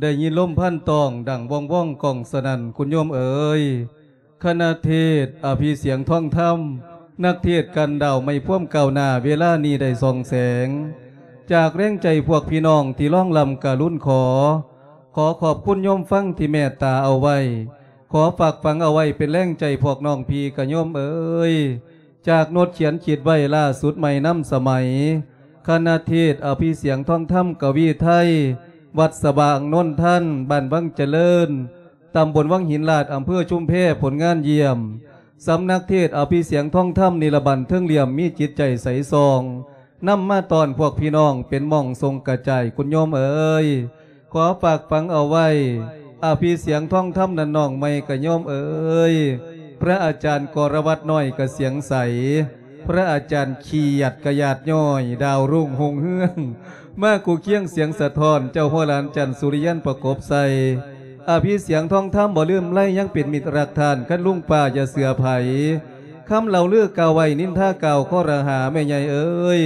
ໄດ້ຍິນລົມພັນຕ້ອງດັງວອງໆກ້ອງສະໜັ່ນ ຄຸນໂຍມເອີຍ. ຄະນະເທດອະພິສຽງທອງທຳ ນັກເທດກັນດາວໃໝ່ພວມກ້າວໜ້າເວລານີ້ໄດ້ສ່ອງແສງ ຈາກແຮງໃຈພວກພີ່ນ້ອງທີ່ລ້ອງລ້ຳກະລຸນຂໍ ຂໍຂອບຄຸນໂຍມຟັງທີ່ເມດຕາເອົາໄວ້ ຂໍຝາກຝັງເອົາໄວ້ເປັນແຮງໃຈພວກນ້ອງພີ່ກະໂຍມເອີຍ. ຈາກໂນດຂຽນຄິດໄວ້ລ່າສຸດໃໝ່ນຳສະໄໝ ຄະນະເທດອະພິສຽງທອງທຳກະວີໄທ ວັດສະຫວ່າງນົນທັນ ບ້ານວັງຈະເລີນ ຕຳບົນວັງຫີນລາດ ອຳເພີຊຸມແພ ຜົນງານຢ້ຽມ. ສຳນັກເທດອະພິສຽງທອງທຳນິລະບັນເທິງຫຼ່ຽມ ມີຈິດໃຈໃສສ່ອງ ນຳມາຕ້ອນພວກພີ່ນ້ອງເປັນໝ່ອງສົ່ງກະຈາຍ ຄຸນໂຍມເອີຍ. ຂໍຝາກຝັງເອົາໄວ້ ອະພິສຽງທອງທຳນັ້ນນ້ອງໃໝ່ກະໂຍມເອີຍ. ພະອາຈານກໍລະວັດນ້ອຍກະສຽງໃສ ພະອາຈານຂຽດກະຢາດຍ້ອຍ ດາວລຸ້ງຮຸ່ງເຮືອງ ມາຄູ່ຄຽງສຽງສະທ້ອນ ເຈົ້າຫົວຫຼານຈັນສຸລິຍັນປະກົບໃສ່ ອະພິສຽງທອງທຳບໍ່ລືມໄລ ຍັງເປັນມິດຮັກທ່ານ ຄັນລຸງປ້າຢ່າເຊື່ອໃຜ ຄຳເລົ່າລືກ່າວໄວ້ ນິນທາກ່າວຄໍລະຫາ ແມ່ໃຫຍ່ເອີຍ.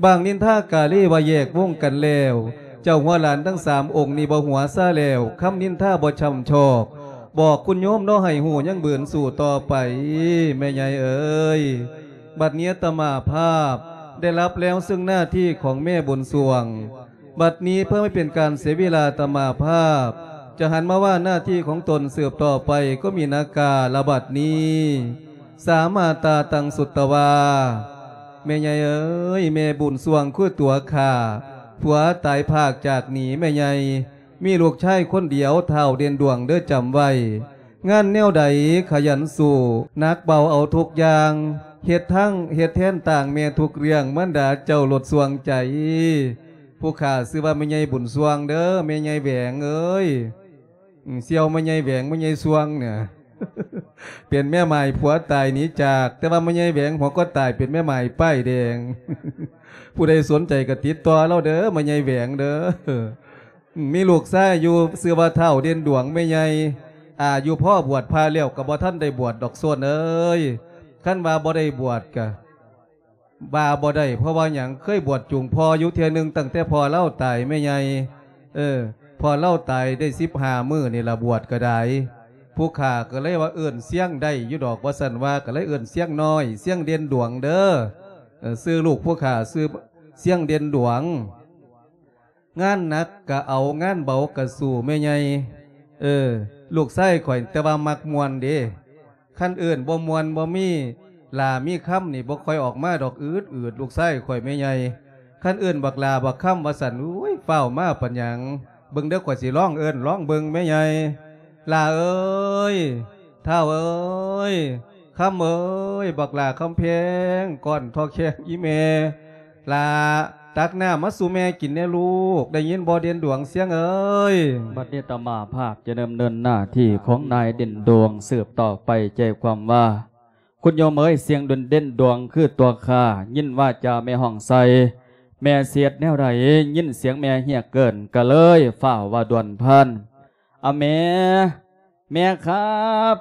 ບາງນິນທາກາລີວ່າແຍກວົງກັນແລ້ວ ເຈົ້າຫົວຫຼານທັງສາມອົງນີ້ບໍ່ຫົວຊາແລ້ວ ຄຳນິນທາບໍ່ຊ່ຳຊອກ ບອກຄຸນໂຍມເນາະ ໃຫ້ຮູ້ຍັງບືນສູ້ຕໍ່ໄປ ແມ່ໃຫຍ່ເອີຍ. ບັດນີ້ອາດຕະມາພາບໄດ້ຮັບແລ້ວເຊິ່ງໜ້າທີ່ຂອງແມ່ບຸນຊ່ວງ ບັດນີ້ເພື່ອບໍ່ໃຫ້ເປັນການເສຍເວລາ ອາດຕະມາພາບຈະຫັນມາວ່າໜ້າທີ່ຂອງຕົນສືບຕໍ່ໄປ ກໍມີນາກາລະບັດນີ້ ສາມາຕາຕັງສຸດຕະວາ. ແມ່ໃຫຍ່ເອີຍ ແມ່ບຸນຊ່ວງຄືຕົວຂ້າ ຜົວຕາຍພາກຈາກໜີແມ່ໃຫຍ່ ມີລູກຊາຍຄົນດຽວ ທ້າວເດັ່ນດວງເດີ ຈຳໄວ້ ງານແນວໃດຂະຫຍັນສູ້ ໜັກເບົາເອົາທຸກຢ່າງ ເຮັດທັງເຮັດແທນຕ່າງແມ່ທຸກເລື່ອງ ມານດາເຈົ້າໂລດຊ່ວງໃຈ. ຜູ້ຂ້າຊື່ວ່າແມ່ໃຫຍ່ບຸນຊ່ວງເດີ ແມ່ໃຫຍ່ແຫວງເອີຍ. ອືມ ສ່ຽວແມ່ໃຫຍ່ແຫວງ ແມ່ໃຫຍ່ຊ່ວງເນຍ ເປັນແມ່ໝ້າຍຜົວຕາຍໜີຈາກ ແຕ່ວ່າແມ່ໃຫຍ່ແຫວງຫົວກໍຕາຍ ເປັນແມ່ໝ້າຍປ້າຍແດງ. ຜູ້ໃດສົນໃຈກໍຕິດຕໍ່ລາວເດີ ແມ່ໃຫຍ່ແຫວງເດີ. ອືມ ມີລູກຊາຍຢູ່ ຊື່ວ່າທ້າວເດັ່ນດວງ ແມ່ໃຫຍ່ ອາຍຸພໍບວດພະແລ້ວ ກໍບໍ່ທັນໄດ້ບວດດອກ ໂຊນເອີຍ. ຄັນວ່າບໍ່ໄດ້ບວດກະ ວ່າບໍ່ໄດ້ ເພາະວ່າຫຍັງ ເຄີຍບວດຈູງພໍ່ຢູ່ເທື່ອໜຶ່ງ ຕັ້ງແຕ່ພໍ່ລາວຕາຍແມ່ໃຫຍ່. ເອີ ພໍ່ລາວຕາຍໄດ້ສິບຫ້າມື້ນີ້ລະ ບວດກໍໄດ້. ຜູ້ຂ້າກໍເລີຍວ່າເອີ້ນຊຽງໄດ້ຢູ່ດອກ ວ່າຊັ້ນວ່າ ກໍເລີຍເອີ້ນຊຽງນ້ອຍ ຊຽງເດັ່ນດວງເດີ. ເອີ ຊື່ລູກຜູ້ຂ້າຊື່ຊຽງເດັ່ນດວງ. ງານໜັກກະເອົາ ງານເບົາກະສູ້ແມ່ໃຫຍ່. ເອີ ລູກຊາຍຂ້ອຍ ແຕ່ວ່າມັກມ່ວນເດ້. ຄັນເອີ້ນບໍ່ມ່ວນບໍ່ມີຫຼ້າມີຄຳນີ້ ບໍ່ຄ່ອຍອອກມາດອກ ອືດໆ ລູກຊາຍຂ້ອຍແມ່ໃຫຍ່. ຄັນເອີ້ນບັກຫຼ້າບັກຄຳວ່າຊັ້ນ ໂອ້ຍ ຟ້າວມາປານຫຍັງ ເບິ່ງເດີ ຂ້ອຍຊິລອງເອີ້ນ ລອງເບິ່ງແມ່ໃຫຍ່. ຫຼ້າເອີຍ ທ້າວເອີຍ ຄຳເອີຍ ບັກຫຼ້າຄຳແພງ ກ້ອນທໍ່ແຂ້ງອີ່ແມ່. ຫຼ້າ ຕັກນ້ຳມາສູ່ແມ່ກິນແດ່ລູກ ໄດ້ຍິນບໍ່ເດັ່ນດວງຊຽງເອີຍ? ບັດນີ້ອາດຕະມາພາບຈະດຳເນີນໜ້າທີ່ຂອງນາຍເດັ່ນດວງສືບຕໍ່ໄປ ໃຈຄວາມວ່າ ຄຸນໂຍມເອີຍ ຊຽງເດັ່ນດວງຄືຕົວຂ້າ ຍິນວາຈາແມ່ຮ້ອງໃສ່ ແມ່ຊິເຮັດແນວໃດ ຍິນສຽງແມ່ຮຽກເອີ້ນ ກະເລີຍຟ້າວວ່າດ່ວນພານ ອາ ແມ່ ແມ່ຄັບ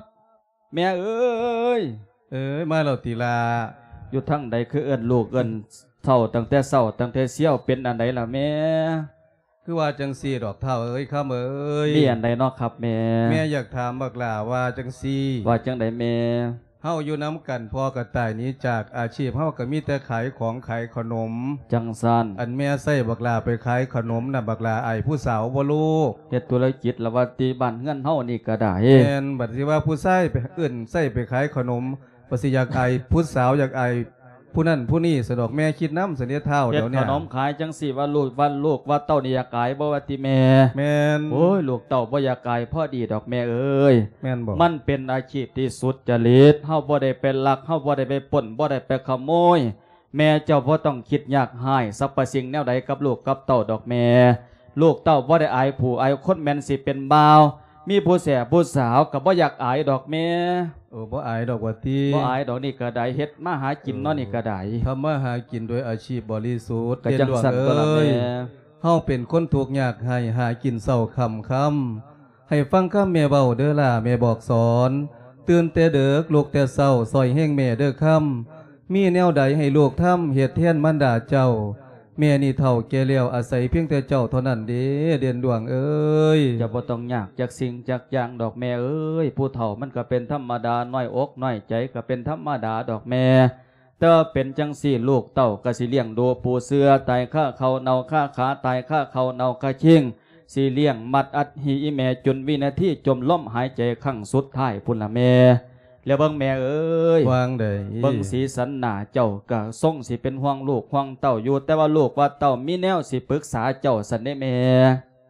ແມ່ເອີຍ ເອີຍ ມາແລ້ວຕິຫຼ້າ? ຢູ່ທາງໃດຄືເອີ້ນລູກເອີ້ນເຖົ້າຕັ້ງແຕ່ເຊົ້າຕັ້ງແຕ່ຊຽວ ເປັນອັນໃດລະແມ່? ຄືວ່າຈັ່ງຊີ້ດອກທ້າວເອີຍ ຄຳເອີຍ. ມີອັນໃດເນາະຄັບແມ່? ແມ່ຢາກຖາມບັກຫຼ້າວ່າຈັ່ງຊີ້. ວ່າຈັ່ງໃດແມ່? ເຮົາຢູ່ນຳກັນ ພໍ່ກໍຕາຍໜີຈາກ ອາຊີບເຮົາກໍມີແຕ່ຂາຍຂອງຂາຍຂະໜົມ. ຈັ່ງຊັ້ນ ອັນແມ່ໃຊ້ບັກຫຼ້າໄປຂາຍຂະໜົມນະ ບັກຫຼ້າອາຍຜູ້ສາວບໍ່ລູກ? ເຮັດທຸລະກິດລະວ່າຕິ ບ້ານເຮືອນເຮົານີ້ກໍໄດ້. ແມ່ນ ບັດຊິວ່າຜູ້ຊາຍໄປເອີ້ນໃຊ້ໄປຂາຍຂະໜົມ ວ່າຊິຢາກອາຍຜູ້ສາວ ຢາກອາຍຜູ້ນັ້ນຜູ້ນີ້ຊັ້ນດອກ ແມ່ຄິດນຳຊັ້ນເດ້ທ້າວ. ເຮັດ ດຽວນີ້ ຂະໜົມຂາຍຈັ່ງຊີ້ ວ່າລູກ ວ່າລູກວ່າເຕົ້ານີ້ຢາກອາຍບໍ່ວ່າຕິແມ່? ແມ່ນ. ໂອ້ຍ ລູກເຕົ້າບໍ່ຢາກອາຍພໍດີດອກແມ່ເອີຍ. ແມ່ນບໍ່? ມັນເປັນອາຊີບທີ່ສຸດຈະລິດ ເຮົາບໍ່ໄດ້ໄປລັກ ເຮົາບໍ່ໄດ້ໄປປຸ້ນ ບໍ່ໄດ້ໄປຂະໂມຍ. ແມ່ເຈົ້າບໍ່ຕ້ອງຄິດຍາກຮ້າຍສັບພະສິ່ງແນວໃດກັບລູກກັບເຕົ້າດອກແມ່. ລູກເຕົ້າບໍ່ໄດ້ອາຍຜູ້ອາຍຄົນ ແມ່ນຊິເປັນບ່າວ ມີຜູ້ແສຜູ້ສາວກໍບໍ່ຢາກອາຍດອກແມ່. ໂອ້ ບໍ່ອາຍດອກວ່າຕິ? ບໍ່ອາຍດອກ ນີ້ກໍໄດ້ ເຮັດມາຫາກິນເນາະ ເອີ ນີ້ກໍໄດ້ ທຳມາຫາກິນໂດຍອາຊີບບໍລິສຸດ. ກໍຈັ່ງຊັ້ນຕົວະລະແມ່. ເຮົາເປັນຄົນທຸກຍາກໄຮ້ ຫາກິນເຊົ້າຄ່ຳຄ່ຳ ໃຫ້ຟັງຄຳແມ່ເວົ້າເດີຫຼ້າ ແມ່ບອກສອນ ຕື່ນແຕ່ເດິກ ລຸກແຕ່ເຊົ້າ ຊ່ອຍແຮງແມ່ເດີຄຳ ມີແນວໃດໃຫ້ລູກທຳ ເຮັດແທນມານດາເຈົ້າ ແມ່ນີ້ເຖົ້າແກ່ແລ້ວ ອາໄສພຽງແຕ່ເຈົ້າເທົ່ານັ້ນເດ້ ເດັ່ນດວງເອີຍ. ເຈົ້າບໍ່ຕ້ອງຍາກຈັກສິ່ງຈັກຢ່າງດອກແມ່ເອີຍ. ຜູ້ເຖົ້າມັນກໍເປັນທຳມະດາ ນ້ອຍອົກນ້ອຍໃຈກໍເປັນທຳມະດາດອກແມ່. ແຕ່ວ່າເປັນຈັ່ງຊີ້ ລູກເຕົ້າກໍຊິລ້ຽງດູປູເສືອ ຕາຍຄາເຂົ້າເນົ່າຄາຂາ ຕາຍຄາເຂົ້າເນົ່າຄາຄີງ ຊິລ້ຽງມັດອັດຫີອີແມ່ຈົນວິນາທີຈົມລົມຫາຍໃຈຄັ້ງສຸດທ້າຍພຸ້ນລະແມ່. ແລ້ວເບິ່ງແມ່ເອີຍ ວ່າງໃດ? ເບິ່ງສີສັນໜ້າເຈົ້າກະຊົງຊິເປັນຫ່ວງລູກຫ່ວງເຕົ້າຢູ່ ແຕ່ວ່າລູກວ່າເຕົ້າມີແນວຊິປຶກສາເຈົ້າຊັ້ນເດ້ແມ່.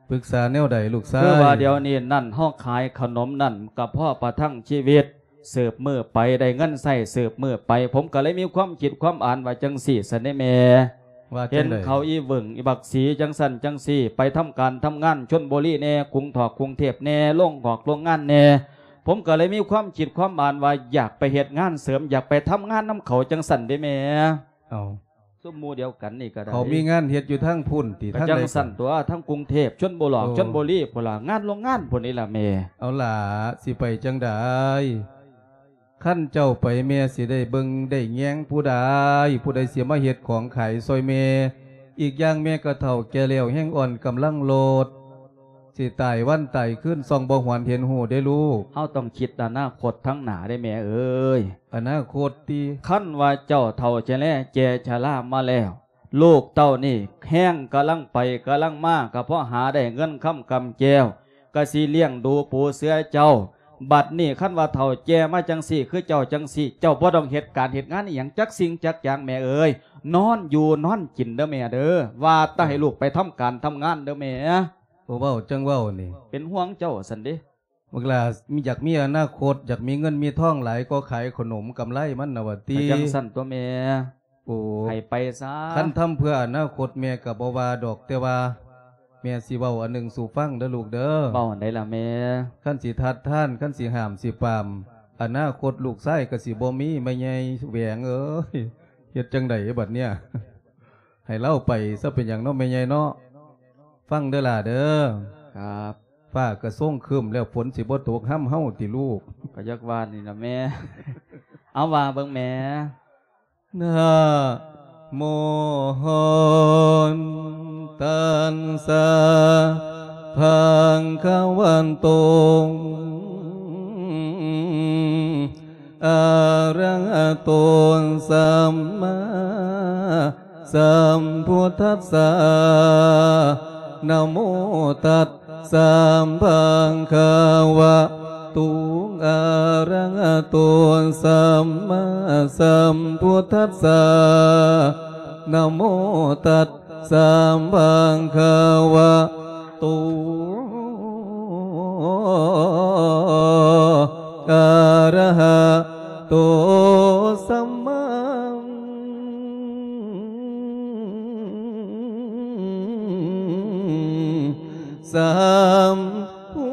ປຶກສາແນວໃດລູກຊາຍ? ຄືວ່າດຽວນີ້ນັ້ນ ເຮົາຂາຍຂະໜົມນັ້ນກະພໍປະທັງຊີວິດ ສືບມື້ໄປໄດ້ເງິນໃຊ້ສືບມື້ໄປ ຜົມກະເລີຍມີຄວາມຄິດຄວາມອ່ານວ່າຈັ່ງຊີ້ຊັ້ນເດ້ແມ່. ວ່າຈັ່ງໃດ? ເຫັນເຂົາອີເຫວີ້ງອີບັກສີຈັ່ງຊັ້ນຈັ່ງຊີ້ ໄປທຳການທຳງານຊົນບູລີແດ່ ກຸງຖອກກຸງເທບແດ່ ໂລງຫອກໂລງງານແດ່ ຜົມກໍເລີຍມີຄວາມຄິດຄວາມອ່ານວ່າ ຢາກໄປເຮັດງານເສີມ ຢາກໄປທຳງານນຳເຂົາຈັ່ງຊັ້ນເດ້ແມ່. ເອົາ ຊຸມໝູ່ດຽວກັນນີ້ກໍໄດ້ ເຂົາມີງານເຮັດຢູ່ທາງພຸ້ນຕິ ທາງໃດ? ກໍຈັ່ງຊັ້ນຕົວະ ທາງກຸງເທບ ຊົນບູລອກ ໂອ້ ຊົນບູລີພຸ້ນລະ ງານໂລງງານພຸ້ນນີ້ລະແມ່. ເອົາຫຼ້າ ຊິໄປຈັ່ງໃດ? ຄັນເຈົ້າໄປແມ່ຊິໄດ້ເບິ່ງໄດ້ແຍງຜູ້ໃດ ຜູ້ໃດຊິມາເຮັດຂອງຂາຍຊ່ອຍແມ່. ອີກຢ່າງແມ່ກໍເຖົ້າແກ່ແລ້ວແຮງອ່ອນກຳລັງໂລດ ຊິຕາຍວັນຕາຍຄືນສ່ອງບໍ່ຫວນເຫັນຮູ້ເດ້ລູກ. ເຮົາຕ້ອງຄິດອະນາຄົດທາງໜ້າເດ້ແມ່ເອີຍ. ອະນາຄົດຕິ? ຄັນວ່າເຈົ້າເຖົ້າຈະແລແກ່ຊະລາມາແລ້ວ ລູກເຕົ້ານີ້ແຮງກຳລັງໄປກຳລັງມາ ກໍພໍຫາໄດ້ເງິນຄຳກຳແກ້ວ ກໍຊິລ້ຽງດູປູເສືອເຈົ້າ. ບັດນີ້ຄັນວ່າເຖົ້າແກ່ມາຈັ່ງຊີ້ ຄືເຈົ້າຈັ່ງຊີ້ ເຈົ້າບໍ່ຕ້ອງເຮັດການເຮັດງານອີ່ຫຍັງຈັກສິ່ງຈັກຢ່າງແມ່ເອີຍ. ນອນຢູ່ນອນກິນເດີແມ່ເດີ ວ່າແຕ່ໃຫ້ລູກໄປທຳການທຳງານເດີແມ່. ໂອ້ ເວົ້າຈັ່ງເວົ້ານີ້ ເປັນຫ່ວງເຈົ້າຊັ້ນເດ້. ບັກຫຼ້າ ມີ ຢາກມີອະນາຄົດ ຢາກມີເງິນມີທອງຫຼາຍກໍຂາຍຂະໜົມກຳໄລມັນນະວ່າຕິ. ກໍຈັ່ງຊັ້ນຕົວະແມ່. ໂອ້ ໃຫ້ໄປຊະ. ຄັນທຳເພື່ອອະນາຄົດແມ່ກໍບໍ່ວ່າດອກ ແຕ່ວ່າແມ່ຊິເວົ້າອັນໜຶ່ງສູ່ຟັງເດີລູກເດີ. ເວົ້າອັນໃດລະແມ່? ຄັນຊິທັດທານ ຄັນຊິຫ້າມຊິປາມ ອະນາຄົດລູກຊາຍກໍຊິບໍ່ມີ ແມ່ໃຫຍ່ແຫວງເອີຍ. ເຮັດຈັ່ງໃດບັດເນີ້ຍ? ໃຫ້ລາວໄປຊະ ເປັນຫຍັງເນາະແມ່ໃຫຍ່ເນາະ. ຟັງເດີຫຼ້າເດີ. ຄັບ. ຟ້າກະຊົງຄຶ້ມແລ້ວ ຝົນຊິບໍ່ຕົກຮຳເຮົາຕິລູກ? ກໍຢາກວ່ານີ້ລະແມ່. ເອົາວ່າເບິ່ງແມ່. ນະໂມຕັດສະ ພະຄະວະໂຕ ອະຣະຫະໂຕ ສຳມາ ສຳພຸດທັດສະ ນະໂມຕັດສະ ພະຄະວະໂຕ ອະຣະຫະໂຕ ສຳມາສຳພຸດທັດສະ ນະໂມຕັດສະ ພະຄະວະໂຕ ອະຣະຫະໂຕ ສຳມາ ສຳພຸ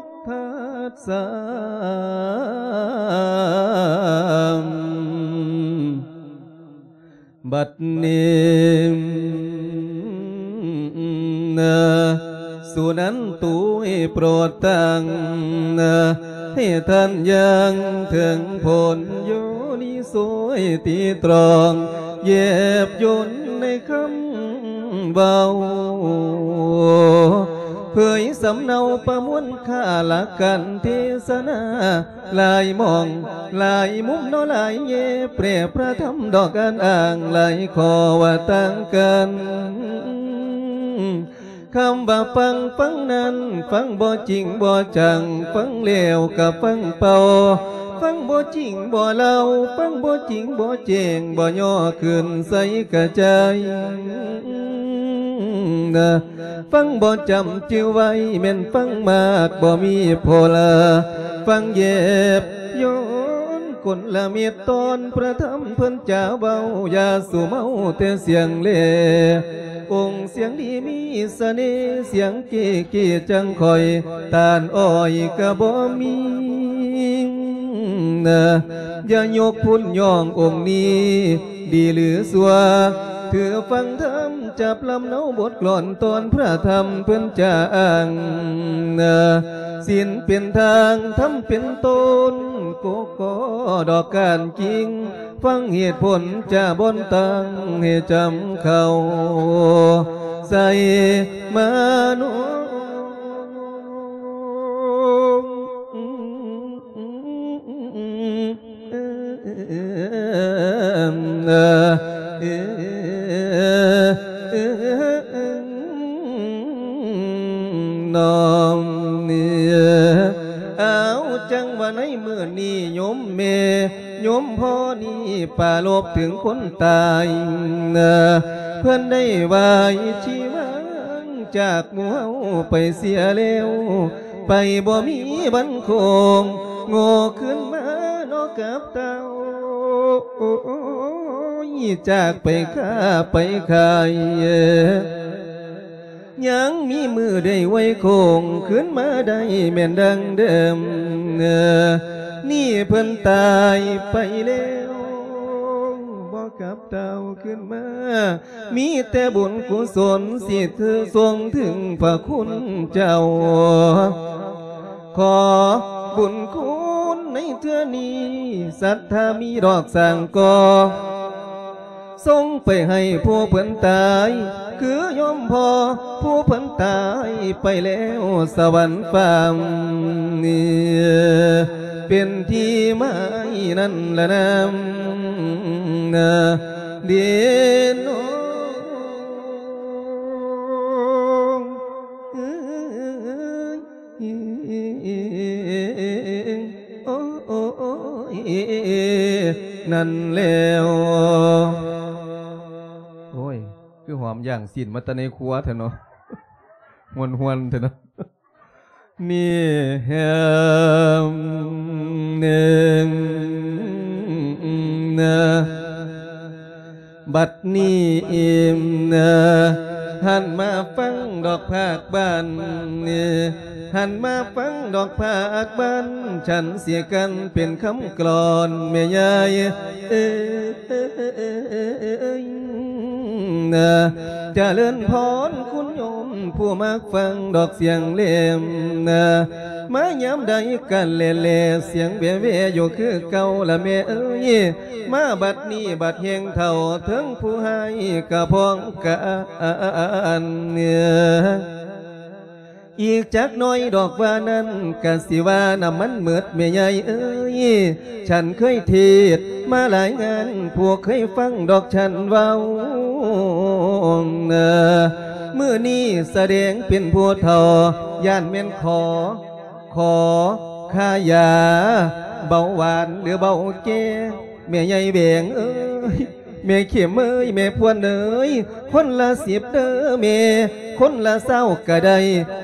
ດທັດສະ. ບັດນີ້ ສຸນັນຕຸ ໂປດຕັງ ໃຫ້ທ່ານຢ່າງເຖິງຜົນ ໂຍນິໂສຍຕີຕຣອງ ແຍບຍົນໃນຄຳເວົ້າ ເຜີຍສຳເນົາປະມວນຄ່າຫຼັກການເທສະນາ ຫຼາຍໝ່ອງຫຼາຍມຸມເນາະ ຫຼາຍແງ່ແປພະທຳດອກການອ້າງ ຫຼາຍຂໍ້ວ່າຕ່າງກັນ. ຄຳວ່າຟັງ ຟັງນັ້ນ ຟັງບໍ່ຈິງບໍ່ຈັງ ຟັງແລ້ວກໍຟັງເປົ່າ ຟັງບໍ່ຈິງບໍ່ເລົ່າ ຟັງບໍ່ຈິງບໍ່ແຈ້ງ ບໍ່ຍໍຂຶ້ນໃສ່ກະຈາຍ. ຟັງບໍ່ຈຳຈື່ໄວ້ ແມ່ນຟັງມາກບໍ່ມີພໍລະ ຟັງແຍບຍ້ອນກົນລະເມັດຕອນ ພະທຳເພິ່ນຈາເວົ້າ ຢ່າສູ່ເມົາແຕ່ສຽງແລ ອົງສຽງດີມີສະເໜ່ ສຽງເກກີຈັງຂ້ອຍ ຕ້ານອ້ອຍກະບໍ່ມີ ຢ່າຍົກພຸ້ນຍ້ອງອົງນີ້ ດີຫຼືຊົ່ວ ຖືຟັງທຳຈັບລຳເນົາບົດກລອນຕອນພະທຳເພິ່ນຈ້າງ ສິນເປັນທາງ ທຳເປັນຕົ້ນ ໂກກໍດອກກ້ານກິ່ງ ຟັງເຫດຜົນຈາບ່ອນຕັ້ງໃຫ້ຈຳເຂົ້າໃສ່ມະໂນ ນ້ອງນີ້ ເອົາ ຈັ່ງວ່າໃນມື້ນີ້ໂຍມແມ່ ໂຍມພໍ່ນີ້ປາລົບເຖິງຄົນຕາຍ ເພິ່ນໄດ້ວາຍຊີວັງຈາກໝູ່ເຮົາໄປເສຍແລ້ວ ໄປບໍ່ມີວັນຄົງໂງ່ຄືນມາເນາະກັບເຕົ້າ ໂອ້ຍ ຈາກໄປຄ້າໄປຂາຍ ຍັງມີມື້ໄດ້ໄຫວໂຄ້ງຄືນມາໄດ້ແມ່ນດັ່ງເດີມ ນີ້ເພິ່ນຕາຍໄປແລ້ວ ບໍ່ກັບເຕົ້າຄືນມາ ມີແຕ່ບຸນກຸສົນຊິຖືສົ່ງເຖິງພະຄຸນເຈົ້າ ຂໍບຸນຄຸນໃນເທື່ອນີ້ ສັດທາມີດອກສ້າງກໍ່ ສົ່ງໄປໃຫ້ຜູ້ເພິ່ນຕາຍ ຄືໂຍມພໍ່ຜູ້ເພິ່ນຕາຍໄປແລ້ວສະຫວັນຟ້າ ເປັນທີ່ໝາຍນັ້ນລະນາ ເດໂນ ໂອ້ຍ ນັ້ນແລ້ວ ໂອ້ຍ ຄືຫອມຢ່າງຊີ້ນມາແຕ່ໃນຄົວແທ້ເນາະ ຮວນໆແທ້ເນາະ ນີ້ແຮມໜຶ່ງນະ ບັດນີ້ອີ່ມນະ ຫັນມາຟັງດອກພາກບ້ານ ຫັນມາຟັງດອກພາກບ້ານ ສັນຊິກັນເປັນຄຳກລອນ ແມ່ຍາຍເອີຍ ຈະເລີນພອນຄຸນໂຍມ ຜູ້ມັກຟັງດອກສຽງແຫຼມນະ ມາຍາມໃດກະແລໆ ສຽງແວ່ໆຢູ່ຄືເກົ່າລະແມ່ເອີຍ ມາບັດນີ້ບັດແຮງເຖົ້າ ເຖິງຜູ້ຮ້າຍກະພ້ອງການ ອີກຈັກໜ້ອຍດອກວ່ານັ້ນ ກະຊິວ່ານ້ຳມັນໝົດແມ່ໃຫຍ່ເອີຍ ສັນເຄີຍເທດມາຫຼາຍງານ ຜູ້ເຄີຍຟັງດອກສັນເວົ້າ ມື້ນີ້ສະແດງເປັນຜູ້ເຖົ້າ ຢ້ານແມ່ນຂໍ ຂໍຄ່າຢາເບົາຫວານ ຫຼື ເບົາແກ້ ແມ່ໃຫຍ່ແຫວງເອີຍ ແມ່ເຂັມເອີຍ ແມ່ພວນເອີຍ ຄົນລະສິບເດີແມ່ ຄົນລະຊາວກະໄດ້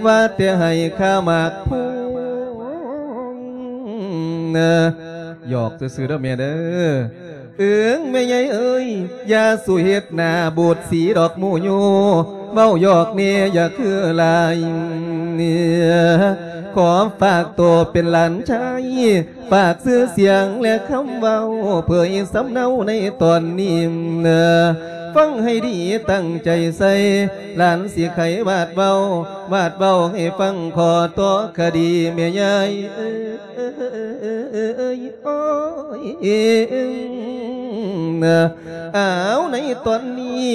ວ່າແຕ່ໃຫ້ຄ່າໝາກພວງ ຫຍອກຊື່ໆເດີແມ່ເດີ ເອີງແມ່ໃຫຍ່ເອີຍ ຢ່າສູ່ເຮັດໜ້າບູດສີດອກໝູ່ຢູ່ ເວົ້າຫຍອກແນ່ຢ່າຄືຫຼາຍ ຂໍຝາກໂຕເປັນຫຼານຊາຍ ຝາກຊື່ສຽງ ແລະ ຄຳເວົ້າ ເຜີຍສຳເນົາໃນຕອນນີ້ ຟັງໃຫ້ດີຕັ້ງໃຈໃສ່ ຫຼານຊິໄຂວາດເວົ້າ ວາດເວົ້າໃຫ້ຟັງ ຂໍຕໍ່ຄະດີແມ່ຍາຍເອີຍ ໂອ້ຍ ອ້າວ ໃນຕອນນີ້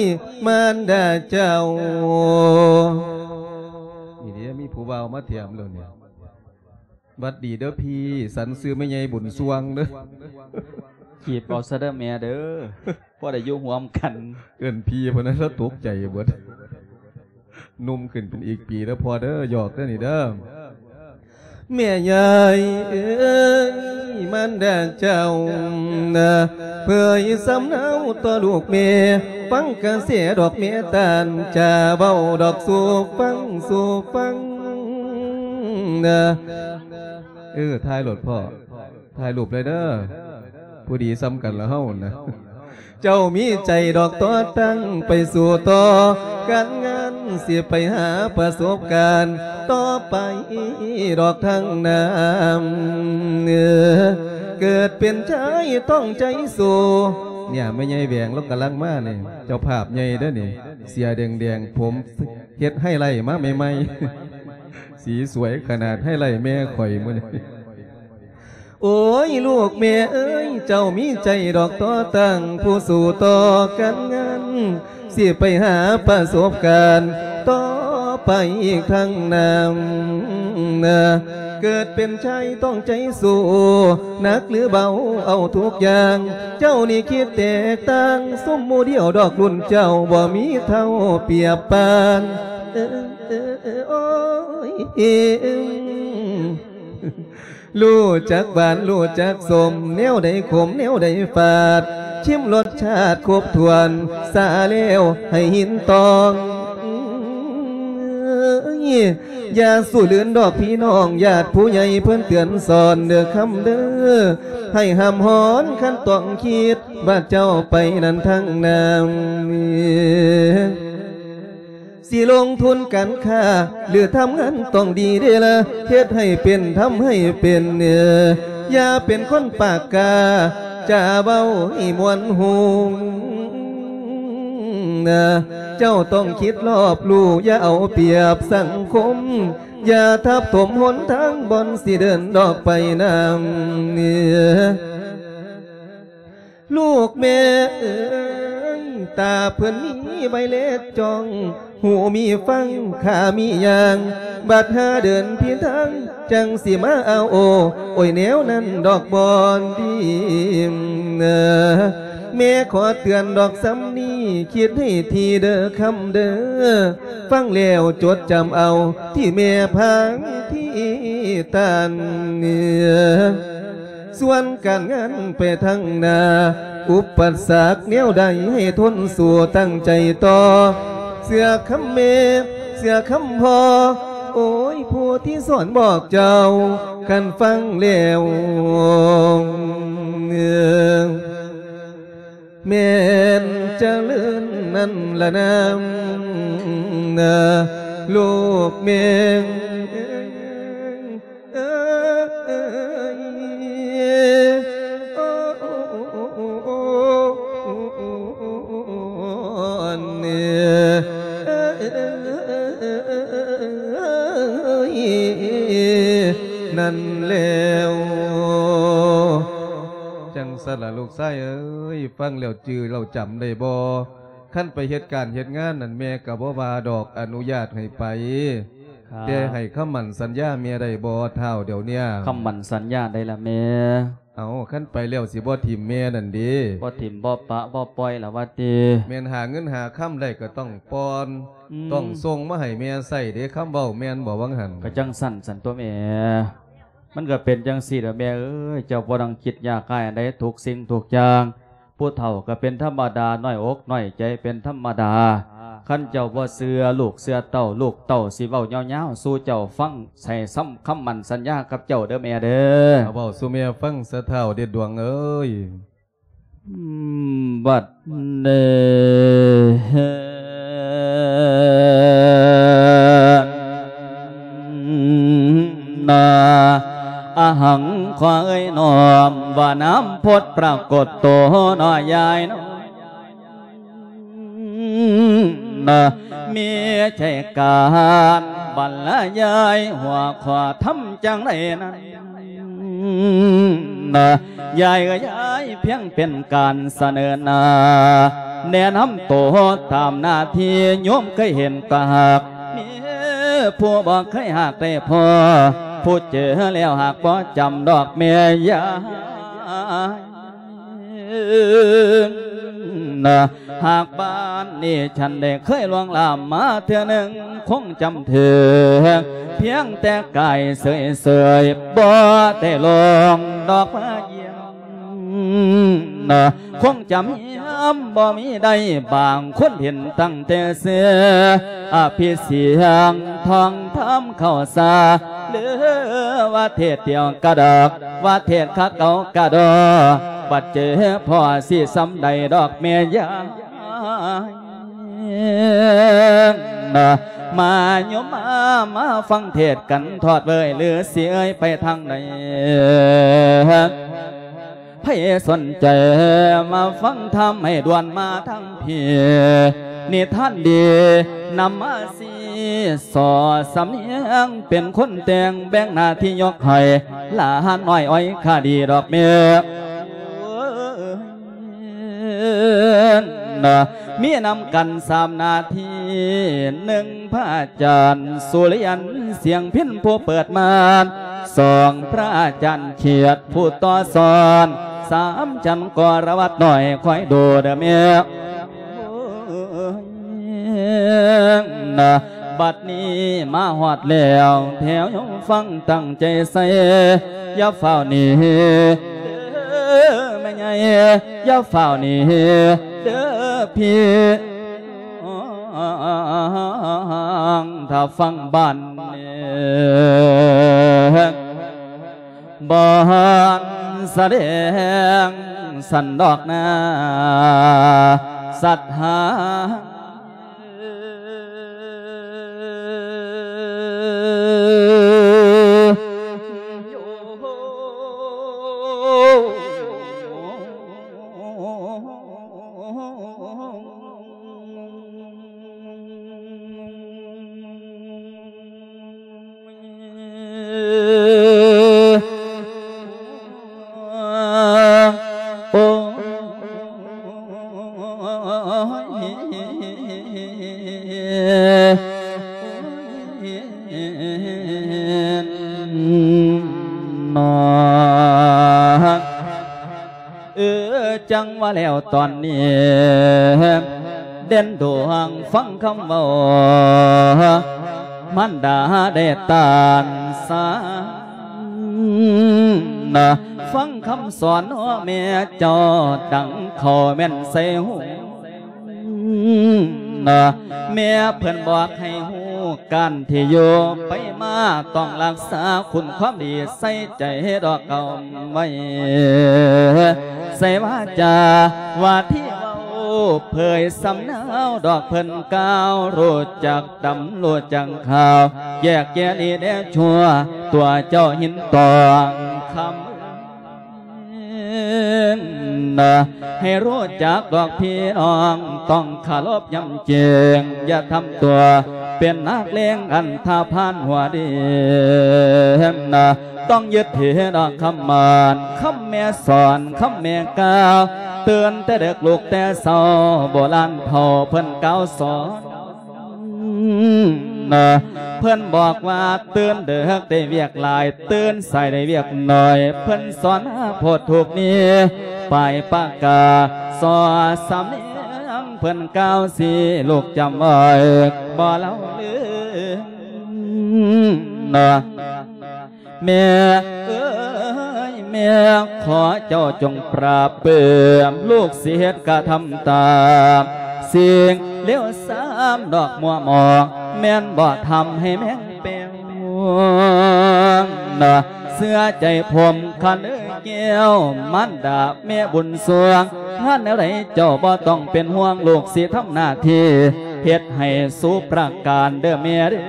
ມານດາເຈົ້າ ນີ້ເດ້ ມີຜູ້ບ່າວມາຖາມແລ້ວນີ້ ຫວັດດີເດີພີ່ ສັນຊື່ແມ່ໃຫຍ່ບຸນຊ່ວງເດີ ຈີບເອົາຊະເດີແມ່ເດີ ພໍໄດ້ຢູ່ຮ່ວມກັນ ເອີ້ນພີ່ພຸ້ນນະ ລາວຕົກໃຈເບິດ ໜຸ່ມຂຶ້ນເປັນອີກປີເດີພໍ່ເດີ ຫຍອກເດີນີ້ເດີ ແມ່ໃຫຍ່ເອີຍ ມານດາເຈົ້ານະ ເຜີຍສຳເນົາຕໍ່ລູກແມ່ ຟັງກະແສດອກແມ່ຕານ ຈາເວົ້າດອກສູ່ຟັງ ສູ່ຟັງນະ ເອີ ຖ່າຍໂລດພໍ່ ຖ່າຍຮູບເລີຍເດີ ຜູ້ດີສ່ຳກັນລະເຮົານະ ເຈົ້າມີໃຈດອກຕໍ່ຕັ້ງໄປສູ່ຕໍ່ ການງານຊິໄປຫາປະສົບການຕໍ່ໄປດອກທາງໜ້າ ເກີດເປັນຊາຍຕ້ອງໃຈສູ້ ນີ້ແມ່ໃຫຍ່ແຫວງລາວກຳລັງມານີ້ ເຈົ້າພາບໃຫຍ່ເດີ້ນີ້ ເສື້ອແດງໆ ຜົມເຮັດໄຮໄລມາໃໝ່ໆ ສີສວຍຂະໜາດ ໄຮໄລແມ່ຂ້ອຍມື້ນີ້. ໂອ້ຍ ລູກແມ່ເອີຍ ເຈົ້າມີໃຈດອກຕໍ່ຕັ້ງ ຜູ້ສູ້ຕໍ່ການງານ ຊິໄປຫາປະສົບການຕໍ່ໄປອີກທາງໜ້າ. ເກີດເປັນຊາຍຕ້ອງໃຈສູ້ ໜັກຫຼືເບົາເອົາທຸກຢ່າງ ເຈົ້ານີ້ຄິດແຕກຕ່າງ ຊຸມໝູ່ດຽວດອກລຸ້ນເຈົ້າ ບໍ່ມີເທົ່າປຽບປານ ເອີ ເອີ ເອີ ໂອ້ຍ ຮູ້ຈັກຫວານ ຮູ້ຈັກສົ້ມ ແນວໃດຂົມ ແນວໃດຝາດ ຊິມລົດຊາດຄົບຖ້ວນ ສາແລ້ວໃຫ້ຫີນຕອງ. ຢ່າສູ້ລື່ນດອກພີ່ນ້ອງ ຍາດຜູ້ໃຫຍ່ເພິ່ນເຕືອນສອນເດີ້ຄຳເດີ້ ໃຫ້ຫ້າມຮ້ອນຄັນຕ້ອງຄິດ ວ່າເຈົ້າໄປນັ້ນທາງໜ້າ ຊິລົງທຶນການຄ້າ ຫຼືທຳງານຕ້ອງດີເດ້ລະ ເຮັດໃຫ້ເປັນ ທຳໃຫ້ເປັນ ເອີ ຢ່າເປັນຄົນປາກກ້າ ຈາເວົ້າໃຫ້ມ່ວນຫູ ເຈົ້າຕ້ອງຄິດລອບຮູ້ ຢ່າເອົາປຽບສັງຄົມ ຢ່າທັບຖົມຫົນທາງ ບ່ອນຊິເດີນດອກໄປນຳ ລູກແມ່ເອີຍ ຕາເພິ່ນມີໄວເລັດຈ້ອງ ຫູມີຟັງ ຂາມີຍ່າງ ບັດຫາເດີນຜິດທາງ ຈັ່ງຊິມາເອົາໂອ ໂອ້ຍ ແນວນັ້ນດອກບໍ່ດີ. ແມ່ຂໍເຕືອນດອກສ່ຳນີ້ ຄິດໃຫ້ຖີ່ເດີຄຳເດີ ຟັງແລ້ວຈົດຈຳເອົາ ທີ່ແມ່ພາງທີ່ຕັນ ສ່ວນການງານໄປທາງໜ້າ ອຸປະສັກແນວໃດໃຫ້ທົນສູ້ຕັ້ງໃຈຕໍ່ ເຊື່ອຄຳແມ່ ເຊື່ອຄຳພໍ່ ໂອ້ຍ ຜູ້ທີ່ສອນບອກເຈົ້າ ຄັນຟັງແລ້ວ ແມ່ນຈະເລີນນັ້ນລະນາ ລູກແມ່. ເອີຍ ໂອ້ ອັນນີ້ ເອີຍ ນັ້ນແລ້ວ ຈັ່ງຊັ້ນລະລູກຊາຍເອີຍ ຟັງແລ້ວຈື່ແລ້ວຈຳໄດ້ບໍ່? ຄັນໄປເຮັດການເຮັດງານນັ້ນ ແມ່ກໍບໍ່ວ່າດອກ ອະນຸຍາດໃຫ້ໄປ. ແຕ່ໃຫ້ຄຳໝັ້ນສັນຍາແມ່ໄດ້ບໍ່ທ້າວດຽວເນີ້ຍ? ຄຳໝັ້ນສັນຍາໃດລະແມ່? ເອົ້າ ຄັນໄປແລ້ວຊິບໍ່ຖິ້ມແມ່ນັ້ນເດ? ບໍ່ຖິ້ມບໍ່ປະບໍ່ປ່ອຍລະວ່າຕິ? ແມ່ນຫາເງິນຫາຄຳໄດ້ກໍຕ້ອງປ່ອນ ອືມ ຕ້ອງສົ່ງມາໃຫ້ແມ່ໃຊ້ເດ ຄຳເວົ້າແມ່ນບໍ່ຫວ່າງຫັ້ນ? ກໍຈັ່ງຊັ້ນຊັ້ນຕົວະແມ່ ມັນກໍເປັນຈັ່ງຊີ້ລະແມ່ເອີຍ ເຈົ້າບໍ່ຕ້ອງຄິດຍາກຮ້າຍອັນໃດ ທຸກສິ່ງທຸກຢ່າງ ຜູ້ເຖົ້າກໍເປັນທຳມະດາ ນ້ອຍອົກນ້ອຍໃຈເປັນທຳມະດາ. ຄັນເຈົ້າບໍ່ເຊື່ອລູກເຊື່ອເຕົ້າ ລູກເຕົ້າຊິເວົ້າຍາວໆສູ່ເຈົ້າຟັງ ໃຫ້ຊ້ຳຄຳໝັ້ນສັນຍາກັບເຈົ້າເດີແມ່ເດີ. ເອົາເວົ້າສູ່ແມ່ຟັງຊະທ້າວເດັດດວງເອີຍ. ອືມ ບັດນີ້ ນາ ອະຫັງ ຂໍເອີຍນ້ອມວ່ານາມພຸດປາກົດໂຕເນາະຍາຍເນາະ ນາ ມີໃຈການບັນລະຍາຍຫົວຂໍ້ທຳຈັ່ງໃດນັ້ນ ນາ ຍາຍເອີຍ ຍາຍພຽງເປັນການສະເໜີໜ້າ ແນະນຳໂຕຕາມໜ້າທີ່ໂຍມເຄີຍເຫັນກໍຫາກ ມີຜູ້ບໍ່ເຄີຍຫາກໄດ້ພໍ ຜູ້ເຈີແລ້ວຫາກບໍ່ຈຳດອກແມ່ຍາຍ ນາ ຫາກບ້ານນີ້ ຄັນໄດ້ເຄີຍລ່ວງລ້ຳມາເທື່ອໜຶ່ງ ຄົງຈຳຖືກ ພຽງແຕ່ກາຍເສີຍໆ ບໍ່ໄດ້ລ່ວງດອກມາຢ້ຽມ ນາ ຄົງຈຳຢ້ຽມບໍ່ມີໄດ້ ບາງຄົນເຫັນຕັ້ງແຕ່ເສື້ອ ອະພິສຽງທອງທຳເຂົ້າສາ ຫຼືວ່າເທດດຽວກະດອກ ວ່າເທດຄະເກົ່າກະດອກ ບັດເຈີພໍຊິສ່ຳໃດດອກແມ່ຍາຍ ນາ ມາໂຍມມາ ມາຟັງເທດກັນທອດເວີຍ ຫຼືຊິເອີຍໄປທາງໃດ? ພ ໃຜສົນໃຈມາຟັງທຳໃຫ້ດ່ວນມາທາງພີ້ ນິທານດີນຳມາຊີ້ສໍ້ ສຳນຽງເປັນຄົນແຕ່ງ ແບ່ງໜ້າທີ່ຍົກໃຫ້ຫຼານນ້ອຍ ອ້ອຍຄະດີດອກແມ່ ນະ ມີນຳກັນສາມໜ້າທີ່ ໜຶ່ງ ພະອາຈານສຸລິຍັນ ສຽງພິນ ຜູ້ເປີດມານ ສອງ ພະອາຈານຂຽດ ຜູ້ຕໍ່ສອນ ສາມ ຈັນກໍລະວັດນ້ອຍ ຄອຍດູເດີແມ່ ນະ ບັດນີ້ມາຮອດແລ້ວ ແຖວຍອງຟັງຕັ້ງໃຈໃສ່ ຢ່າຟ້າວໜີເດີແມ່ໃຫຍ່ ຢ່າຟ້າວໜີເດີພີ່ ຖ້າຟັງບ້ານນີ້ ບ່ອນສະແດງສັນດອກນາ ສັດຫາ ເອີ ຈັ່ງວ່າແລ້ວຕອນນີ້ ເດັ່ນດວງຟັງຄຳເວົ້າ ມານດາໄດ້ຕານສານ ຟັງຄຳສອນເນາະແມ່ເຈົ້າ ດັງເຂົ້າແມ່ນໃສ່ຫູ ນະ ແມ່ເພິ່ນບອກໃຫ້ຮູ້ ການທີ່ຢູ່ໄປມາ ຕ້ອງຮັກສາຄຸນຄວາມດີ ໃສ່ໃຈດອກເອົາໄວ້ ໃສ່ວາຈາ ວ່າທີ່ເວົ້າເຜີຍສຳເນາ ດອກເພິ່ນກ່າວ ຮູ້ຈັກດຳ ຮູ້ຈັກຂາວ ແຍກແຍະດີແດ່ຊົ່ວ ຕົວເຈົ້າຫີນຕອງຄຳ ນະ ໃຫ້ຮູ້ຈັກດອກພີ່ນ້ອງ ຕ້ອງເຄົາລົບຍຳເກງ ຢ່າທຳຕົວເປັນນັກເລງອັນທະພານຫົວດີ ນະ ຕ້ອງຍຶດຖືດອກຄຳໝັ້ນ ຄຳແມ່ສອນ ຄຳແມ່ກ່າວ ຕື່ນແຕ່ເດິກລຸກແຕ່ເຊົ້າ ໂບລານເຖົ້າເພິ່ນກ່າວສອນ ນະ ເພິ່ນບອກວ່າຕື່ນເດິກໄດ້ວຽກຫຼາຍ ຕື່ນສາຍໄດ້ວຽກໜ້ອຍ ເພິ່ນສອນມາໂພດທຸກນີ້ ປາຍປາກາ ສອດສຳນຽງເພິ່ນກ່າວຊີ້ ລູກຈຳໄວ້ບໍ່ລະລືມ ນະ. ແມ່ເອີຍ ແມ່ ຂໍເຈົ້າຈົ່ງປາບປື້ມ ລູກຊິເຮັດກະທຳຕາມ ສິ່ງເລວຊາມດອກມົວໝອງ ແມ່ນບໍ່ທຳໃຫ້ແມ່ງແປ້ວ ເຊື່ອໃຈຜົມຄັນເອີຍແກ້ວ ມານດາແມ່ບຸນສວງ ງານແນວໃດເຈົ້າບໍ່ຕ້ອງເປັນຫ່ວງ ລູກຊິທຳໜ້າທີ່ ເຮັດໃຫ້ສຸປະການເດີແມ່ເດີ.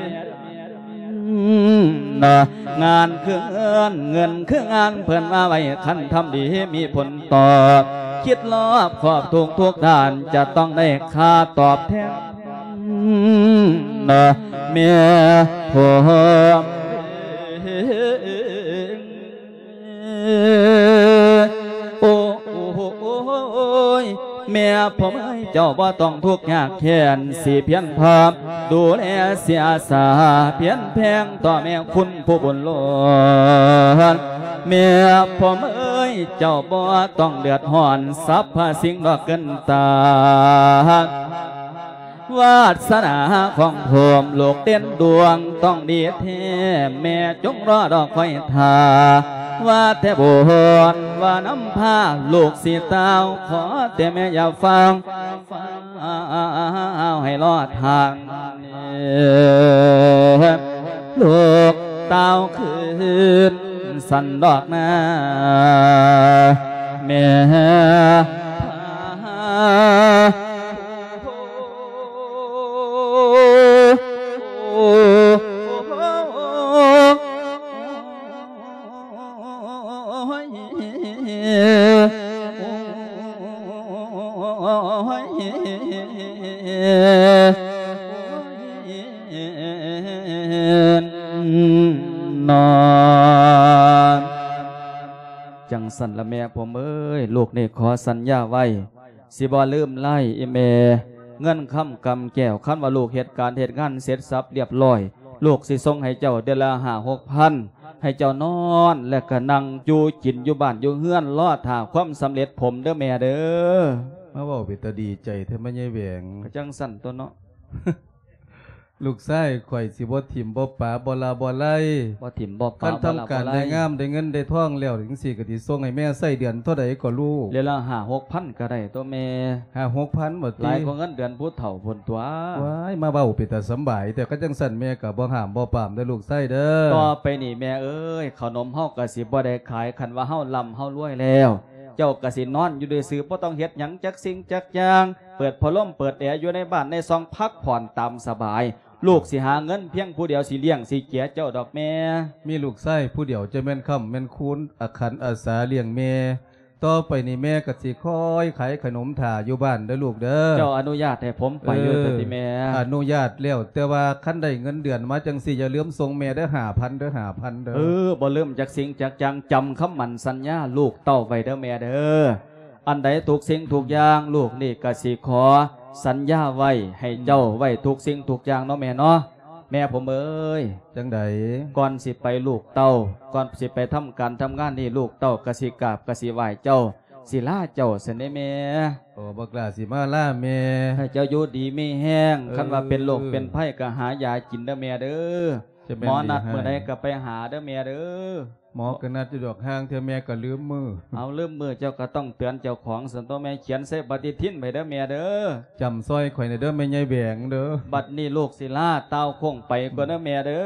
ນະ ງານຄືເງິນ ເງິນຄືງານ ເພິ່ນວ່າໄວ້ ຄັນທຳດີມີຜົນຕອບ ຄິດລອບຄອບທຸກໆດ້ານ ຈະຕ້ອງໄດ້ຄ່າຕອບແທນ ນະ ແມ່ຜົມ. ໂອ້ຍ ແມ່ຜົມເອີຍ ເຈົ້າບໍ່ຕ້ອງທຸກຍາກແຄ້ນ ຊິພຽນພາມດູແລ ຊິອາສາພຽນແພງຕໍ່ແມ່ຄຸນຜູ້ບຸນລ້ວນ ແມ່ຜົມເອີຍ ເຈົ້າບໍ່ຕ້ອງເດືອດຮ້ອນ ສັບພະສິ່ງດອກເກີນຕ້ານ ວາດສະໜາຂອງຜົມລູກເດັ່ນດວງຕ້ອງດີແທ້ ແມ່ຈົ່ງລໍດອກຄອຍຖ້າ ວ່າແຕ່ບຸນວ່ານຳພາ ລູກຊິຕ່າວ ຂໍແຕ່ແມ່ຢ່າຟ້າວ ຟ້າວໃຫ້ລໍຖ້າ ລູກຕ່າວຄືນ ສັນດອກນາ ແມ່ ນອນ. ຈັ່ງຊັ້ນລະແມ່ຜົມເອີຍ, ລູກນີ້ຂໍສັນຍາໄວ້ ຊິບໍ່ລືມລາຍອີ່ແມ່. ເງິນຄຳກຳແກ້ວ ຄັນວ່າລູກເຮັດການເຮັດງານເສັດສັບລຽບລ້ອຍ, ລູກຊິສົ່ງໃຫ້ເຈົ້າເດືອນລະຫ້າຫົກພັນ ໃຫ້ເຈົ້ານອນ ແລະກະນັ່ງຢູ່ກິນຢູ່ບ້ານຢູ່ເຮືອນ ລໍຖ້າຄວາມສຳເລັດຜົມເດີແມ່ເດີ. ມາເວົ້າເປັນຕາດີໃຈແທ້ແມ່ໃຫຍ່ແຫວງ. ກະຈັ່ງຊັ້ນຕົວະເນາະ. ລູກຊາຍຂ້ອຍຊິບໍ່ຖິ້ມບໍ່ປະ ບໍ່ລະບໍ່ໄລ. ບໍ່ຖິ້ມບໍ່ປະ ຄັນທຳການ ບໍ່ລະບໍ່ໄລ ໄດ້ງາມໄດ້ເງິນໄດ້ທອງແລ້ວຈັ່ງຊີ້ ກະຊິສົ່ງໃຫ້ແມ່ໃຊ້ເດືອນເທົ່າໃດກໍລູກ? ເດືອນລະຫ້າຫົກພັນກະໄດ້ຕົວະແມ່. ຫ້າຫົກພັນບໍ່ຕິ? ຫຼາຍກວ່າເງິນເດືອນຜູ້ເຖົ້າພຸ້ນຕົວະ. ວ້າຍ ມາເວົ້າເປັນຕາສຳບາຍແທ້. ຄັນຈັ່ງຊັ້ນແມ່ກະບໍ່ຫ້າມບໍ່ປາມເດີລູກຊາຍເດີ. ຕໍ່ໄປນີ້ແມ່ເອີຍ ເຂົ້າໜົມເຮົາກະຊິບໍ່ໄດ້ຂາຍ, ຄັນວ່າເຮົາລ່ຳເຮົາລວຍແລ້ວ ເຈົ້າກະຊິນອນຢູ່ຊື່ໆ ບໍ່ຕ້ອງເຮັດຫຍັງຈັກສິ່ງຈັກຢ່າງ, ເປີດພັດລົມເປີດແອຢູ່ໃນບ້ານໃນຊ່ອງ ພັກຜ່ອນຕາມສະບາຍ. ລູກຊິຫາເງິນພຽງຜູ້ດຽວ ຊິລ້ຽງຊິເຈຍເຈົ້າດອກແມ່. ມີລູກຊາຍຜູ້ດຽວ ຈະແມ່ນຄ້ຳແມ່ນຄູນ ອາຄັນອາສາລ້ຽງແມ່. ຕໍ່ໄປນີ້ແມ່ກະຊິຄອຍຂາຍຂະໜົມຖ້າຢູ່ບ້ານເດີລູກເດີ. ເຈົ້າອະນຸຍາດໃຫ້ຜົມໄປຢູ່ ເອີ ເດີຕິແມ່? ອະນຸຍາດແລ້ວ, ແຕ່ວ່າຄັນໄດ້ເງິນເດືອນມາຈັ່ງຊີ້ ຢ່າລືມສົ່ງແມ່ເດີ ຫ້າພັນເດີ ຫ້າພັນເດີ. ເອີ ບໍ່ລືມຈັກສິ່ງຈັກຢ່າງ, ຈຳຄຳໝັ້ນສັນຍາລູກເຕົ້າໄວ້ເດີແມ່ເດີ. ອັນໃດທຸກສິ່ງທຸກຢ່າງ ລູກນີ້ກະຊິຂໍສັນຍາໄວ້ໃຫ້ເຈົ້າ ອືມ ໄວ້ທຸກສິ່ງທຸກຢ່າງເນາະແມ່ເນາະ. ແມ່ຜົມເອີຍ ຈັ່ງໃດ? ກ່ອນຊິໄປລູກເຕົ້າ ກ່ອນຊິໄປທຳການທຳງານນີ້ ລູກເຕົ້າກະຊິກາບກະຊິໄຫວ້ເຈົ້າ ຊິລາເຈົ້າຊັ້ນເດ້ແມ່. ໂອ້ ບັກຫຼ້າຊິມາລາແມ່. ໃຫ້ເຈົ້າຢູ່ດີມີແຮງ ເອີ ຄັນວ່າເປັນໂລກເປັນໄພກະຫາຢາກິນເດີແມ່ເດີ. ຈະແມ່ນ ໝໍນັດມື້ໃດກະໄປຫາເດີແມ່ເດີ. ໝໍກະນັດຢູ່ດອກ ຫ່າງເທື່ອແມ່ກະລືມມື້. ເອົາ ລືມມື້ເຈົ້າກະຕ້ອງເຕືອນເຈົ້າຂອງຊັ້ນຕົວະແມ່. ຂຽນໃສ່ປະຕິທິນໄວ້ເດີແມ່ເດີ. ຈຳຊ່ອຍຂ້ອຍແດ່ເດີແມ່ໃຫຍ່ແຫວງເດີ. ບັດນີ້ລູກຊິລາຕ່າວໂຄ້ງໄປກ່ອນເດີແມ່ເດີ.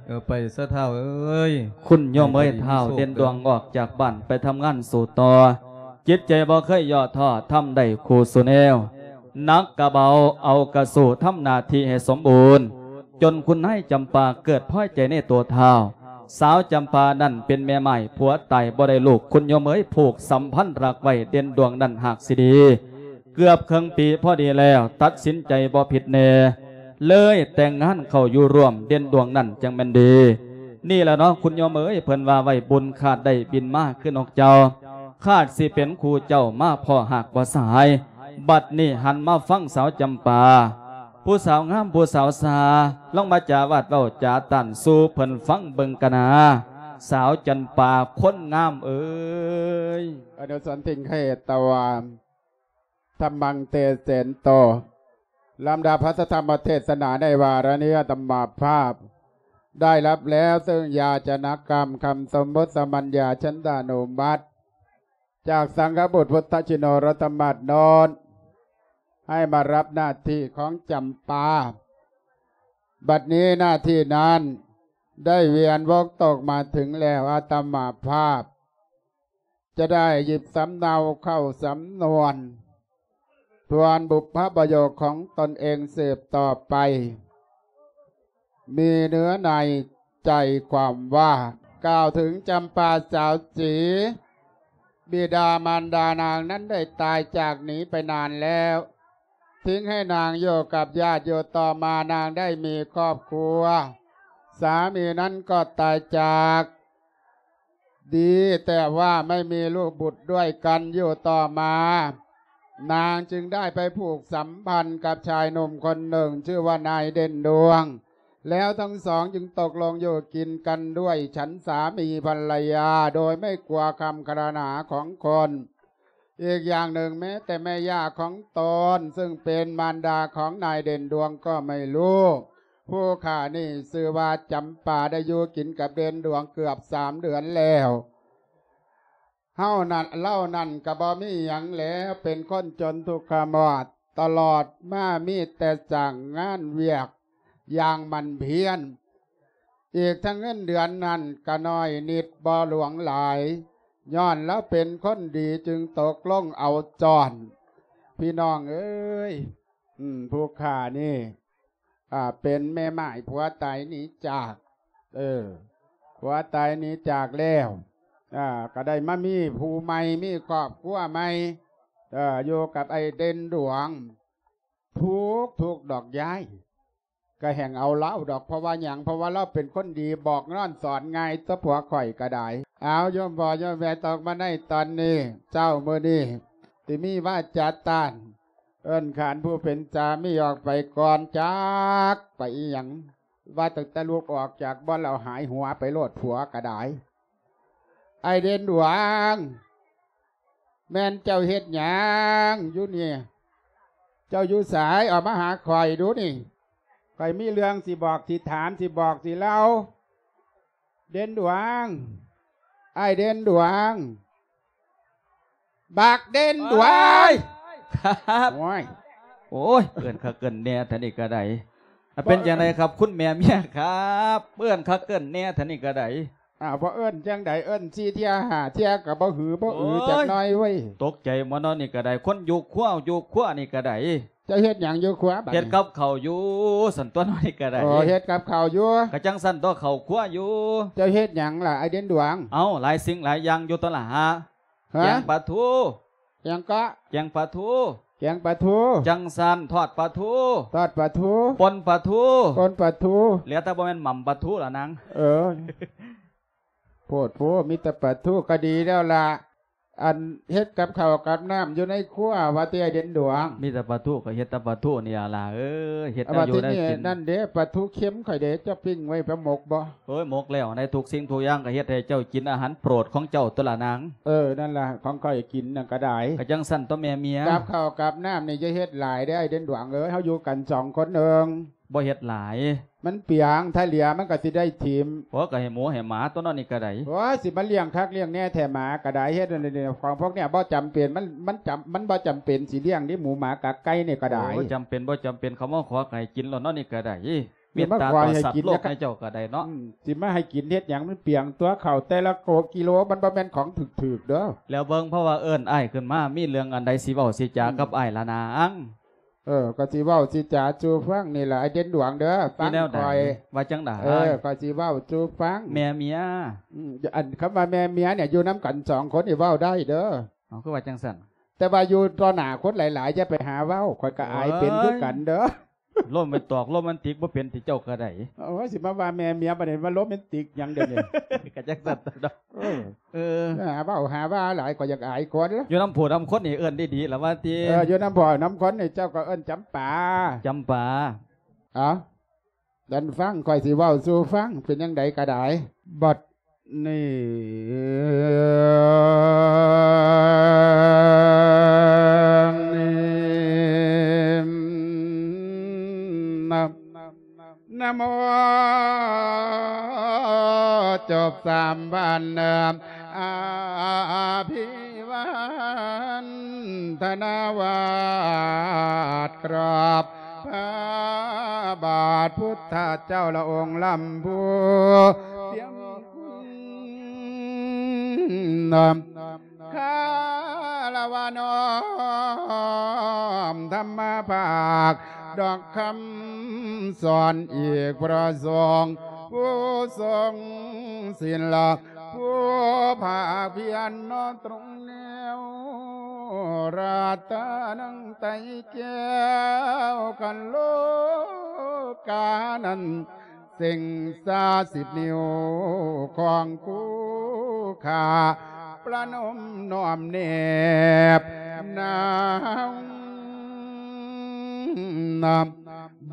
ເອີ ໄປຊະທ້າວເອີຍ. ຄຸນໂຍມເອີຍ ທ້າວເດັ່ນດວງອອກຈາກບ້ານໄປທຳງານສູ້ຕໍ່. ຈິດໃຈບໍ່ເຄີຍຍໍ້ທໍ້ ທຳໄດ້ຄູ່ສູ່ແນວ. ໜັກກະເບົາເອົາກະສູ້ ທຳໜ້າທີ່ໃຫ້ສົມບູນ. ຈົນຄຸນນາຍຈຳປາເກີດພໍໃຈໃນຕົວທ້າວ. ສາວຈຳປານັ້ນເປັນແມ່ໝ້າຍ ຜົວຕາຍບໍ່ໄດ້ລູກ ຄຸນໂຍມເອີຍ ຜູກສຳພັນຮັກໄວ້ ເດັ່ນດວງນັ້ນຫາກຊິດີ. ເກືອບເຄິ່ງປີພໍດີແລ້ວ ຕັດສິນໃຈບໍ່ຜິດແນ່ ເລີຍແຕ່ງງານເຂົ້າຢູ່ຮ່ວມ ເດັ່ນດວງນັ້ນຈັ່ງແມ່ນດີ. ນີ້ລະເນາະ ຄຸນໂຍມເອີຍ ເພິ່ນວ່າໄວ້ ບຸນຄາດໄດ້ບິນມາຄືນົກເຈົ້າ ຄາດຊິເປັນຄູ່ເຈົ້າ ມາພໍ້ຫາກບໍ່ສາຍ. ບັດນີ້ຫັນມາຟັງສາວຈຳປາ ຜູ້ສາວງາມຜູ້ສາວສາ ລອງມາຈາວາດເວົ້າຈາຕ້ານສູ່ເພິ່ນຟັງເບິ່ງກະນາ ສາວຈຳປາຄົນງາມເອີຍ. ອະນຸສັນຕິງ ເຂດຕະວາ ທຳມັງເຕເສນໂຕ. ລຳດັບພັດທະທຳມະເທດສະໜາໃນວາລະນີ້ ອາດຕະມາພາບໄດ້ຮັບແລ້ວ ເຊິ່ງຢາຈະນະກຳຄຳສົມມຸດສະມັນຍາ ສັນຕານຸມັດ ຈາກສັງຄະບຸດພຸດທະຊິໂນລົດທະມາດໂນນ ໃຫ້ມາຮັບໜ້າທີ່ຂອງຈຳປາ. ບັດນີ້ໜ້າທີ່ນັ້ນໄດ້ວຽນວົງຕົກມາເຖິງແລ້ວ ອາດຕະມາພາບ ຈະໄດ້ຫຍິບສຳເນົາເຂົ້າສຳນວນ ທວນບຸບພະປະໂຫຍດຂອງຕົນເອງສືບຕໍ່ໄປ ມີເນື້ອໃນໃຈຄວາມວ່າ ກ່າວເຖິງຈຳປາສາວສີ ບິດາມານດານາງນັ້ນໄດ້ຕາຍຈາກໜີໄປນານແລ້ວ ຖິ້ງໃຫ້ນາງຢູ່ກັບຍາດຢູ່. ຕໍ່ມານາງໄດ້ມີຄອບຄົວ ສາມີນັ້ນກໍຕາຍຈາກ ດີແຕ່ວ່າໄມ່ມີລູກບຸດດ້ວຍກັນ. ຢູ່ຕໍ່ມາ ນາງຈຶ່ງໄດ້ໄປຜູກສຳພັນກັບຊາຍໜຸ່ມຄົນໜຶ່ງ ຊື່ວ່ານາຍເດັ່ນດວງ ແລ້ວທັງສອງຈຶ່ງຕົກລົງຢູ່ກິນກັນດ້ວຍສັນສາມີພັນລະຍາ ໂດຍໄມ່ກົວຄຳຄາລະນາຂອງຄົນ. ອີກຢ່າງໜຶ່ງ ແມ້ແຕ່ແມ່ຍ່າຂອງຕົນ ຊຶ່ງເປັນມານດາຂອງນາຍເດັ່ນດວງກໍໄມ່ຮູ້. ຜູ້ຂ້ານີ້ຊື່ວ່າຈຳປາ ໄດ້ຢູ່ກິນກັບເດັ່ນດວງເກືອບສາມເດືອນແລ້ວ. ເຮົານັ້ນ ເຫຼົ່ານັ້ນກໍບໍ່ມີຫຍັງແລ້ວ ເປັນຄົນຈົນທຸກຂະມອດ ຕະຫຼອດມາມີແຕ່ສ້າງງານວຽກຢ່າງໝັ່ນພຽນ. ອີກທັງເງິນເດືອນນັ້ນກໍນ້ອຍນິດ ບໍ່ຫຼວງຫຼາຍ ຍ້ອນລາວເປັນຄົນດີ ຈຶ່ງຕົກລົງເອົາຈ້ອນ. ພີ່ນ້ອງເອີຍ ອືມ ຜູ້ຂ້ານີ້ ອ່າ ເປັນແມ່ໝ້າຍ ຜົວຕາຍໜີຈາກ ເອີ ຜົວຕາຍໜີຈາກແລ້ວ ອ່າ ກໍໄດ້ມາມີຜູ້ໃໝ່ ມີຄອບຄົວໃໝ່ ເອີ ຢູ່ກັບໄອ້ເດັ່ນດວງ. ທຸກ ທຸກດອກຍາຍ ກໍແຮ່ງເອົາລາວດອກ ເພາະວ່າຫຍັງ ເພາະວ່າລາວເປັນຄົນດີ ບອກນອນສອນງ່າຍ ຕົວະຜົວຂ້ອຍກໍໄດ້. ເອົາ ໂຍມພໍ່ໂຍມແມ່ ຕົກມາໃນຕອນນີ້ ເຊົ້າມື້ນີ້ ຊິມີວາຈາຕ້ານ ເອີ້ນຂານຜູ້ເປັນສາມີອອກໄປກ່ອນ ຈັກໄປອີ່ຫຍັງ ວ່າຕັ້ງແຕ່ລຸກອອກຈາກບ່ອນແລ້ວ ຫາຍຫົວໄປໂລດ ຜົວກໍໄດ້. ອ້າຍເດັ່ນດວງ ແມ່ນເຈົ້າເຮັດຫຍັງຢູ່ນີ້? ເຈົ້າຢູ່ໃສ? ອອກມາຫາຂ້ອຍດູນີ້ ຂ້ອຍມີເລື່ອງຊິບອກ ຊິຖາມ ຊິບອກ ຊິເລົ່າ. ເດັ່ນດວງ ອ້າຍເດັ່ນດວງ ບັກເດັ່ນດວງ. ໂອ້ຍ ໂອ້ຍ ໂອ້ຍ ເອີ້ນຄັກເອີ້ນແນ່ເທື່ອນີ້ກໍໄດ້. ອ່ະ ເປັນຈັ່ງໃດຄັບ ຄຸນແມ່ເມຍຄັບ? ເອີ້ນຄັກເອີ້ນແນ່ເທື່ອນີ້ກໍໄດ້. ອ້າວ ບໍ່ເອີ້ນຈັ່ງໃດ ເອີ້ນສີ່ເທື່ອຫ້າເທື່ອກໍບໍ່ຫື ບໍ່ອື ໂອ້ຍ ຈັກໜ້ອຍເວີຍ. ຕົກໃຈໝົດເນາະ ນີ້ກໍໄດ້ ຄົນຢູ່ຄົວ ຢູ່ຄົວນີ້ກໍໄດ້. ເຈົ້າເຮັດຫຍັງຢູ່ຄົວບັດນີ້? ເຮັດກັບເຂົ້າຢູ່ຊັ້ນຕົວະ ນີ້ກໍໄດ້. ໂອ້ ເຮັດກັບເຂົ້າຢູ່ ກໍຈັ່ງຊັ້ນຕົວະ ເຂົ້າຄົວຢູ່. ເຈົ້າເຮັດຫຍັງລະ ອ້າຍເດັ່ນດວງ? ເອົ້າ ຫຼາຍສິ່ງຫຼາຍຢ່າງຢູ່ຕົວະລະ. ຮະ? ແກງປາທູ. ຫຍັງເກາະ? ແກງປາທູ. ແກງປາທູ. ຈັ່ງຊັ້ນ ທອດປາທູ. ທອດປາທູ. ປົ່ນປາທູ. ປົ່ນປາທູ. ແລ້ວແຕ່ບໍ່ແມ່ນໝ່ຳປາທູລະນາງ. ເອີ ໂພດໂພ ມີແຕ່ປາທູກໍດີແລ້ວລະ. ອັນເຮັດກັບເຂົ້າກັບນ້ຳຢູ່ໃນຄົວວ່າຕິ ອ້າຍເດັ່ນດວງ? ມີແຕ່ປາທູກໍເຮັດແຕ່ປາທູນີ້ລະຫຼ້າເອີຍ ເຮັດແນວຢູ່ແນວກິນ. ນັ້ນເດ້ ປາທູເຄັມຂ້ອຍເດ້ ເຈົ້າປີ້ງໄວ້ ໄປໝົກບໍ່? ໂອ້ຍ ໝົກແລ້ວ ໃນທຸກສິ່ງທຸກຢ່າງກໍເຮັດໃຫ້ເຈົ້າກິນອາຫານໂປດຂອງເຈົ້າຕົວະລະນາງ. ເອີ ນັ້ນລະ ຂອງຂ້ອຍກິນນັ້ນກໍໄດ້. ກໍຈັ່ງຊັ້ນຕົວະແມ່ເມຍ. ກັບເຂົ້າກັບນ້ຳນີ້ຢ່າເຮັດຫຼາຍເດ້ ອ້າຍເດັ່ນດວງເອີຍ ເຮົາຢູ່ກັນສອງຄົນເອີງ. ບໍ່ເຮັດຫຼາຍ ມັນປຽງ ຖ້າເຫຼືອມັນກໍຊິໄດ້ຖິ້ມ. ໂອ້ ກໍໃຫ້ໝູໃຫ້ໝາຕົວະເນາະ ນີ້ກໍໄດ້. ໂອ້ຍ ຊິມາລ້ຽງຄັກລ້ຽງແນ່ແທ້ ໝາກໍໄດ້. ເຮັດອັນນີ້ ຂອງພວກເນີ້ຍບໍ່ຈຳເປັນ ມັນ ມັນຈຳ ມັນບໍ່ຈຳເປັນຊິລ້ຽງເດ້ ໝູໝາກາໄກ່ນີ້ກໍໄດ້. ໂອ້ຍ ບໍ່ຈຳເປັນ ບໍ່ຈຳເປັນ ເຂົາມາຂໍກໍໃຫ້ກິນໂລດເນາະ ນີ້ກໍໄດ້. ເມດຕາຕໍ່ສັດໂລກໃຫ້ເຈົ້າກໍໄດ້ເນາະ. ອືມ ຊິມາໃຫ້ກິນເຮັດຫຍັງ ມັນປຽງຕົວະ ເຂົ້າແຕ່ລະໂກກິໂລ ມັນບໍ່ແມ່ນຂອງຖືກໆເດີ້. ແລ້ວເບິ່ງ ເພາະວ່າເອີ້ນອ້າຍຂຶ້ນມາ ມີເລື່ອງອັນໃດຊິເວົ້າຊິຈາກັບອ້າຍລະນາງ? ເອີ ກໍຊິເວົ້າຊິຈາສູ່ຟັງນີ້ລະ ອ້າຍເດັ່ນດວງເດີ ຟັງຂ້ອຍ. ວ່າຈັ່ງໃດ? ເອີ ກໍຊິເວົ້າສູ່ຟັງ ແມ່ເມຍ. ອືມ ອັນຄຳວ່າແມ່ເມຍນີ້ ຢູ່ນຳກັນສອງຄົນນີ້ເວົ້າໄດ້ເດີ. ເອົາ ຄືວ່າຈັ່ງຊັ້ນ? ແຕ່ວ່າຢູ່ຕໍ່ໜ້າຄົນຫຼາຍໆ ຢ່າໄປຫາເວົ້າ ຂ້ອຍກໍອາຍເປັນຄືກັນເດີ. ໂຣແມນຕອກ ໂຣແມນຕິກບໍ່ເປັນຕິເຈົ້າກໍໄດ້. ໂອ້ຍ ຊິມາວ່າແມ່ເມຍ ບັດນີ້ມາໂຣແມນຕິກຫຍັງເດນີ້? ກໍຈັກຊັ້ນຕົວະເນາະ. ເອີ ເອີ ຫາເວົ້າຫາວ່າຫຼາຍ ຂ້ອຍຢາກອາຍຄົນ. ຢູ່ນຳຜູ້ນຳຄົນນີ້ເອີ້ນດີໆລະວ່າຕິ. ເອີ ຢູ່ນຳພໍ່ນຳຄົນນີ້ ເຈົ້າກໍເອີ້ນຈຳປາ ຈຳປາ. ເອົາ ດັນຟັງ ຂ້ອຍຊິເວົ້າສູ່ຟັງ ເປັນຈັ່ງໃດກໍໄດ້. ບັດນີ້ ນະໂມ ຈົບສາມບານ ອາ ອາ ອາພິວັນທະນາວາດ ກາບພະບາດພຸດທະເຈົ້າ ລະອົງລຳພູ ພຽງຄຸນ ຄາລະວະນ້ອມທຳມະພາກ ດອກຄຳສອນອີກ ພະສົງຜູ້ຊົງສິນລະ ຜູ້ພາກພຽນເນາະ ຕົງແນວລັດຕະນັງໄຕແກ້ວ ຄັນໂລການັ້ນ ເສັງຊາສິບນິ້ວຂອງຄູ່ຂ້າ ປະນົມນ້ອມແນບໜາວ.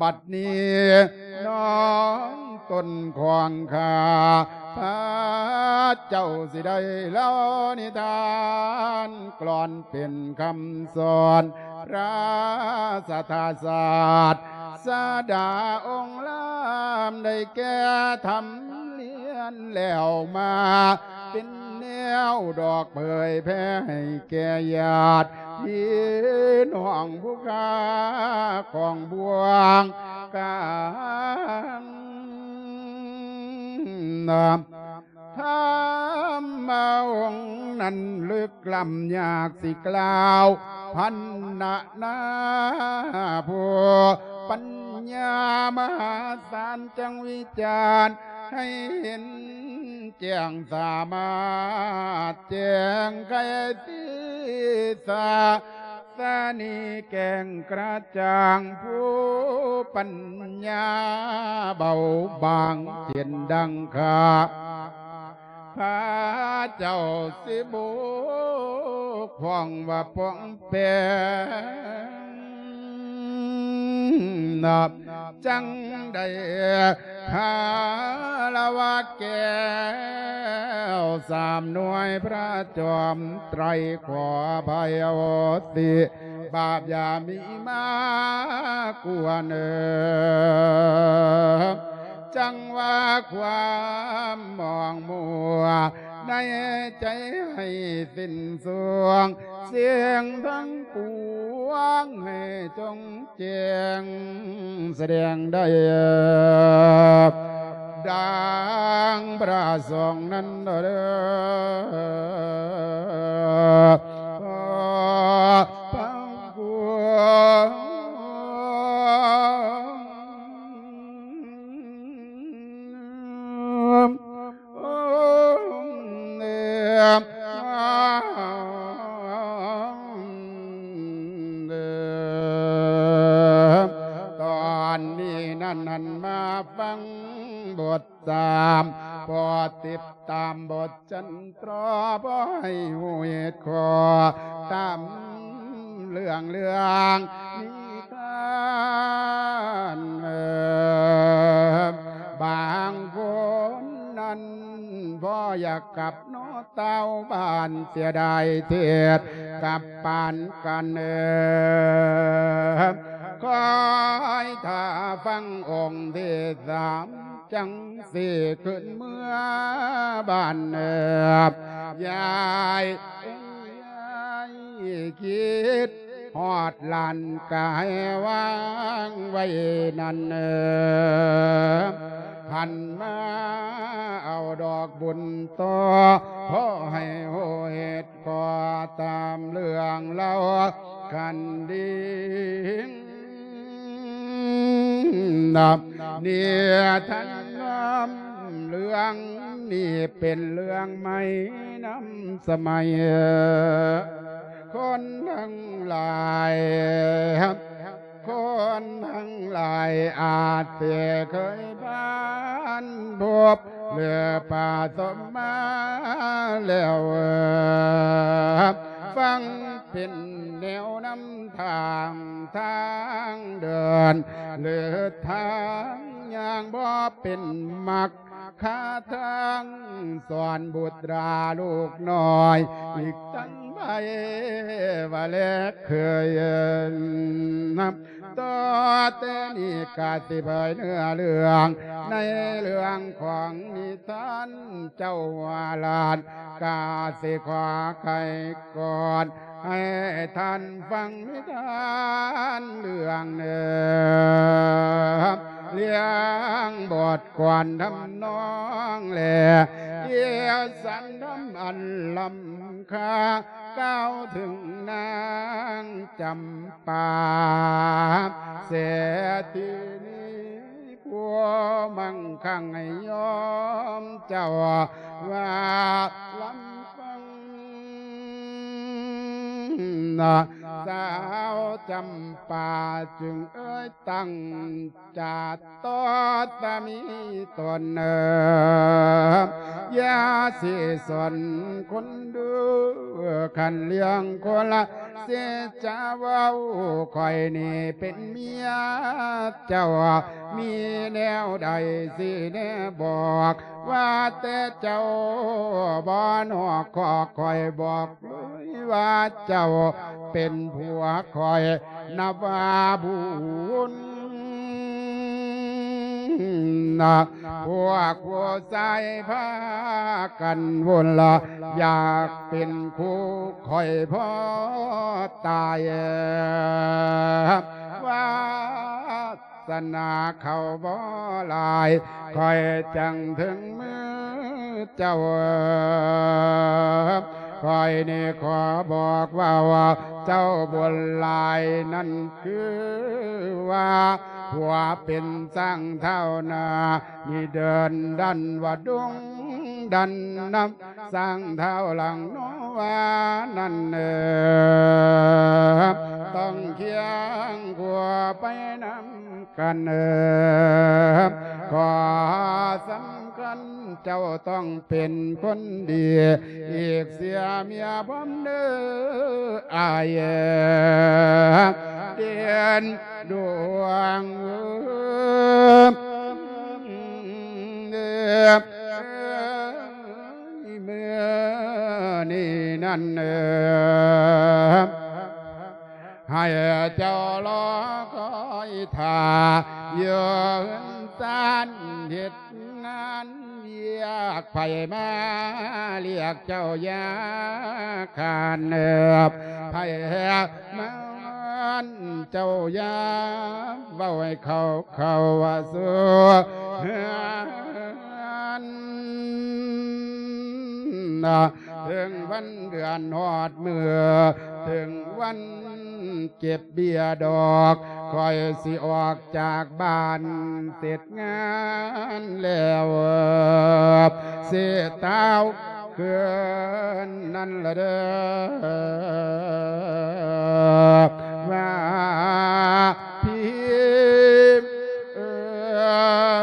ບັດນີ້ນ້ອງຕົນຂອງຂ້າ ພະເຈົ້າຊິໄດ້ເລົ່ານິທານ ກລອນເປັນຄຳສອນ ພະສາດສາດສະດາອົງລາມ ໄດ້ແກ່ທຳລຽນແລ້ວມາ ເປັນແນວດອກເຜີຍແຜ່ໃຫ້ແກ່ຍາດພີ່ນ້ອງຜູ້ຂ້າຂອງບວງກາງ. ທຳມະອົງນັ້ນລຶກລ້ຳ ຍາກຊິກ່າວພັນນະນາ ຜູ້ປັນຍາມະຫາສານ ຈັ່ງວິຈານໃຫ້ເຫັນແຈ້ງ ສາມາດແຈ້ງໄຂສີສາ ສະນີແຈ້ງກະຈ່າງ ຜູ້ປັນຍາເບົາບາງ ເຊັ່ນດັ່ງຂ້າພະເຈົ້າ ຊິບົກຜ່ອງວ່າປ່ອງແປງ ນັບຈັ່ງໄດ້ຄາລະວະແກ້ວ ສາມໜ່ວຍພະຈອມໄຕ ຂໍອະໄພໂອສິ ບາບຢ່າມີມາກວນເອີ ຈັ່ງວ່າຄວາມໝອງມົວ ໃນໃຈໃຫ້ສິ້ນສວງ ສິ່ງທັງປວງໃຫ້ຈົງແຈ້ງ ສະແດງໄດ້ດັ່ງປະສົງນັ້ນເດີ ພະຄຸນ ຕອນນີ້ນັ້ນ ຫັ້ນມາຟັງບົດສາມ ໂປດຕິດຕາມບົດ ຈັນຕຣາ ບໍ່ໃຫ້ຮູ້ເຫດຂໍ້ ຕາມເລື່ອງ ເລື່ອງນິທານ ບາງຄົນນັ້ນບໍ່ຢາກກັບເນາະ ເຕົ້າບ້ານ ເສຍດາຍເທດກັບປານກັນ ເອີ ຄອຍຖ້າຟັງອົງທີສາມ ຈັ່ງຊິຂຶ້ນເມືອບ້ານ ເອີ ຍາຍເອີຍ ຍາຍຄິດຮອດຫຼານກາຍວາງໄວ້ນັ້ນ ເອີ ຫັນມາເອົາດອກບຸນຕໍ່ ຂໍໃຫ້ຮູ້ເຫດ ກໍຕາມເລື່ອງເລົ່າຄັນດີ ນິທານນຳເລື່ອງນີ້ເປັນເລື່ອງໃໝ່ນຳສະໄໝ ຄົນທັງຫຼາຍ ຄົນທັງຫຼາຍອາດຊິເຄີຍຜ່ານພົບ ຫຼືປະສົບມາແລ້ວ ຟັງເປັນແນວນຳທາງ ທາງເດີນ ຫຼືທາງຍ່າງ ບໍ່ເປັນມັກຄາທາງ ສອນບຸດລາລູກນ້ອຍ ອີກທັງໃຜວ່າແລກເຄີຍນຳ ຕໍ່ແຕ່ນີ້ກະຊິເຜີຍເນື້ອເລື່ອງ ໃນເລື່ອງຂອງນິທານເຈົ້າວ່າຫຼານ ກະຊິຂໍໄຂກ່ອນ ໃຫ້ທ່ານຟັງນິທານເລື່ອງເໜືອ ລຽງບົດກວນທຳນອງ ແລະ ເອສານທຳອັນລ້ຳຄ່າ ກ່າວເຖິງນາງຈຳປາ ເສດຖີນີ ຜູ້ມັ່ງຄັ່ງໃຫ້ຍອມເຈົ້າວ່າລຳຟັງ ສາວຈຳປາຈຶ່ງເອີຍຕັ້ງຈາຕໍ່ສາມີຕົນ ເອີ ຢ່າຊິສົນຄົນດູ ຄັນເລື່ອງຄົນລະ ເສຍຈາເວົ້າ ຂ້ອຍນີ້ເປັນເມຍເຈົ້າ ມີແນວໃດຊິແນບອກ ວ່າແຕ່ເຈົ້າບໍ່ນອກຄອກ ຂ້ອຍບອກເລີຍວ່າເຈົ້າເປັນຜົວຂ້ອຍ ນັບວ່າບຸນ ພວກຜູ້ຊາຍພາກັນວຸ່ນລະ ຢາກເປັນຄູ່ຂ້ອຍພໍຕາຍ ວາສະໜາເຂົາບໍ່ຫຼາຍ ຂ້ອຍຈັ່ງເຖິງມືເຈົ້າ ຂ້ອຍນີ້ຂໍບອກວ່າ ເຈົ້າບຸນຫຼາຍນັ້ນຄືວ່າ ຜົວເປັນຊ້າງທ້າວໜ້າ ນີ້ເດີນດັນວ່າດົງດັນນຳ ຊ້າງທ້າວຫຼັງນ້ອຍ ວ່ານັ້ນເອີ ຕ້ອງຄຽງຄູ່ໄປນຳກັນເອີ ຂໍສຳຄັນເຈົ້າຕ້ອງເປັນຄົນດີ ອີກເສຍເມຍຜົມເດີ ອ້າຍເອີ ເດັ່ນ ດວງເອີ ເອີ ເອີ ມື້ນີ້ນັ້ນເອີ ໃຫ້ເຈົ້າລໍຄອຍຖ້າ ຢູ່ເຮືອນຊານເຮັດງານວຽກ ໃຜມາລຽກເຈົ້າຢ່າຄ້ານເອີ ໃຜມາ ເຈົ້າຢ່າເວົ້າໃຫ້ເຂົາເຂົ້າສູ່ເຮືອນ ເຖິງວັນເດືອນຮອດມື້ ເຖິງວັນເກັບເບ້ຍດອກ ຂ້ອຍຊິອອກຈາກບ້ານເສັດງານແລ້ວ ຊິຕາວ ຄືນນັ້ນລະເດີ ວ່າພີ່ ເອີ ເອີ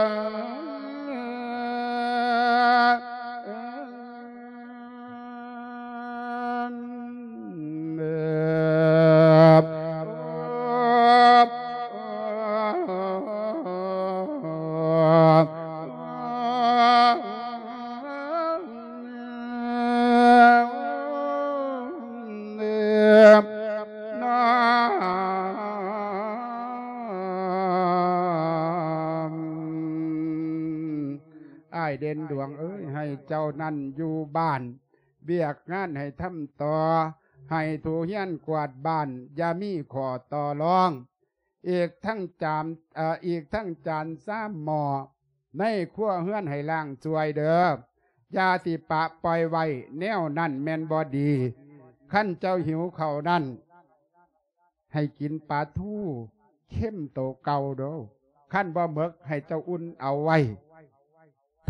ອ້າຍເດັ່ນດວງເອີຍ ໃຫ້ເຈົ້ານັ້ນຢູ່ບ້ານ ວຽກງານໃຫ້ທຳຕໍ່ ໃຫ້ຖູເຮືອນກວາດບ້ານ ຢ່າມີຂໍ້ຕໍ່ລອງ ອີກທັງຈານ ເອີ ອີກທັງຈານຊາມໝໍ້ ໃນຄົວເຮືອນໃຫ້ລ້າງຊ່ວຍເດີ ຢ່າຊິປະປ່ອຍໄວ້ ແນວນັ້ນແມ່ນບໍ່ດີ. ຄັນເຈົ້າຫິວເຂົ້ານັ້ນ ໃຫ້ກິນປາທູເຄັມໂຕເກົ່າເດີ ຄັນບໍ່ໝົດໃຫ້ເຈົ້າອຸ່ນເອົາໄວ້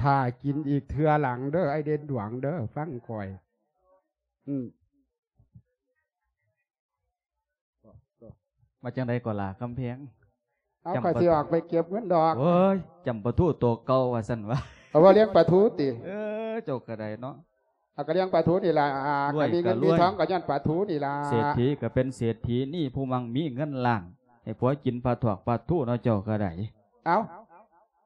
ຖ້າກິນອີກເທື່ອຫຼັງເດີ ອ້າຍເດັ່ນດວງເດີ ຟັງຂ້ອຍ ອືມ. ວ່າຈັ່ງໃດກໍລະຄຳແພງ? ເອົາ ຂ້ອຍຊິອອກໄປເກັບເງິນດອກ. ໂອ້ຍ ຈຳປາທູໂຕເກົ່າວ່າຊັ້ນວະ. ເອົາ ວ່າລ້ຽງປາທູຕິ? ເອີ ເຈົ້າກໍໄດ້ເນາະ. ເອົາ ກໍລ້ຽງປາທູນີ້ລະ ອ່າ ລວຍກໍມີເງິນມີທອງກໍຍ້ອນປາທູນີ້ລະ. ເສດຖີກໍເປັນເສດຖີ ນີ້ຜູ້ມັງມີເງິນລ້ານ ໃຫ້ຜົວກິນປາຖວກປາທູເນາະ ເຈົ້າກໍໄດ້. ເອົ້າ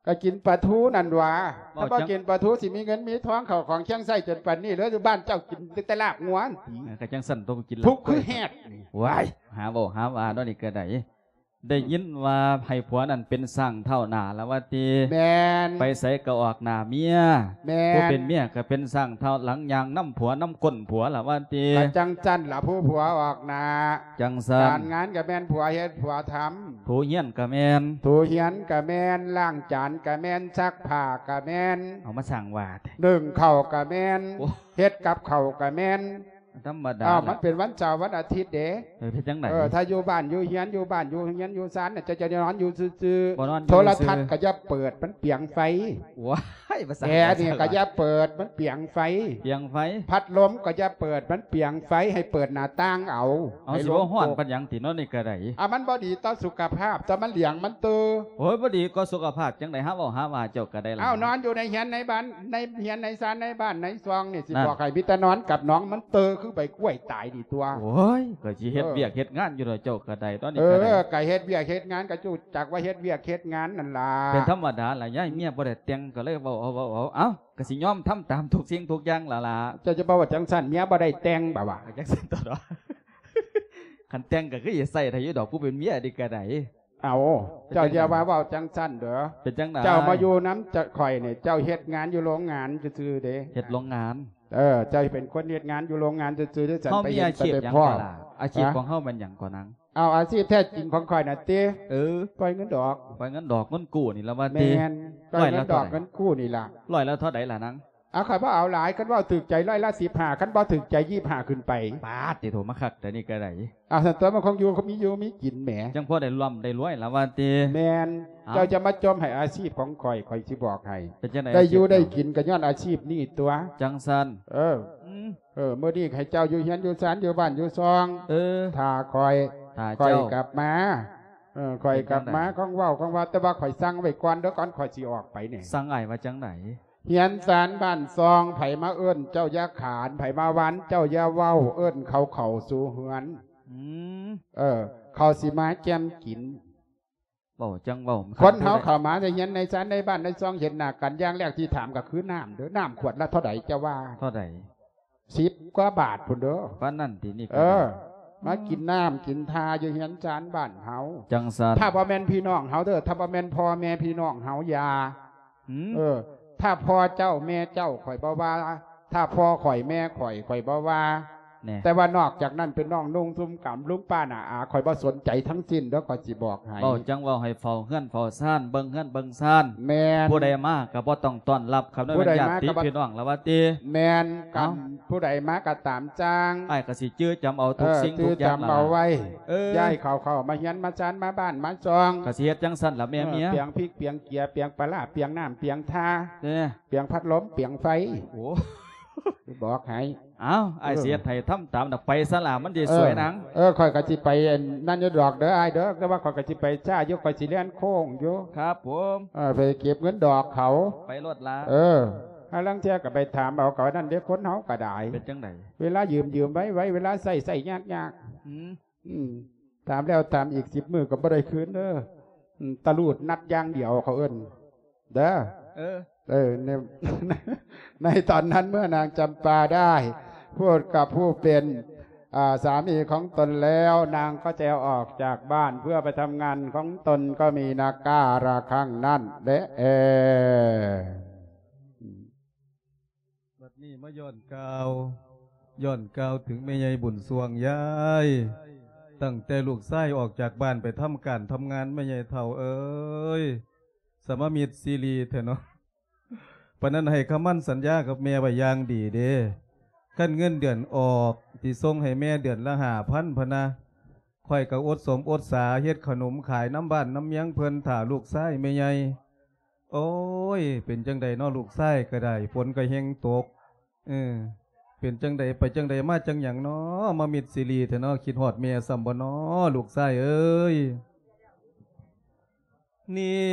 ກໍກິນປາທູນັ້ນຫວາ ຖ້າບໍ່ກິນປາທູຊິມີເງິນມີທອງເຂົ້າຂອງເຄຶ່ອງໃຊ້ຈົນປານນີ້ເລີຍ ຢູ່ບ້ານເຈົ້າກິນແຕ່ລາບງົວ ເອີ ກໍຈັ່ງຊັ້ນຕ້ອງກິນ ທຸກຄືແຮດນີ້. ວ້າຍ ຫາເວົ້າຫາວ່າເນາະ ນີ້ກໍໄດ້ ໄດ້ຍິນວ່າໃຫ້ຜົວນັ້ນເປັນຊ້າງທ້າວໜ້າລະວ່າຕິ. ແມ່ນ ໄປໃສກໍອອກໜ້າເມຍ. ແມ່ນ ຜູ້ເປັນເມຍກໍເປັນຊ້າງທ້າວຫຼັງ ຍ່າງນຳຜົວນຳກົ້ນຜົວລະວ່າຕິ. ກໍຈັ່ງຊັ້ນລະ ຜູ້ຜົວອອກໜ້າ ຈັ່ງຊັ້ນ ການງານກໍແມ່ນຜົວເຮັດຜົວທຳ ຖູເຮືອນກໍແມ່ນ ຖູເຮືອນກໍແມ່ນ ລ້າງຈານກໍແມ່ນ ຊັກຜ້າກໍແມ່ນ ເອົາມາສ້າງວ່າແທ້ ໜຶ້ງເຂົ້າກໍແມ່ນ ໂອ້ ເຮັດກັບເຂົ້າກໍແມ່ນ. ທຳມະດາ ອ້າວ ລະ ມັນເປັນວັນເສົາວັນອາທິດເດ້. ເອີ ເຮັດຈັ່ງໃດ? ເອີ ຖ້າຢູ່ບ້ານຢູ່ເຮືອນ ຢູ່ບ້ານຢູ່ເຮືອນຢູ່ຊານ ເຈົ້າຈະນອນຢູ່ຊື່ໆ ບໍ່ນອນຢູ່ຊື່ໆ ໂທລະທັດກໍຢ່າເປີດ ມັນປຽງໄຟ. ວ້າຍ ພາສາ ແອນີ້ກໍຢ່າເປີດ ມັນປຽງໄຟ ປຽງໄຟ. ພັດລົມກໍຢ່າເປີດ ມັນປຽງໄຟ ໃຫ້ເປີດໜ້າຕ່າງເອົາ. ເອົາ ໃຫ້ ຊິບໍ່ຮ້ອນປານຫຍັງຕິເນາະ ນີ້ກໍໄດ້. ອ່າ ມັນບໍ່ດີຕໍ່ສຸຂະພາບ ແຕ່ມັນຫຼຽງມັນຕື່. ໂອ້ຍ ບໍ່ດີຕໍ່ສຸຂະພາບຈັ່ງໃດ ຫາເວົ້າຫາວ່າເຈົ້າກໍໄດ້ລະ. ອ້າວ ນອນຢູ່ໃນເຮືອນໃນບ້ານ ໃນເຮືອນໃນຊານໃນບ້ານໃນຊ່ອງນີ້ ຊິບອກໃຫ້ມີແຕ່ນອນກັບໜອງມັນຕື່ ຄືໃບກ້ວຍຕາຍນີ້ຕົວະ. ໂອ້ຍ ກໍຊິເຮັດວຽກເຮັດງານຢູ່ດອກ ເຈົ້າກໍໄດ້ ຕອນນີ້ກໍໄດ້. ເອີ ກໍເຮັດວຽກເຮັດງານ ກໍຮູ້ຈັກວ່າເຮັດວຽກເຮັດງານນັ້ນລະ. ເປັນທຳມະດາລະ ຍາຍເມຍບໍ່ໄດ້ແຕ່ງ ກໍເລີຍເວົ້າເອົາ ເວົ້າເອົາ. ເອົ້າ ກໍຊິຍອມທຳຕາມທຸກສິ່ງທຸກຢ່າງລະລະ. ເຈົ້າຈະບໍ່ເວົ້າຈັ່ງຊັ້ນ ເມຍບໍ່ໄດ້ແຕ່ງບໍ່ວະ? ກໍຈັ່ງຊັ້ນຕົວະເນາະ. ຄັນແຕ່ງກໍຄືຊິໃຊ້ໄດ້ຢູ່ດອກ ຜູ້ເປັນເມຍນີ້ກໍໄດ້. ເອົ້າ ເຈົ້າຢ່າວ່າເວົ້າຈັ່ງຊັ້ນເດີ. ເປັນຈັ່ງໃດ? ເຈົ້າມາຢູ່ນຳຂ້ອຍນີ້ ເຈົ້າເຮັດງານຢູ່ໂລງງານຊື່ໆເດ້. ເຮັດໂລງງານ? ເອີ ເຈົ້າເປັນຄົນເຮັດງານຢູ່ໂລງງານຊື່ໆເດ້. ເຮົາມີອາຊີບຫຍັງກໍລະ? ອາຊີບຂອງເຮົາແມ່ນຫຍັງກໍນາງ? ເອົາ ອາຊີບແທ້ຈິງຂອງຂ້ອຍນະຕິ? ເອີ ປ່ອຍເງິນດອກ. ປ່ອຍເງິນດອກເງິນກູ້ນີ້ລະວ່າຕິ? ແມ່ນ ປ່ອຍເງິນດອກເງິນກູ້ນີ້ລະ. ຮ້ອຍລະເທົ່າໃດລະນາງ? ເອົາ ຂ້ອຍບໍ່ເອົາຫຼາຍ ຄັນເວົ້າຖືກໃຈຮ້ອຍລະສິບຫ້າ ຄັນບໍ່ຖືກໃຈ ຊາວຫ້າຂຶ້ນໄປ. ປາດຕິໂທ ມາຄັກແຕ່ນີ້ກໍໄດ້. ເອົາ ຊັ້ນຕົວະ ມັນຄົງຢູ່ ມີຢູ່ມີກິນແໝ. ຈັ່ງພໍໄດ້ລ່ຳໄດ້ລວຍລະວ່າຕິ? ແມ່ນ. ເຈົ້າຈະມາຈົ່ມໃຫ້ອາຊີບຂອງຂ້ອຍ ຂ້ອຍຊິບອກໃຫ້. ເປັນຈັ່ງໃດ? ໄດ້ຢູ່ໄດ້ກິນກໍຍ້ອນອາຊີບນີ້ຕົວະ. ຈັ່ງຊັ້ນ? ເອີ. ເອີ ມື້ນີ້ໃຫ້ເຈົ້າຢູ່ເຮືອນຢູ່ຊານ ຢູ່ບ້ານຢູ່ຊ່ອງ ເອີ ຖ້າຂ້ອຍ ຖ້າ ຂ້ອຍ ເຈົ້າ ກັບມາ ເອີ ຂ້ອຍກັບມາ ເປັນຈັ່ງໃດ? ຂອງເວົ້າຂອງວ່າ ແຕ່ວ່າຂ້ອຍສັ່ງໄວ້ກ່ອນເດີ້ ກ່ອນຂ້ອຍຊິອອກໄປນີ້ ສັ່ງອ້າຍວ່າຈັ່ງໃດ? ເຮືອນຊານບ້ານຊ່ອງ ໃຜມາເອີ້ນເຈົ້າຢ່າຂານ ໃຜມາຫວັນເຈົ້າຢ່າເວົ້າ ເອີ້ນເຂົາເຂົ້າສູ່ເຮືອນ ອືມ ເອີ ເຂົາຊິມາແຈ່ມກິນ. ເວົ້າຈັ່ງເວົ້າ ຄົນເຮົາເຂົ້າມາໃນເຮືອນໃນຊານໃນບ້ານໃນຊ່ອງ ເຫັນໜ້າກັນ ຢ່າງແລກທີ່ຖາມກໍຄືນ້ຳເດີ້ ນ້ຳຂວດລະເທົ່າໃດ ເຈົ້າວ່າເທົ່າໃດ? ສິບກວ່າບາດພຸ້ນເດີ້ ປານນັ້ນຕິນີ້ ເອີ ມາກິນນ້ຳກິນທ່າຢູ່ເຮືອນຊານບ້ານເຮົາ ຈັ່ງຊັ້ນ ຖ້າບໍ່ແມ່ນພີ່ນ້ອງເຮົາເດີ້ ຖ້າບໍ່ແມ່ນພໍ່ແມ່ພີ່ນ້ອງເຮົາ ຢ່າ ອືມ ເອີ ຖ້າພໍ່ເຈົ້າແມ່ເຈົ້າ ຂ້ອຍບໍ່ວ່າ ຖ້າພໍ່ຂ້ອຍແມ່ຂ້ອຍ ຂ້ອຍບໍ່ວ່າ ແນ່ ແຕ່ວ່ານອກຈາກນັ້ນ ເປັນນ້ອງນຸ່ງຊຸມກຳ ລຸງປ້ານ້າອາ ຂ້ອຍບໍ່ສົນໃຈທັງສິ້ນເດີ້ ຂ້ອຍຊິບອກໃຫ້ ເວົ້າຈັ່ງເວົ້າ ໃຫ້ເຝົ້າເຮືອນເຝົ້າຊານ ເບິ່ງເຮືອນເບິ່ງຊານ ແມ່ນ ຜູ້ໃດມາກໍບໍ່ຕ້ອງຕ້ອນຮັບ ຄັນແມ່ນຍາດຕິພີ່ນ້ອງລະວ່າຕິ ແມ່ນ ເອົ້າ ຜູ້ໃດມາກໍຕາມຈ້າງ ອ້າຍກໍຊິຈື່ຈຳເອົາທຸກສິ່ງ ເອີ ຈື່ຈຳເອົາໄວ້ ເອີ ຍ້າຍເຂົາເຂົ້າມາເຮືອນມາຊານ ມາບ້ານມາຊ່ອງ ກໍຊິເຮັດຈັ່ງຊັ້ນລະແມ່ເມຍ ເອີ ປຽງພິກປຽງເກືອ ປຽງປາຮ້າ ປຽງນ້ຳປຽງທ່າ ເອີ ປຽງພັດລົມ ປຽງໄຟ ໂອ້ ບອກໃຫ້ ເອົ້າ ອ້າຍ ເອີ ຊິເຮັດໃຫ້ທຳຕາມດອກ ໄປຊະລະ ມັນຊິສວຍນາງ ເອີ ຂ້ອຍກໍຊິໄປອັນນັ້ນຢູ່ດອກເດີ້ອ້າຍເດີ້ ແຕ່ວ່າຂ້ອຍກໍຊິໄປຊ້າຢູ່ ຂ້ອຍຊິແລ່ນໂຄ້ງຢູ່ ຄັບຜົມ ເອີ ໄປເກັບເງິນດອກເຂົາ ໄປໂລດລະ ເອີ ຫາລາງເທື່ອກໍໄປຖາມເອົາ ກໍນັ້ນເດ້ ຄົນເຮົາກໍໄດ້ ເປັນຈັ່ງໃດ? ເວລາຢືມ ຢືມໄວໆ ເວລາໃຊ້ ໃຊ້ຍາກໆ ອືມ ອືມ ຖາມແລ້ວຖາມອີກ ສິບມື້ກໍບໍ່ໄດ້ຄືນເດີ້ ອືມ ຕະລູດນັດຢ່າງດຽວ ເຂົາເອີ້ນເດີ້ ເອີ ເອີ ໃນ ໃນຕອນນັ້ນເມື່ອນາງຈຳປາໄດ້ພູດກັບຜູ້ເປັນ ອ່າ ສາມີຂອງຕົນແລ້ວ ນາງກໍຈະອອກຈາກບ້ານເພື່ອໄປທຳງານຂອງຕົນ ກໍມີນາກາລະຄັ້ງນັ້ນແຫຼະ ເອີ. ບັດນີ້ມາຍ້ອນກ່າວ ຍ້ອນກ່າວເຖິງແມ່ໃຫຍ່ບຸນຊ່ວງ ຍາຍ ຕັ້ງແຕ່ລູກຊາຍອອກຈາກບ້ານໄປທຳການທຳງານ ແມ່ໃຫຍ່ເຖົ້າເອີຍ ສະມາມິດຊີຣີແທ້ເນາະ ປານນັ້ນໃຫ້ຄຳໝັ້ນສັນຍາກັບແມ່ໄວ້ຢ່າງດີເດ້ ຄັນເງິນເດືອນອອກ ຊິສົ່ງໃຫ້ແມ່ເດືອນລະຫ້າພັນ ພະນະ ຂ້ອຍກໍອົດສົມອົດສາເຮັດຂະໜົມຂາຍນຳບ້ານນຳເມືອງເພິ່ນ ຖ້າລູກຊາຍແມ່ໃຫຍ່ ໂອ້ຍ ເປັນຈັ່ງໃດເນາະ ລູກຊາຍກໍໄດ້ ຝົນກໍແຮ່ງຕົກ ເອີ ເປັນຈັ່ງໃດ ໄປຈັ່ງໃດ ມາຈັ່ງຫຍັງເນາະ ມາມິດຊີຣີແທ້ເນາະ ຄິດຮອດແມ່ຊ້ຳບໍ່ເນາະ ລູກຊາຍເອີຍ. ນີ້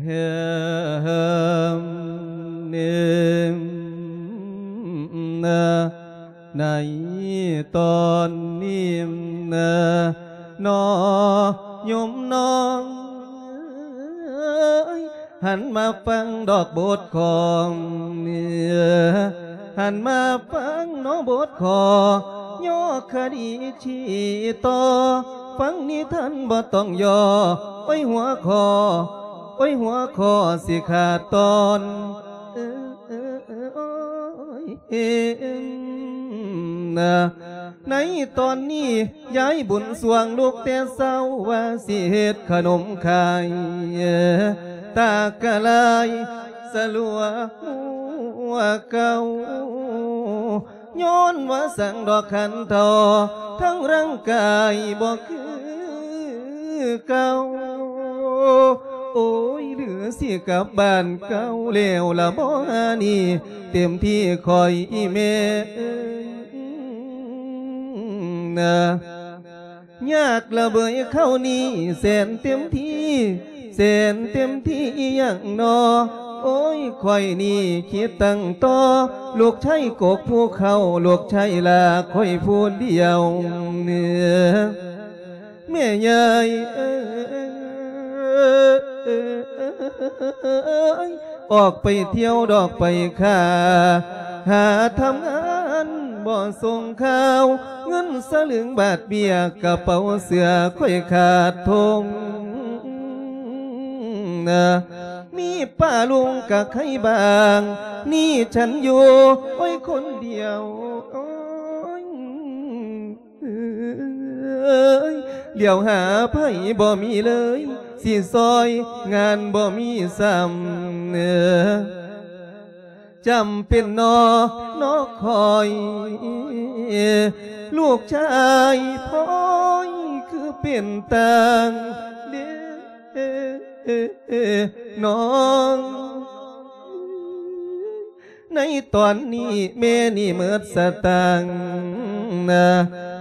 ເນາະ ໃນຕອນນີ້ນະ ນ້ອງໂຍມນ້ອງເອີຍ ຫັນມາຟັງດອກບົດຂອງ ຫັນມາຟັງເນາະບົດຂໍ ຍໍຄະດີຊີ້ຕໍ່ ຟັງນິທານບໍ່ຕ້ອງຍໍ ໂອ້ຍຫົວຂໍ້ ໂອ້ຍຫົວຂໍ້ຊິຂາດຕອນ ເອີ ເອີ ເອີ ໂອ້ຍ ເອີ ນະ ໃນຕອນນີ້ ຍາຍບຸນຊ່ວງລຸກແຕ່ເຊົ້າ ວ່າຊິເຮັດຂະໜົມຂາຍ ຕາກະລາຍສະຫຼົວຫົວເກົ່າ ຍ້ອນວ່າສັງດອກຂັນເຖົ້າ ທັງຮ່າງກາຍບໍ່ຄືເກົ່າ ໂອ້ຍ ຫຼືຊິກັບບ້ານເກົ່າແລ້ວລະບໍ່ ອັນນີ້ເຕັມທີ່ຂ້ອຍອີແມ່ເອີຍ ນະ ຍາກລະເບີຍເຂົ້ານີ້ ແສນເຕັມທີ່ ແສນເຕັມທີ່ອີ່ຫຍັງນໍ ໂອ້ຍ ຂ້ອຍນີ້ຄິດຕັ້ງຕໍ່ ລູກຊາຍກົກພູເຂົາ ລູກຊາຍລາຂ້ອຍຜູ້ດຽວ ແມ່ໃຫຍ່ເອີຍ ອອກໄປທ່ຽວດອກໄປຄ້າ ຫາທຳງານບໍ່ສົ່ງຂ່າວ ເງິນສະລຶງບາດເບ້ຍ ກະເປົາເສື້ອຂ້ອຍຂາດທົ່ງ ນະ ມີປ້າລຸງກະໄຄບາງ ນີ້ສັນຢູ່ ໂອ້ຍ ຄົນດຽວ ໂອ້ຍ ເອີຍ ຫຼຽວຫາໃຜບໍ່ມີເລີຍ ຊິຊ່ອຍງານບໍ່ມີຊ້ຳ ເອີ ຈຳເປັນນໍ ນໍຂ້ອຍ ລູກຊາຍຂ້ອຍຄືເປັນຕ່າງເດ ນ້ອງ ໃນຕອນນີ້ແມ່ນີ້ໝົດສະຕາງນະ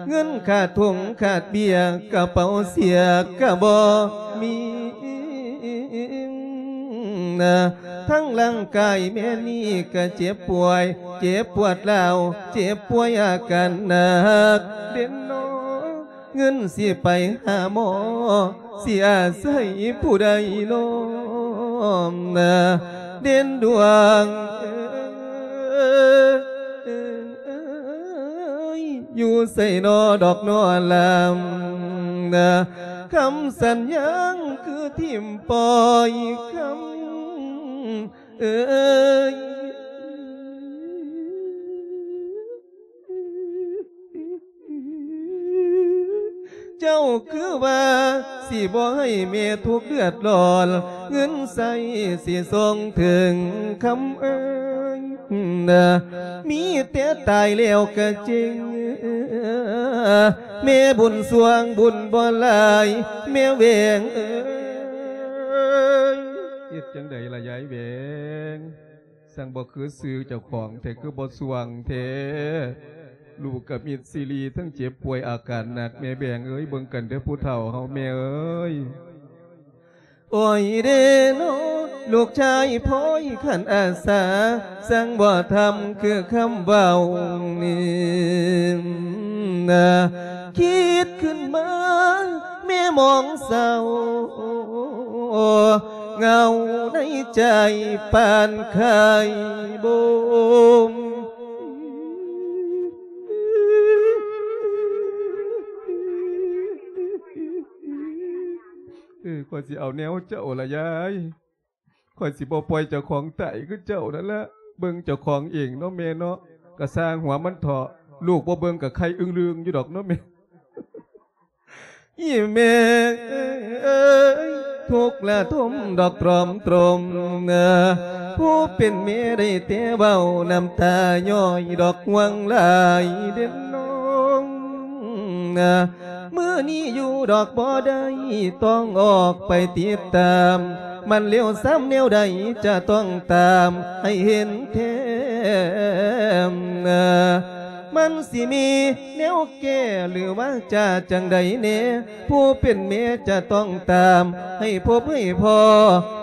ເງິນຂາດຖົງຂາດເບ້ຍ ກະເປົາເສຍກະບໍ່ມີນະ ທັງຮ່າງກາຍແມ່ນີ້ກະເຈັບປ່ວຍ ເຈັບປວດຮ້າວ ເຈັບປ່ວຍອາການໜັກເດັ່ນນອ ເງິນຊິໄປຫາໝໍ ຊິອາໄສຜູ້ໃດນ້ອມນະ ເດັ່ນດວງເອີຍ ຢູ່ໃສນໍດອກນໍລຳນະ ຄຳສັນຍາຄືຖິ້ມປ່ອຍ ຄຳເອີຍ. ເຈົ້າຄືວ່າຊິບໍ່ໃຫ້ແມ່ທຸກເດືອດຮ້ອນ ເງິນໃຊ້ຊິສົ່ງເຖິງຄຳເອີຍນະ ມີແຕ່ຕາຍແລ້ວກະເຈັງ ແມ່ບຸນສວງບຸນບໍ່ຫຼາຍ ແມ່ແຫວງເອີຍ. ເຮັດຈັ່ງໃດລະຍາຍແຫວງ? ຊ່າງບໍ່ຄືຊື່ເຈົ້າຂອງແທ້ ຄືບໍ່ຊ່ວງແທ້ ລູກກະມິດຊີຣີ ທັງເຈັບປ່ວຍອາການໜັກ ແມ່ແບງເອີຍ ເບິ່ງກັນເດີຜູ້ເຖົ້າເຮົາແມ່ເອີຍ. ໂອ້ຍເດເນາະ ລູກຊາຍພອຍຂັນອາສາ ຊ່າງບໍ່ທຳຄືຄຳເວົ້ານີ້ນະ ຄິດຂຶ້ນມາແມ່ມອງເສົ້າ ເຫງົາໃນໃຈປານໄຂ່ບົ່ມ. ເອີ ຂ້ອຍຊິເອົາແນວເຈົ້າລະຍາຍ ຂ້ອຍຊິບໍ່ປ່ອຍເຈົ້າຂອງຕາຍຄືເຈົ້ານັ້ນລະ ເບິ່ງເຈົ້າຂອງເອງເນາະແມ່ເນາະ ກະຊ່າງຫົວມັນເຖາະ ລູກບໍ່ເບິ່ງກະໄຄອຶ້ງລຶ້ງຢູ່ດອກເນາະແມ່. ອີ່ແມ່ເອີຍ ທຸກລະທົມດອກຕຣອມຕຣົມ ຜູ້ເປັນແມ່ໄດ້ແຕ່ເວົ້າ ນ້ຳຕາຍ້ອຍດອກຫ່ວງຫຼາຍເດນນ້ອງ ມື້ນີ້ຢູ່ດອກບໍ່ໄດ້ ຕ້ອງອອກໄປຕິດຕາມ ມັນເລວຊຳແນວໃດ ຈະຕ້ອງຕາມໃຫ້ເຫັນແທ້. ມັນຊິມີແນວແກ້ ຫຼືວ່າຈະຈັ່ງໃດແດ່ ຜູ້ເປັນແມ່ຈະຕ້ອງຕາມ ໃຫ້ພົບໃຫ້ພໍ້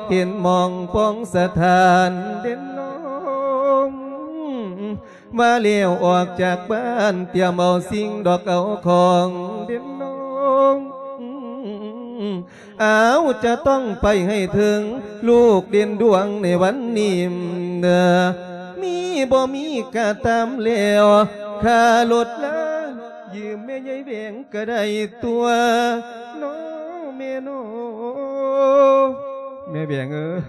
ເຫັນໝ່ອງປ່ອງສະຖານເດນນ້ອງ ວ່າແລ້ວອອກຈາກບ້ານ ຕຽມເອົາສິ່ງດອກເອົາຂອງເດນນ້ອງ ອ້າວ ຈະຕ້ອງໄປໃຫ້ເຖິງ ລູກເດັ່ນດວງໃນວັນນີ້ເນາະ ມີບໍ່ມີກະຕາມແລ້ວ ຄ່າລົດລາຢືມແມ່ໃຫຍ່ແຫວງກະໄດ້ຕົວະ ເນາະແມ່ເນາະ ແມ່ແຫວງເອີຍ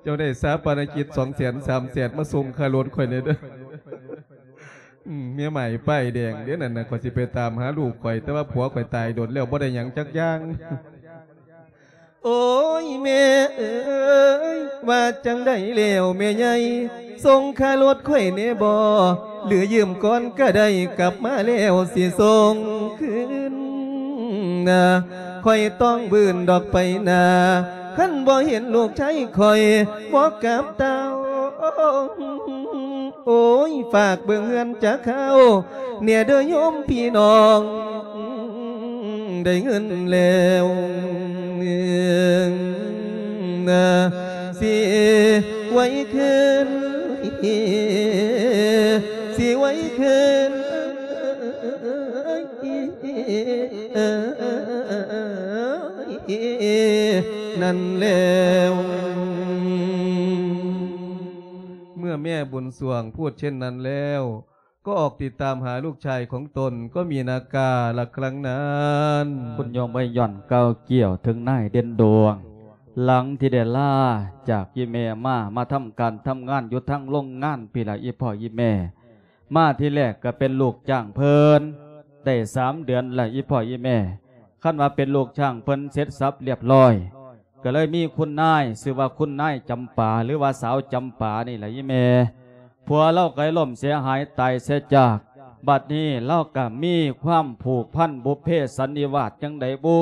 ເຈົ້າໄດ້ຊາປະນະກິດສອງແສນ ສາມແສນ ມາສົ່ງຄ່າລົດຂ້ອຍແດ່ເດີ. ອືມ ເມຍໃໝ່ປ້າຍແດງເດ້ນັ້ນນະ ຂ້ອຍຊິໄປຕາມຫາລູກຂ້ອຍ ແຕ່ວ່າຜົວຂ້ອຍຕາຍດົນແລ້ວ ບໍ່ໄດ້ຫຍັງຈັກຢ່າງ. ໂອ້ຍ ແມ່ເອີຍ ວ່າຈັ່ງໃດແລ້ວແມ່ໃຫຍ່ ສົ່ງຄ່າລົດຂ້ອຍແດ່ບໍ່ ຫຼືຢືມກ່ອນກະໄດ້ ກັບມາແລ້ວຊິສົ່ງຄືນນະ ຂ້ອຍຕ້ອງບືນດອກໄປນາ ຄັນບໍ່ເຫັນລູກຊາຍຂ້ອຍບໍ່ກັບເຕົ້າ ໂອ້ຍ ຝາກເບິ່ງເຮືອນຈັກຄາວແດ່ເດີໂຍມພີ່ນ້ອງ ໄດ້ເງິນແລ້ວ ຊິໄຫວຄືນ ຊິໄຫວຄືນ ນັ້ນແລ້ວ. ເມື່ອແມ່ບຸນສວງພູດເຊັ່ນນັ້ນແລ້ວ ກໍອອກຕິດຕາມຫາລູກຊາຍຂອງຕົນ ກໍມີນາກາລະຄັ້ງນັ້ນ. ຄຸນໂຍມເອີຍ ຍ້ອນກ່າວກ່ຽວເຖິງນາຍເດັ່ນດວງ ຫຼັງທີ່ໄດ້ລາຈາກອີ່ແມ່ມາ ມາທຳການທຳງານຢູ່ທາງໂລງງານພີ້ລະ ອີ່ພໍ່ອີ່ແມ່ ມາທີແລກກໍເປັນລູກຈ້າງເພິ່ນ ໄດ້ສາມເດືອນລະ ອີ່ພໍ່ອີ່ແມ່ ຄັນວ່າເປັນລູກຈ້າງເພິ່ນເສັດສັບລຽບຮ້ອຍ ກໍເລີຍມີຄຸນນາຍ ຊື່ວ່າຄຸນນາຍຈຳປາ ຫຼືວ່າສາວຈຳປານີ້ລະອີ່ແມ່ ຜົວລາວກໍໄດ້ລົ້ມເສຍຫາຍຕາຍເສຍຈາກ ບັດນີ້ລາວກໍມີຄວາມຜູກພັນບຸບເພສັນນິວາດຈັ່ງໃດບຸ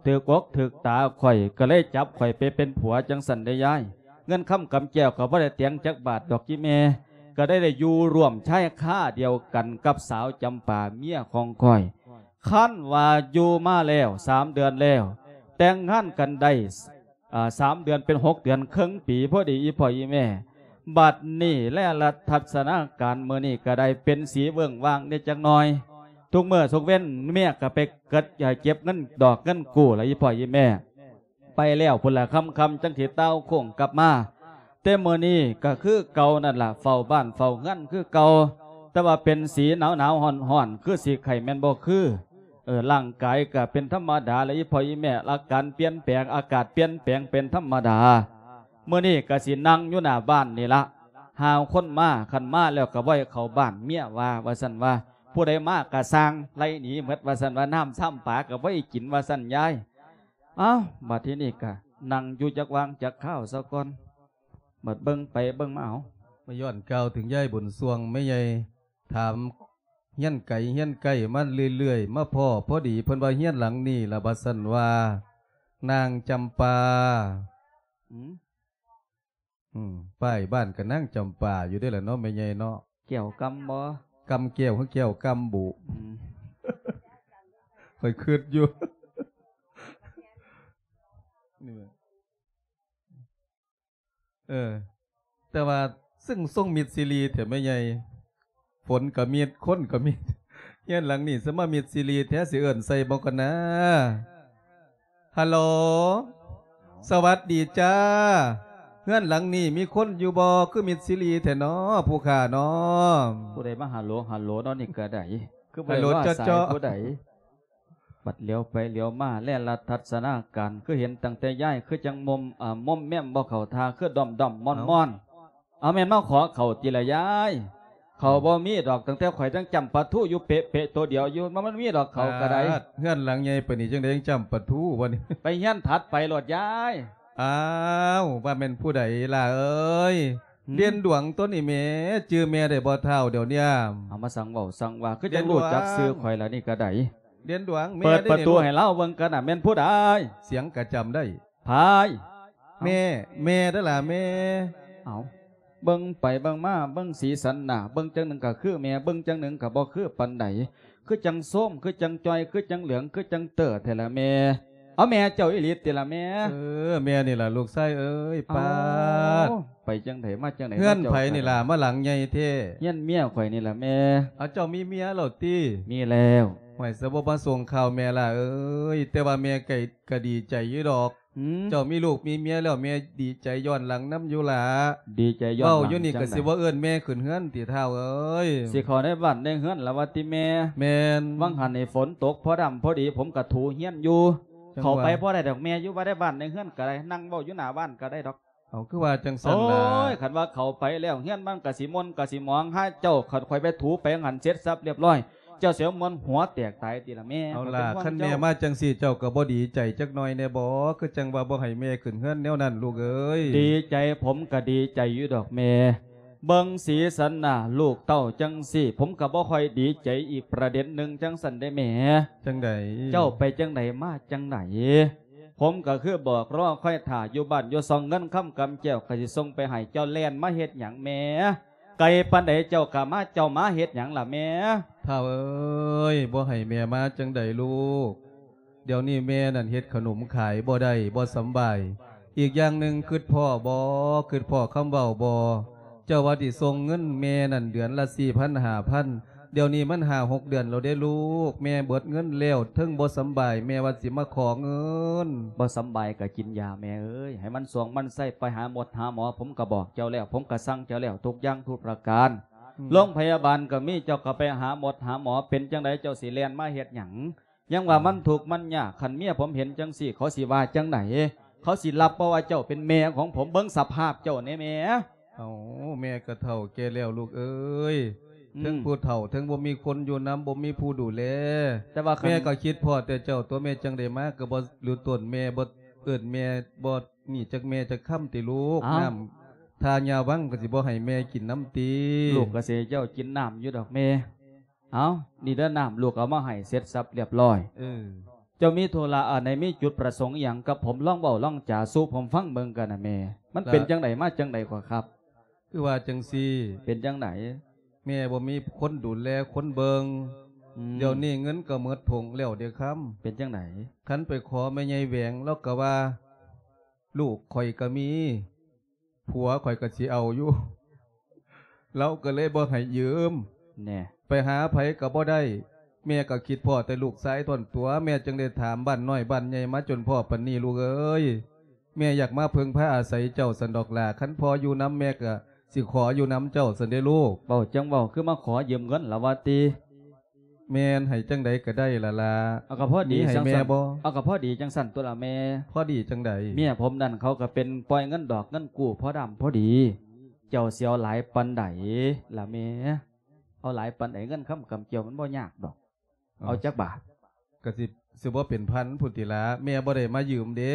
ຖືກອົກຖືກຕາຂ້ອຍ ກໍເລີຍຈັບຂ້ອຍໄປເປັນຜົວຈັ່ງຊັ້ນເດ້ຍາຍ. ເງິນຄຳກຳແກ້ວກໍບໍ່ໄດ້ແຕງຈັກບາດດອກ ອີ່ແມ່ ກໍໄດ້ ໄດ້ຢູ່ຮ່ວມຊາຍຄາດຽວກັນກັບສາວຈຳປາເມຍຂອງຂ້ອຍ. ຄັນວ່າຢູ່ມາແລ້ວສາມເດືອນແລ້ວ ແຕ່ງງານກັນໄດ້ ອ່າ ສາມເດືອນເປັນຫົກເດືອນ ເຄິ່ງປີພໍດີ ອີ່ພໍ່ອີ່ແມ່. ບັດນີ້ແລລັດທັດສະນາການມື້ນີ້ກໍໄດ້ເປັນສີເວີ້ງວ່າງແດ່ຈັກໜ່ອຍ. ທຸກມື້ທຸກເວັນເມຍກໍໄປເກັບ ເກັບເງິນດອກເງິນກູ້ລະ ອີ່ພໍ່ອີ່ແມ່. ໄປແລ້ວພຸ້ນລະ ຄ່ຳໆ ຈັ່ງຊິຕ່າວໂຄ້ງກັບມາ. ແຕ່ມື້ນີ້ກໍຄືເກົ່ານັ້ນລະ ເຝົ້າບ້ານເຝົ້າເຮືອນຄືເກົ່າ, ແຕ່ວ່າເປັນສີໜາວໆ ຮ້ອນໆ ຄືສີໄຂ້ແມ່ນບໍ່ຄື. ເອີ ຮ່າງກາຍກໍເປັນທຳມະດາລະ ອີ່ພໍ່ອີ່ແມ່, ອາການປ່ຽນແປງ ອາກາດປ່ຽນແປງເປັນທຳມະດາ. ມື້ນີ້ກໍຊິນັ່ງຢູ່ໜ້າບ້ານນີ້ລະ, ຫາຄົນມາ, ຄັນມາແລ້ວກໍບໍ່ໃຫ້ເຂົ້າບ້ານ, ເມຍວ່າ ວ່າຊັ້ນວ່າ. ຜູ້ໃດມາກໍຊ່າງ, ໄລ່ໜີໝົດ ວ່າຊັ້ນວ່າ, ນ້ຳຊ້ຳປາກໍບໍ່ໃຫ້ກິນ ວ່າຊັ້ນຍາຍ. ອ້າວ ບັດທີນີ້ກະນັ່ງຢູ່ຈັກຫວ່າງຈັກຄາວຊະກ່ອນ. ບັດເບິ່ງໄປເບິ່ງມາ ເອົາ ມາຍ້ອນກ່າວເຖິງຍາຍບຸນຊ່ວງ ແມ່ໃຫຍ່ຖາມຮຽນໄກຮຽນໃກ້ມາເລື້ອຍໆ ມາພໍ້ພໍດີ ເພິ່ນວ່າຮຽນຫຼັງນີ້ລະ ວ່າຊັ້ນວ່າ ນາງຈຳປາ. ອືມ ອືມ ປ້າຍບ້ານກໍນາງຈຳປາຢູ່ເດ້ລະເນາະ ແມ່ໃຫຍ່ເນາະ. ແກ້ວກຳບໍ່? ກຳແກ້ວຄືແກ້ວກຳບຸ? ອືມ ຂ້ອຍຄິດຢູ່ ນີ້ແຫຼະ ເອີ ແຕ່ວ່າເຊິ່ງຊົງມິດຊີຣີແທ້ແມ່ໃຫຍ່. ຝົນກະມິດ ຄົນກະມິດ ເຮືອນຫຼັງນີ້ສະມາມິດຊີຣີແທ້ ຊິເອີ້ນໃສ່ບໍ່ກັນນາ. ຮັລໂຫຼ ສະຫວັດດີຈ້າ ເຮືອນຫຼັງນີ້ມີຄົນຢູ່ບໍ່? ຄືມິດຊີຣີແທ້ນໍ ຜູ້ຂ້ານໍ. ຜູ້ໃດມາຮັລໂຫຼ ຮັລໂຫຼເນາະ ນີ້ກະໄດ້ ຄືບໍ່ໄດ້ວ່າສາຍຜູ້ໃດ. ບັດຫຼຽວໄປຫຼຽວມາ ແລລັດທັດສະນາການ ຄືເຫັນຕັ້ງແຕ່ຍາຍ ຄືຈັ່ງມົມ ເອີ ມົມແມມບໍ່ເຂົ້າທ່າ ຄືດອມໆ ມອນໆ. ເອົາ ແມ່ນມາຂໍເຂົ້າຕິລະຍາຍ? ເຂົ້າບໍ່ມີດອກ ຕັ້ງແຕ່ຂ້ອຍຍັງຈ້ຳປາທູຢູ່ເປະໆ ໂຕດຽວຢູ່ ມັນ ມັນມີດອກເຂົ້າກະໄດ້. ປາດ ເຮືອນຫຼັງໃຫຍ່ປານນີ້ ຈັ່ງໃດຍັງຈ້ຳປາທູວະນີ້? ໄປເຮືອນຖັດໄປໂລດຍາຍ. ອ້າວ ວ່າແມ່ນຜູ້ໃດຫຼ້າເອີຍ? ຫືມ? ເດັ່ນດວງຕົວນີ້ແໝ່ ຈື່ແມ່ໄດ້ບໍ່ທ້າວດຽວນີ້? ເອົາ ມາສັ່ງເວົ້າສັ່ງວ່າ ຄືຈັ່ງຮູ້ຈັກຊື່ຂ້ອຍລະນີ້ກະໄດ້. ເດັ່ນດວງ ເປີດປະຕູໃຫ້ລາວເບິ່ງກັນນະ ແມ່ນຜູ້ໃດ? ສຽງກະຈຳໄດ້. ພາຍ ແມ່ ແມ່ເດີລະແມ່. ເອົາ ເບິ່ງໄປເບິ່ງມາ ເບິ່ງສີສັນໜ້າ ເບິ່ງຈັ່ງໜຶ່ງກະຄືແມ່ ເບິ່ງຈັ່ງໜຶ່ງກະບໍ່ຄືປານໃດ ຄືຈັ່ງໂຊມ ຄືຈັ່ງຈ່ອຍ ຄືຈັ່ງເຫຼືອງ ຄືຈັ່ງເຕີແທ້ລະແມ່. ເອົາ ແມ່ເຈົ້າອີ່ຫຼີຕິລະແມ່? ເອີ ແມ່ນີ້ລະລູກຊາຍເອີຍ. ປາດ ເອົ້າ ໄປຈັ່ງໃດມາຈັ່ງໃດ ເຮືອນໃຜນີ້ລະ ມາຫຼັງໃຫຍ່ແທ້? ເຮືອນເມຍຂ້ອຍນີ້ລະແມ່. ເອົາ ເຈົ້າມີເມຍແລ້ວຕິ? ມີແລ້ວ. ຫ້ວຍ ສະບໍ່ມາສົ່ງຂ່າວແມ່ລະເອີຍ ແຕ່ວ່າແມ່ກະ ກະດີໃຈຢູ່ດອກ. ຫືມ? ເຈົ້າມີລູກມີເມຍແລ້ວ ແມ່ດີໃຈຍ້ອນຫຼັງນຳຢູ່ລະ. ດີໃຈຍ້ອນຫຼັງ. ເວົ້າຢູ່ນີ້ກະຊິບໍ່ເອີ້ນແມ່ຂຶ້ນເຮືອນຕິທ້າວເອີຍ? ຊິເຂົ້າໃນບ້ານໃນເຮືອນລະວ່າຕິແມ່? ແມ່ນ. ຫວ່າງຫັ້ນນີ້ຝົນຕົກພໍດຳພໍດີ ຜົມກະຖູເຮືອນຢູ່. ເຂົ້າໄປບໍ່ໄດ້ດອກແມ່ ຢູ່ວ່າໃນບ້ານໃນເຮືອນກະໄດ້ ນັ່ງເວົ້າຢູ່ໜ້າບ້ານກະໄດ້ດອກ. ເອົາ ຄືວ່າຈັ່ງຊັ້ນລະ? ໂອ້ຍ ຄັນວ່າເຂົ້າໄປແລ້ວ ເຮືອນມັນກະຊິມ່ວນກະຊິໝອງ ຫາເຈົ້າ ຄັນຂ້ອຍໄປຖູໄປຫັ້ນເສັດສັບລຽບຮ້ອຍ ເຈົ້າຊິເອົາມ່ວນຫົວແຕກຕາຍຕິລະແມ່. ເອົາລະ ຄັນແມ່ມາຈັ່ງຊີ້ ເຈົ້າກະບໍ່ດີໃຈຈັກໜ້ອຍແດ່ບໍ? ຄືຈັ່ງວ່າບໍ່ໃຫ້ແມ່ຂຶ້ນເຮືອນແນວນັ້ນລູກເອີຍ. ດີໃຈ ຜົມກະດີໃຈຢູ່ດອກແມ່. ເບິ່ງສີສັນໜ້າລູກເຕົ້າຈັ່ງຊີ້ ຜົມກະບໍ່ຄ່ອຍດີໃຈອີກປະເດັນໜຶ່ງຈັ່ງຊັ້ນເດ້ແມ່. ຈັ່ງໃດ? ເຈົ້າໄປຈັ່ງໃດມາຈັ່ງໃດ? ຜົມກະຄືບອກລໍຄອຍຖ້າຢູ່ບ້ານຢູ່ຊ່ອງ ເງິນຄຳກຳແກ້ວກະຊິສົ່ງໄປໃຫ້ ເຈົ້າແລ່ນມາເຮັດຫຍັງແມ່? ໄກປານໃດເຈົ້າກະມາ ເຈົ້າມາເຮັດຫຍັງລະແມ່? ທ້າວເອີຍ ບໍ່ໃຫ້ແມ່ມາຈັ່ງໃດລູກ? ດຽວນີ້ແມ່ນັ້ນເຮັດຂະໜົມຂາຍບໍ່ໄດ້ ບໍ່ສຳບາຍ. ອີກຢ່າງໜຶ່ງ ຄຶດພໍ້ບໍ່? ຄຶດພໍ້ຄຳເວົ້າບໍ່? ເຈົ້າວ່າຊິສົ່ງເງິນແມ່ນັ້ນເດືອນລະສີ່ພັນ ຫ້າພັນ ດຽວນີ້ມັນຫ້າຫົກເດືອນແລ້ວເດ້ລູກ ແມ່ເບິດເງິນແລ້ວ ເທິງບໍ່ສຳບາຍ ແມ່ວ່າຊິມາຂໍເງິນ. ບໍ່ສຳບາຍກະກິນຢາແມ່ເອີຍ ໃຫ້ມັນຊ່ວງມັນໄຊ ໄປຫາໝົດຫາໝໍ ຜົມກະບອກເຈົ້າແລ້ວ ຜົມກະສັ່ງເຈົ້າແລ້ວ ທຸກຢ່າງທຸກປະການ. ອືມ ໂລງພະຍາບານກະມີ ເຈົ້າກະໄປຫາໝົດຫາໝໍ ເປັນຈັ່ງໃດເຈົ້າຊິແລ່ນມາເຮັດຫຍັງ? ຍັງວ່າມັນທຸກມັນຍາກ ຄັນເມຍຜົມເຫັນຈັ່ງຊີ້ ເຂົາຊິວ່າຈັ່ງໃດ? ເຂົາຊິຮັບບໍ່ວ່າເຈົ້າເປັນແມ່ຂອງຜົມ? ເບິ່ງສະພາບເຈົ້າແດ່ແມ່. ເອົ້າ ແມ່ກະເຖົ້າແກ່ແລ້ວລູກເອີຍ. ອືມ ເທິງຜູ້ເຖົ້າ ເທິງບໍ່ມີຄົນຢູ່ນຳ ບໍ່ມີຜູ້ດູແລ. ແຕ່ວ່າຄັນ ແມ່ກະຄິດພໍ້ແຕ່ເຈົ້າຕົວະ ແມ່ຈັ່ງໄດ້ມາ ກະບໍ່ຮູ້ຕົນແມ່ ບໍ່ເອີ້ນແມ່ ບໍ່ນີ້ຈັກແມ່ຈັກຄຳຕິລູກ. ອ້າວ ນ້ຳທາຍາວັງກະຊິບໍ່ໃຫ້ແມ່ກິນນຳຕິ? ລູກກະຊິໃຫ້ເຈົ້າກິນນ້ຳຢູ່ດອກແມ່. ເອົາ ນີ້ເດີ ນ້ຳລູກເອົາມາໃຫ້ເສັດສັບລຽບຮ້ອຍ. ເອີ ເຈົ້າມີທຸລະອັນໃດ ມີຈຸດປະສົງອີ່ຫຍັງກັບຜົມ? ລອງເວົ້າລອງຈາສູ່ຜົມຟັງເບິ່ງກັນນະແມ່. ມັນເປັນຈັ່ງໃດມາຈັ່ງໃດກໍຄັບ? ຄືວ່າຈັ່ງຊີ້ ເປັນຈັ່ງໃດ? ແມ່ບໍ່ມີຄົນດູແລຄົນເບິ່ງ ອືມ ດຽວນີ້ເງິນກໍໝົດຖົງແລ້ວເດ້ຄຳ. ເປັນຈັ່ງໃດ? ຄັນໄປຂໍແມ່ໃຫຍ່ແຫວງ ລາວກໍວ່າ ລູກຂ້ອຍກໍມີ ຜົວຂ້ອຍກໍຊິເອົາຢູ່ ລາວກໍເລີຍບໍ່ໃຫ້ຢືມ ແນ່ ໄປຫາໃຜກໍບໍ່ໄດ້. ແມ່ກໍຄິດພໍ້ແຕ່ລູກຊາຍທ່ອນຕົວະ ແມ່ຈຶ່ງໄດ້ຖາມບ້ານນ້ອຍບ້ານໃຫຍ່ມາຈົນພໍ້ປານນີ້ ລູກເອີຍ. ແມ່ຢາກມາເພິ່ງພາອາໄສເຈົ້າຊັ້ນດອກຫຼ້າ. ຄັນພໍ່ຢູ່ນຳ ແມ່ກໍຊິຂໍຢູ່ນຳເຈົ້າຊັ້ນເດ້ລູກ. ເວົ້າຈັ່ງເວົ້າ ຄືມາຂໍຢືມເງິນລະວ່າຕິ? ແມ່ນ ໃຫ້ຈັ່ງໃດກໍໄດ້ລະລະ. ເອົາ ກໍພໍດີ ມີໃຫ້ ຈັ່ງ ແມ່ ຊັ້ນ ບໍ່? ເອົາ ກໍພໍດີຈັ່ງຊັ້ນຕົວະລະແມ່. ພໍດີຈັ່ງໃດ? ເມຍຜົມນັ້ນເຂົາກໍເປັນປ່ອຍເງິນດອກເງິນກູ້ພໍດຳພໍດີ. ເຈົ້າຊິເອົາຫຼາຍປານໃດລະແມ່? ເອົາຫຼາຍປານໃດ? ເງິນຄຳກຳກ່ຽວມັນບໍ່ຍາກດອກ. ເອົາ ເອົາຈັກບາດ? ກໍຊິ ຊິບໍ່ເປັນພັນພຸ້ນຕິລະ ແມ່ບໍ່ໄດ້ມາຢືມເດ້.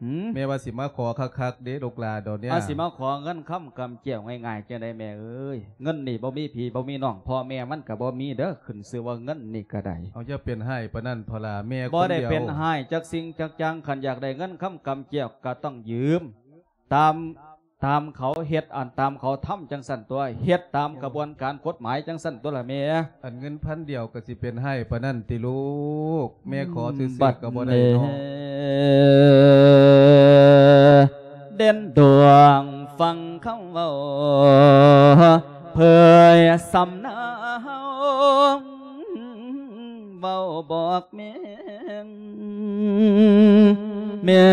ຫືມ? ແມ່ວ່າຊິມາຂໍຄັກໆເດ້ລູກຫຼ້າດອກເນຍ. ອາ ຊິມາຂໍເງິນຄຳກຳແກ້ວງ່າຍໆຈັ່ງໃດແມ່ເອີຍ? ເງິນນີ້ບໍ່ມີພີ່ບໍ່ມີນ້ອງ ພໍ່ແມ່ມັນກໍບໍ່ມີເດີ ຂຶ້ນຊື່ວ່າເງິນນີ້ກໍໄດ້. ເອົາ ຢ່າເປັນຮ້າຍປານນັ້ນເຖາະຫຼ້າ ແມ່ຄົນດຽວ. ບໍ່ໄດ້ເປັນຮ້າຍຈັກສິ່ງຈັກຢ່າງ ຄັນຢາກໄດ້ເງິນຄຳກຳແກ້ວກໍຕ້ອງຢືມ ຕາມ ຕາມເຂົາເຮັດ ອັນຕາມເຂົາທຳຈັ່ງຊັ້ນຕົວະ ເຮັດຕາມກະບວນການກົດໝາຍຈັ່ງຊັ້ນຕົວະລະແມ່. ອັນເງິນພັນດຽວກໍຊິເປັນຮ້າຍປານນັ້ນຕິລູກ? ແມ່ຂໍຊື່ໆກໍບໍ່ໄດ້ເນາະ. ບັດນີ້ ເດັ່ນດວງຟັງຄຳເວົ້າ ເຜີຍສຳນາວ ເວົ້າບອກແມ່ ແມ່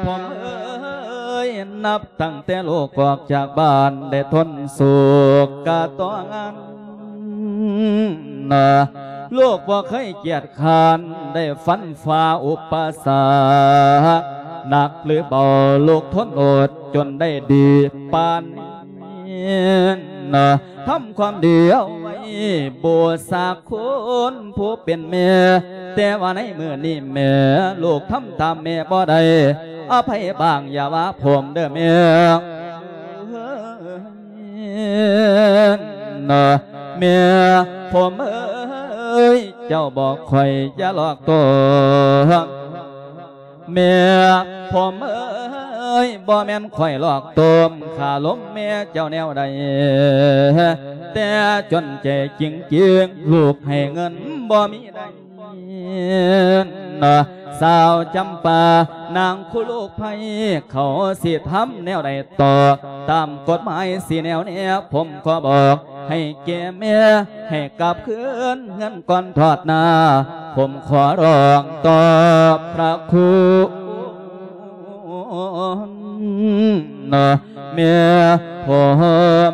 ຜົມເອີຍ ນັບຕັ້ງແຕ່ລູກອອກຈາກບ້ານ ໄດ້ທົນໂສກກະຕ້ອງອັນ ລູກບໍ່ເຄີຍກຽດຄ້ານ ໄດ້ຟັນຝ່າອຸປະສັກ ໜັກຫຼືເບົາ ລູກທົນອົດ ຈົນໄດ້ດີປານນີ້. ທຳຄວາມດີເອົາໄວ້ບູຊາຄຸນຜູ້ເປັນແມ່ ແຕ່ວ່າໃນມື້ນີ້ແມ່ ລູກທຳຕາມແມ່ບໍ່ໄດ້ ອະໄພບາງຢ່າວ່າຜົມເດີແມ່. ແມ່ຜົມເອີຍ ເຈົ້າບອກຂ້ອຍຢ່າຫຼອກຕົວ ແມ່ຜົມເອີຍ ບໍ່ແມ່ນຂ້ອຍຫຼອກຕົວ ຂ້າລົມແມ່ເຈົ້າແນວໃດ ແຕ່ຈົນໃຈຈິງໆ ລູກໃຫ້ເງິນບໍ່ມີໄດ້ ສາວຈຳປາ ນາງຄູ່ລູກໃຜ ເຂົາຊິທຳແນວໃດຕໍ່ ຕາມກົດໝາຍຊິແນວແນ ຜົມຂໍບອກ ໃຫ້ແກ່ແມ່ ໃຫ້ກັບຄືນເຮືອນກ່ອນທອດໜ້າ ຜົມຂໍຮ້ອງຕໍ່ພະຄຸນ ແມ່ຜົມ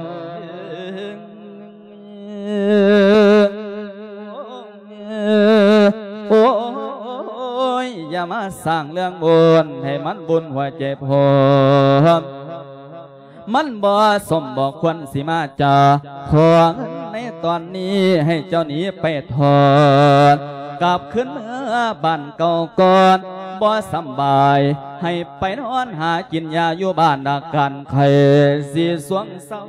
ໂອ້ຍ ຢ່າມາສ້າງເລື່ອງບຸນ ໃຫ້ມັນວຸ່ນຫົວໃຈຜົມ ມັນບໍ່ສົມບໍ່ຄວນຊິມາຈາ ຂໍເງິນໃນຕອນນີ້ໃຫ້ເຈົ້າໜີໄປຖອນ ກັບຄືນເມືອບ້ານເກົ່າກ່ອນ ບໍ່ສຳບາຍ ໃຫ້ໄປນອນຫາກິນຢາຢູ່ບ້ານ ອາການໄຂ້ຊິຊ່ວງເຊົ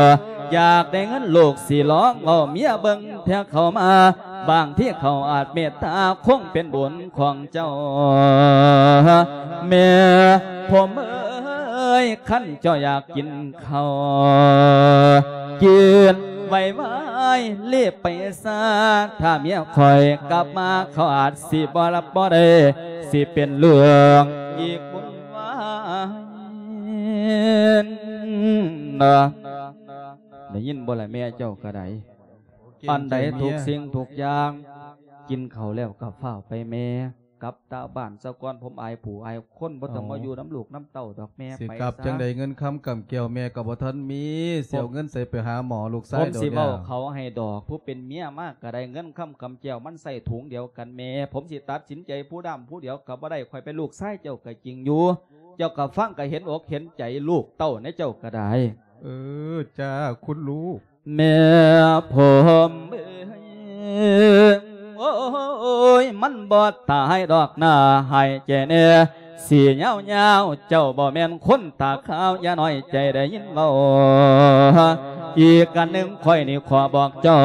າ. ຢາກໄດ້ເງິນລູກຊິລອງເວົ້າເມຍເບິ່ງ ເທື່ອເຂົາມາ ບາງທີເຂົາອາດເມດຕາ ຄົງເປັນບຸນຂອງເຈົ້າ ແມ່ຜົມເອີຍ ຄັນເຈົ້າຢາກກິນເຂົ້າ ກິນໄວໆ ລີບໄປຊາ ຖ້າເມຍຂ້ອຍກັບມາ ເຂົາອາດຊິບໍ່ຮັບບໍ່ໄດ້ ຊິເປັນເລື່ອງອີກວຸ່ນວາຍ. ໄດ້ຍິນບໍ່ລະແມ່ເຈົ້າກໍໄດ້? ອັນໃດທຸກສິ່ງທຸກຢ່າງ ກິນເຂົ້າແລ້ວກໍຟ້າວໄປແມ່ ກັບຕາບ້ານຊະກ່ອນ ຜົມອາຍຜູ້ອາຍຄົນ ບໍ່ຕ້ອງມາຢູ່ນຳລູກນຳເຕົ້າດອກແມ່ ຊິກັບໄປຊະ. ຈັ່ງໃດເງິນຄຳກຳແກ້ວແມ່ກໍບໍ່ທັນມີ ຊິເອົາເງິນໃສໄປຫາໝໍລູກຊາຍ ຜົມຊິເວົ້າເຂົາໃຫ້ດອກ ຜູ້ເປັນເມຍມາກໍໄດ້ ເງິນຄຳກຳແກ້ວມັນໃສ່ຖົງດຽວກັນແມ່ ຜົມຊິຕັດສິນໃຈຜູ້ດຳຜູ້ດຽວກໍບໍ່ໄດ້ ຂ້ອຍເປັນລູກຊາຍເຈົ້າກໍຈິງຢູ່ ເຈົ້າກໍຟັງກໍເຫັນອົກເຫັນໃຈລູກເຕົ້າໃນເຈົ້າກໍໄດ້. ເອີ ຈ້າ ຄຸນລູກ. ແມ່ຜົມເອີຍ ໂອ້ຍ ມັນບໍ່ຕາຍດອກໜ້າ ໃຫ້ແກ່ແດ່ ສີຍາວໆ ເຈົ້າບໍ່ແມ່ນຄົນຕາຂາວ ຢ່ານ້ອຍໃຈໄດ້ຍິນເວົ້າ. ອີກອັນໜຶ່ງຂ້ອຍນີ້ຂໍບອກເຈົ້າ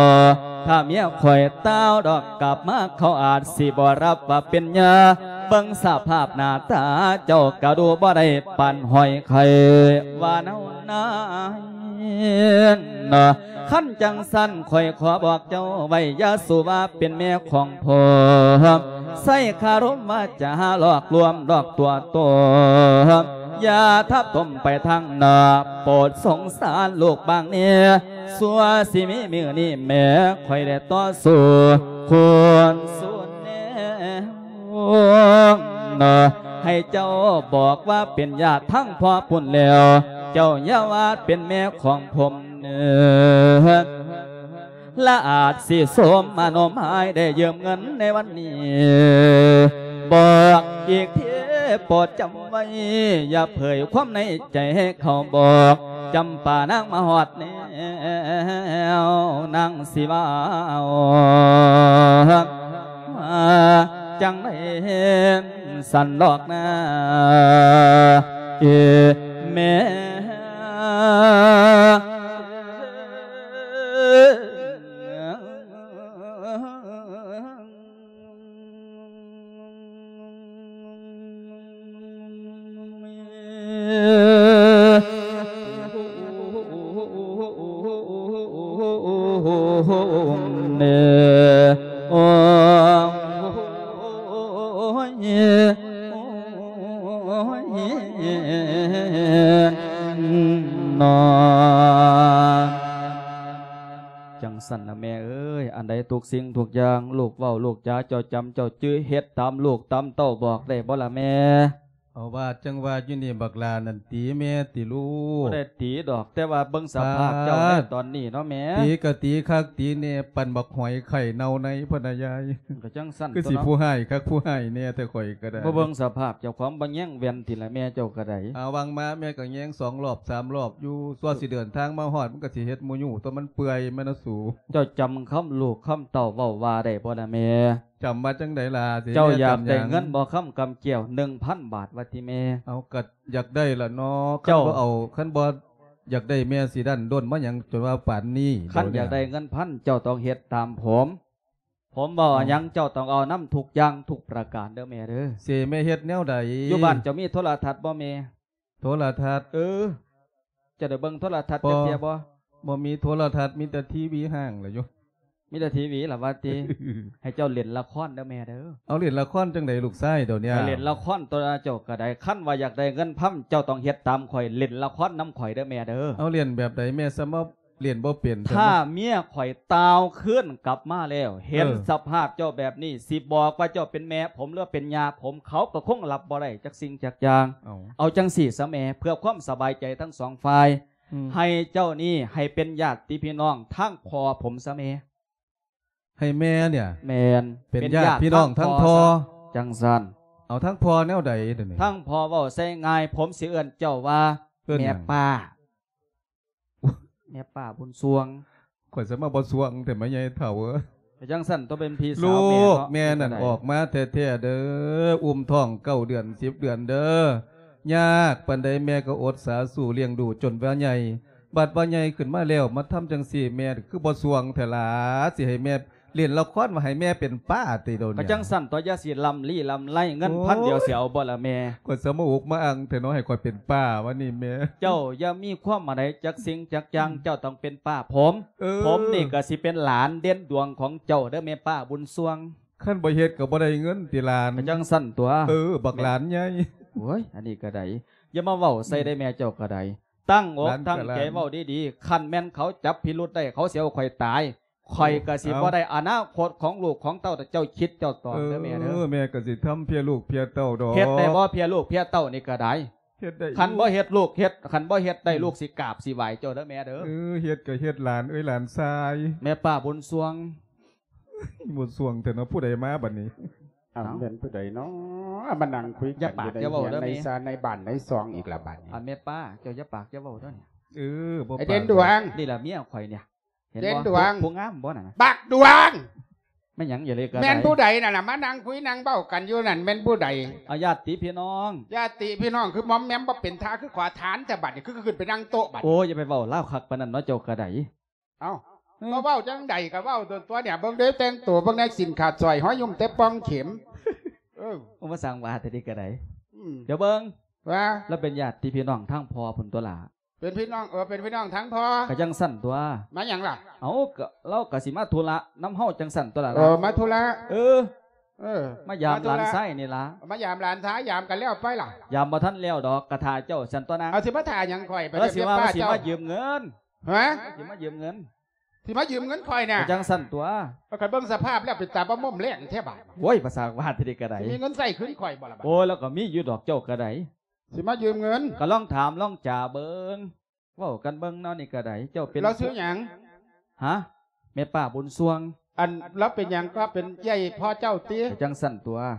ຖ້າເມຍຂ້ອຍຕ່າວດອກກັບມາ ເຂົາອາດຊິບໍ່ຮັບວ່າເປັນເມຍ ເບິ່ງສະພາບໜ້າຕາເຈົ້າກະດູບໍ່ໄດ້ປານຫອຍໄຂ່ວ່າແນວນັ້ນ. ຄັນຈັ່ງຊັ້ນຂ້ອຍຂໍບອກເຈົ້າໄວ້ ຢ່າສູ່ວ່າເປັນແມ່ຂອງຜົມ ໃຊ້ຄາລົມວາຈາຫຼອກລວມຫຼອກຕົວໂຕ ຢ່າທັບຖົມໄປທາງໜ້າ ໂປດສົງສານລູກບາງແດ່ ຊົ່ວຊິມີມື້ນີ້ແມ່ຂ້ອຍໄດ້ຕໍ່ສູ້ຄູນສູນແນວ ໃຫ້ເຈົ້າບອກວ່າເປັນຍາດທາງພໍ່ພຸ້ນແລ້ວ ເຈົ້າຢ່າວ່າເປັນແມ່ຂອງຜົມເນີ ລະອາດຊິສົມມາໂນມາຍໄດ້ຢືມເງິນໃນວັນນີ້ ບອກອີກທີໂປດຈຳໄວ້ ຢ່າເຜີຍຄວາມໃນໃຈໃຫ້ເຂົາບອກ ຈຳປານາງມາຮອດແນວ ນາງຊິວ່າເອົາ ມາຈັ່ງໃດສັນດອກນາ ເອີ ແມ່. ຈັ່ງຊັ້ນລະແມ່ເອີຍ ອັນໃດທຸກສິ່ງທຸກຢ່າງ ລູກເວົ້າລູກຈາເຈົ້າຈຳເຈົ້າຈື່ ເຮັດຕາມລູກຕາມເຕົ້າບອກໄດ້ບໍ່ລະແມ່? ເອົາວ່າຈັ່ງວ່າຢູ່ນີ້ ບັກຫຼ້ານັ້ນຕີແມ່ຕິລູກ? ບໍ່ໄດ້ຕີດອກ ແຕ່ວ່າເບິ່ງສະພາບເຈົ້າໃນຕອນນີ້ເນາະແມ່ ຕີກະຕີຄັກຕີແນ່ ປານບັກຫອຍໄຂ່ເນົ່າໃນພຸ້ນນະຍາຍ. ກະຈັ່ງຊັ້ນ ຄືຊິຜູ້ຮ້າຍຄັກຜູ້ຮ້າຍແນ່ແທ້ຂ້ອຍກະໄດ້ ບໍ່ເບິ່ງສະພາບເຈົ້າຂອງ ບໍ່ແຍງແວ່ນຕິລະແມ່ເຈົ້າກະໄດ້. ອາ ຫວ່າງມາແມ່ກະແຍງສອງລອບສາມລອບຢູ່ ຊົ່ວຊິເດີນທາງມາຮອດ ມັນກະຊິເຮັດໝູຢູ່ ຕົວມັນເປື່ອຍແມ່ນນະສູ. ເຈົ້າຈຳຄຳລູກຄຳເຕົ້າເວົ້າວ່າໄດ້ບໍ່ລະແມ່? ຈຳວ່າຈັ່ງໃດລະ? ເຈົ້າຢາກໄດ້ເງິນບໍ່ຄຳກຳແກ້ວ ໜຶ່ງພັນບາດວ່າຕິແມ່? ເອົາ ກະຢາກໄດ້ລະເນາະ ຄັນບໍ່ເອົາ ຄັນບໍ່ຢາກໄດ້ແມ່ຊິດັ້ນດ້ນມາຫຍັງຈົນວ່າປານນີ້? ຄັນຢາກໄດ້ເງິນພັນ ເຈົ້າຕ້ອງເຮັດຕາມຜົມ ຜົມເວົ້າຫຍັງເຈົ້າຕ້ອງເອົານຳທຸກຢ່າງທຸກປະການເດີແມ່ເດີ. ເສແມ່ເຮັດແນວໃດ? ຢູ່ບ້ານເຈົ້າມີໂທລະທັດບໍ່ແມ່? ໂທລະທັດ? ເອີ ເຈົ້າໄດ້ເບິ່ງໂທລະທັດຈັກເທື່ອບໍ່? ບໍ່ມີໂທລະທັດ ມີແຕ່ທີວີຮ້າງລະຢູ່. ມີແຕ່ທີວີລະວ່າຕິ? ໃຫ້ເຈົ້າຫຼິ້ນລະຄອນເດີແມ່ເດີ. ເອົາ ຫຼິ້ນລະຄອນຈັ່ງໃດລູກຊາຍດຽວນີ້? ໃຫ້ຫຼິ້ນລະຄອນຕົວະ ເຈົ້າກະໄດ້. ຄັນວ່າຢາກໄດ້ເງິນພັນ ເຈົ້າຕ້ອງເຮັດຕາມຂ້ອຍ ຫຼິ້ນລະຄອນນຳຂ້ອຍເດີແມ່ເດີ. ເອົາ ຫຼິ້ນແບບໃດແມ່? ສະມາ ລ້ຽນບໍ່ເປັນ. ຖ້າເມຍຂ້ອຍຕ່າວຄືນກັບມາແລ້ວ ເຫັນ ເອີ ສະພາບເຈົ້າແບບນີ້ ຊິບອກວ່າເຈົ້າເປັນແມ່ຜົມ ຫຼືເປັນຍ່າຜົມ ເຂົາກໍຄົງຮັບບໍ່ໄດ້ຈັກສິ່ງຈັກຢ່າງ. ເອົາ ເອົາຈັ່ງຊີ້ຊະແມ່ ເພື່ອຄວາມສະບາຍໃຈທັງສອງຝ່າຍ ອືມ ໃຫ້ເຈົ້ານີ້ໃຫ້ເປັນຍາດຕິພີ່ນ້ອງທາງພໍ່ຜົມຊະແມ່. ໃຫ້ແມ່ເນຍ ແມ່ນ ເປັນຍາດພີ່ນ້ອງທາງພໍ່. ຈັ່ງຊັ້ນ ເອົາ ທາງພໍ່ແນວໃດດຽວນີ້? ທາງພໍ່ເວົ້າໃສ່ງ່າຍ ຜົມຊິເອີ້ນເຈົ້າວ່າ ເອີ້ນຫຍັງ? ແມ່ປ້າ. ແມ່ປ້າບຸນຊ່ວງ. ຂ້ອຍສະມາບໍ່ຊ່ວງແທ້ ມາໃຫຍ່ເຖົ້າເອີຍ. ກະຈັ່ງຊັ້ນ ຕ້ອງເປັນພີ່ສາວແມ່ເນາະ. ລູກແມ່ນັ້ນອອກມາແທ້ໆເດີ ອຸ້ມທ້ອງເກົ້າເດືອນສິບເດືອນເດີ. ຍາກປານໃດແມ່ກໍອົດສາສູ້ລ້ຽງດູຈົນວ່າໃຫຍ່. ບັດວ່າໃຫຍ່ຂຶ້ນມາແລ້ວ ມາທຳຈັ່ງຊີ້ ແມ່ຄືບໍ່ຊ່ວງແທ້ລະ? ຊິໃຫ້ແມ່ ຫຼິ້ນລະຄອນວ່າໃຫ້ແມ່ເປັນປ້າຕິໂດນ. ກະຈັ່ງຊັ້ນຕົວະ ຢ່າຊິລຳລີລຳໄລ ເງິນພັນດຽວຊິເອົາບໍ່ລະແມ່? ຂ້ອຍສະມາອຸກມາອັ່ງແທ້ເນາະ ໃຫ້ຂ້ອຍເປັນປ້າວະນີ້ແມ່. ເຈົ້າຢ່າມີຄວາມອັນໃດຈັກສິ່ງຈັກຢ່າງ ເຈົ້າຕ້ອງເປັນປ້າຜົມ. ເອີ ຜົມນີ້ກະຊິເປັນຫຼານເດັ່ນດວງຂອງເຈົ້າເດີແມ່ປ້າບຸນຊ່ວງ. ຄັນບໍ່ເຮັດກະບໍ່ໄດ້ເງິນຕິຫຼານ? ກະຈັ່ງຊັ້ນຕົວະ. ເອີ ບັກຫຼານໃຫຍ່. ໂອ້ຍ ອັນນີ້ກະໄດ້ ຢ່າມາເວົ້າໃສ່ໄດ້ແມ່ເຈົ້າກະໄດ້. ຕັ້ງອົກຕັ້ງໃຈເວົ້າດີໆ ຄັນແມ່ນເຂົາຈັບພິລຸດໄດ້ ເຂົາຊິເອົາຂ້ອຍຕາຍ. ຂ້ອຍກະຊິບໍ່ໄດ້ອະນາຄົດຂອງລູກຂອງເຕົ້າ ເຈົ້າຄິດເຈົ້າຕອງເດີແມ່ເດີ. ເອີ ແມ່ກະຊິທຳເພື່ອລູກເພື່ອເຕົ້າດອກ. ເຮັດໄດ້ບໍ່ເພື່ອລູກເພື່ອເຕົ້ານີ້ກະໄດ້? ເຮັດໄດ້. ຄັນບໍ່ເຮັດລູກເຮັດ ຄັນບໍ່ເຮັດໄດ້ ອືມ ລູກຊິກາບຊິໄຫວ້ເຈົ້າເດີແມ່ເດີ. ເອີ ເຮັດກະເຮັດຫຼານເອີຍ ຫຼານຊາຍ. ແມ່ປ້າບຸນຊ່ວງ. ບໍ່ຊ່ວງແທ້ເນາະ ຜູ້ໃດມາບັດນີ້? ອ້າວ ເອົ້າ ແມ່ນຜູ້ໃດເນາະ ມານັ່ງຄຸຍກັນຢູ່ໃນເຮືອນໃນຊານໃນບ້ານໃນຊ່ອງອີກລະບັດນີ້? ອັນແມ່ປ້າ ເຈົ້າຢ່າປາກຢ່າເວົ້າເດີນີ້. ເອີ ບໍ່ປາກ. ເດັ່ນດວງ ນີ້ລະເມຍຂ້ອຍນີ້ ເຫັນບໍ່? ເດັ່ນດວງ ຜູ້ງາມບໍ່ນັ້ນນະ? ບັກດວງ ແມ່ນຫຍັງ? ຢ່າເລີຍກະໄດ້. ແມ່ນຜູ້ໃດນັ້ນນະ ມານັ່ງຄຸຍນັ່ງເວົ້າກັນຢູ່ນັ້ນ ແມ່ນຜູ້ໃດ? ອາ ຍາດຕິພີ່ນ້ອງ. ຍາດຕິພີ່ນ້ອງ ຄືມອມແມມບໍ່ເປັນທ່າ ຄືຂໍທານແຕ່ບັດນີ້ ຄືຂຶ້ນໄປນັ່ງໂຕະບັດ. ໂອ້ຍ ຢ່າໄປເວົ້າລາວຄັກປານນັ້ນເນາະ ເຈົ້າກະໄດ້. ເອົ້າ ເອີ ມາເວົ້າຈັ່ງໃດກະເວົ້າຕົວໆ ເບິ່ງເດີ ແຕ່ງໂຕເບິ່ງແນ່ ສິ້ນຂາດສ້ອຍ ຮອຍຫຍຸ້ມແຕ່ປ່ອງເຂັມ. ເອີ ເອີ ໂອ້ ມາສ້າງວ່າແຕ່ນີ້ກໍໄດ້ ອືມ ດຽວເບິ່ງ ວ່າ ລາວເປັນຍາດພີ່ນ້ອງທາງພໍ່ພຸ້ນຕົວະລະ ເປັນພີ່ນ້ອງ ເອີ ເປັນພີ່ນ້ອງທາງພໍ່ ກໍຈັ່ງຊັ້ນຕົວະ ມາຫຍັງລະ ເອົາ ກໍລາວກໍຊິມາທຸລະນຳເຮົາຈັ່ງຊັ້ນຕົວະລະ ເອີ ມາທຸລະ ເອີ ເອີ ມາຢາມ ມາທຸລະ ຫຼານຊາຍນີ້ລະ ມາຢາມຫຼານຊາຍ ຢາມກັນແລ້ວໄປລະ ຢາມບໍ່ທັນແລ້ວດອກ ກະຖ້າເຈົ້າຊັ້ນຕົວະນາງ ເອົາ ຊິມາຖ້າຫຍັງຂ້ອຍ ເອີ ຊິວ່າ ວ່າຊິມາຢືມເງິນ ຮະ ຊິມາຢືມເງິນ ຊິມາຢືມເງິນຂ້ອຍນະ ກໍຈັ່ງຊັ້ນຕົວະ ຂ້ອຍເບິ່ງສະພາບແລ້ວເປັນຕາບໍ່ມົ້ມແລງແທ້ບາດ ໂອ້ຍ ພາສາບ້ານທີ່ນີ້ກໍໄດ້ ຊິມີເງິນໃຊ້ຄືນຂ້ອຍບໍ່ລະບາດ ໂອ້ຍ ລາວກໍມີຢູ່ດອກ ເຈົ້າກໍໄດ້ ຊິມາຢືມເງິນ ກໍລອງຖາມລອງຈາເບິ່ງ ເວົ້າກັນເບິ່ງເນາະ ນີ້ກໍໄດ້ ເຈົ້າເປັນ ລາວຊື່ຫຍັງ ຮະ ແມ່ປ້າບຸນຊ່ວງ ອັນລາວເປັນຫຍັງກໍເປັນເອື້ອຍພໍ່ເຈົ້າຕິ ກໍຈັ່ງຊັ້ນຕົວະ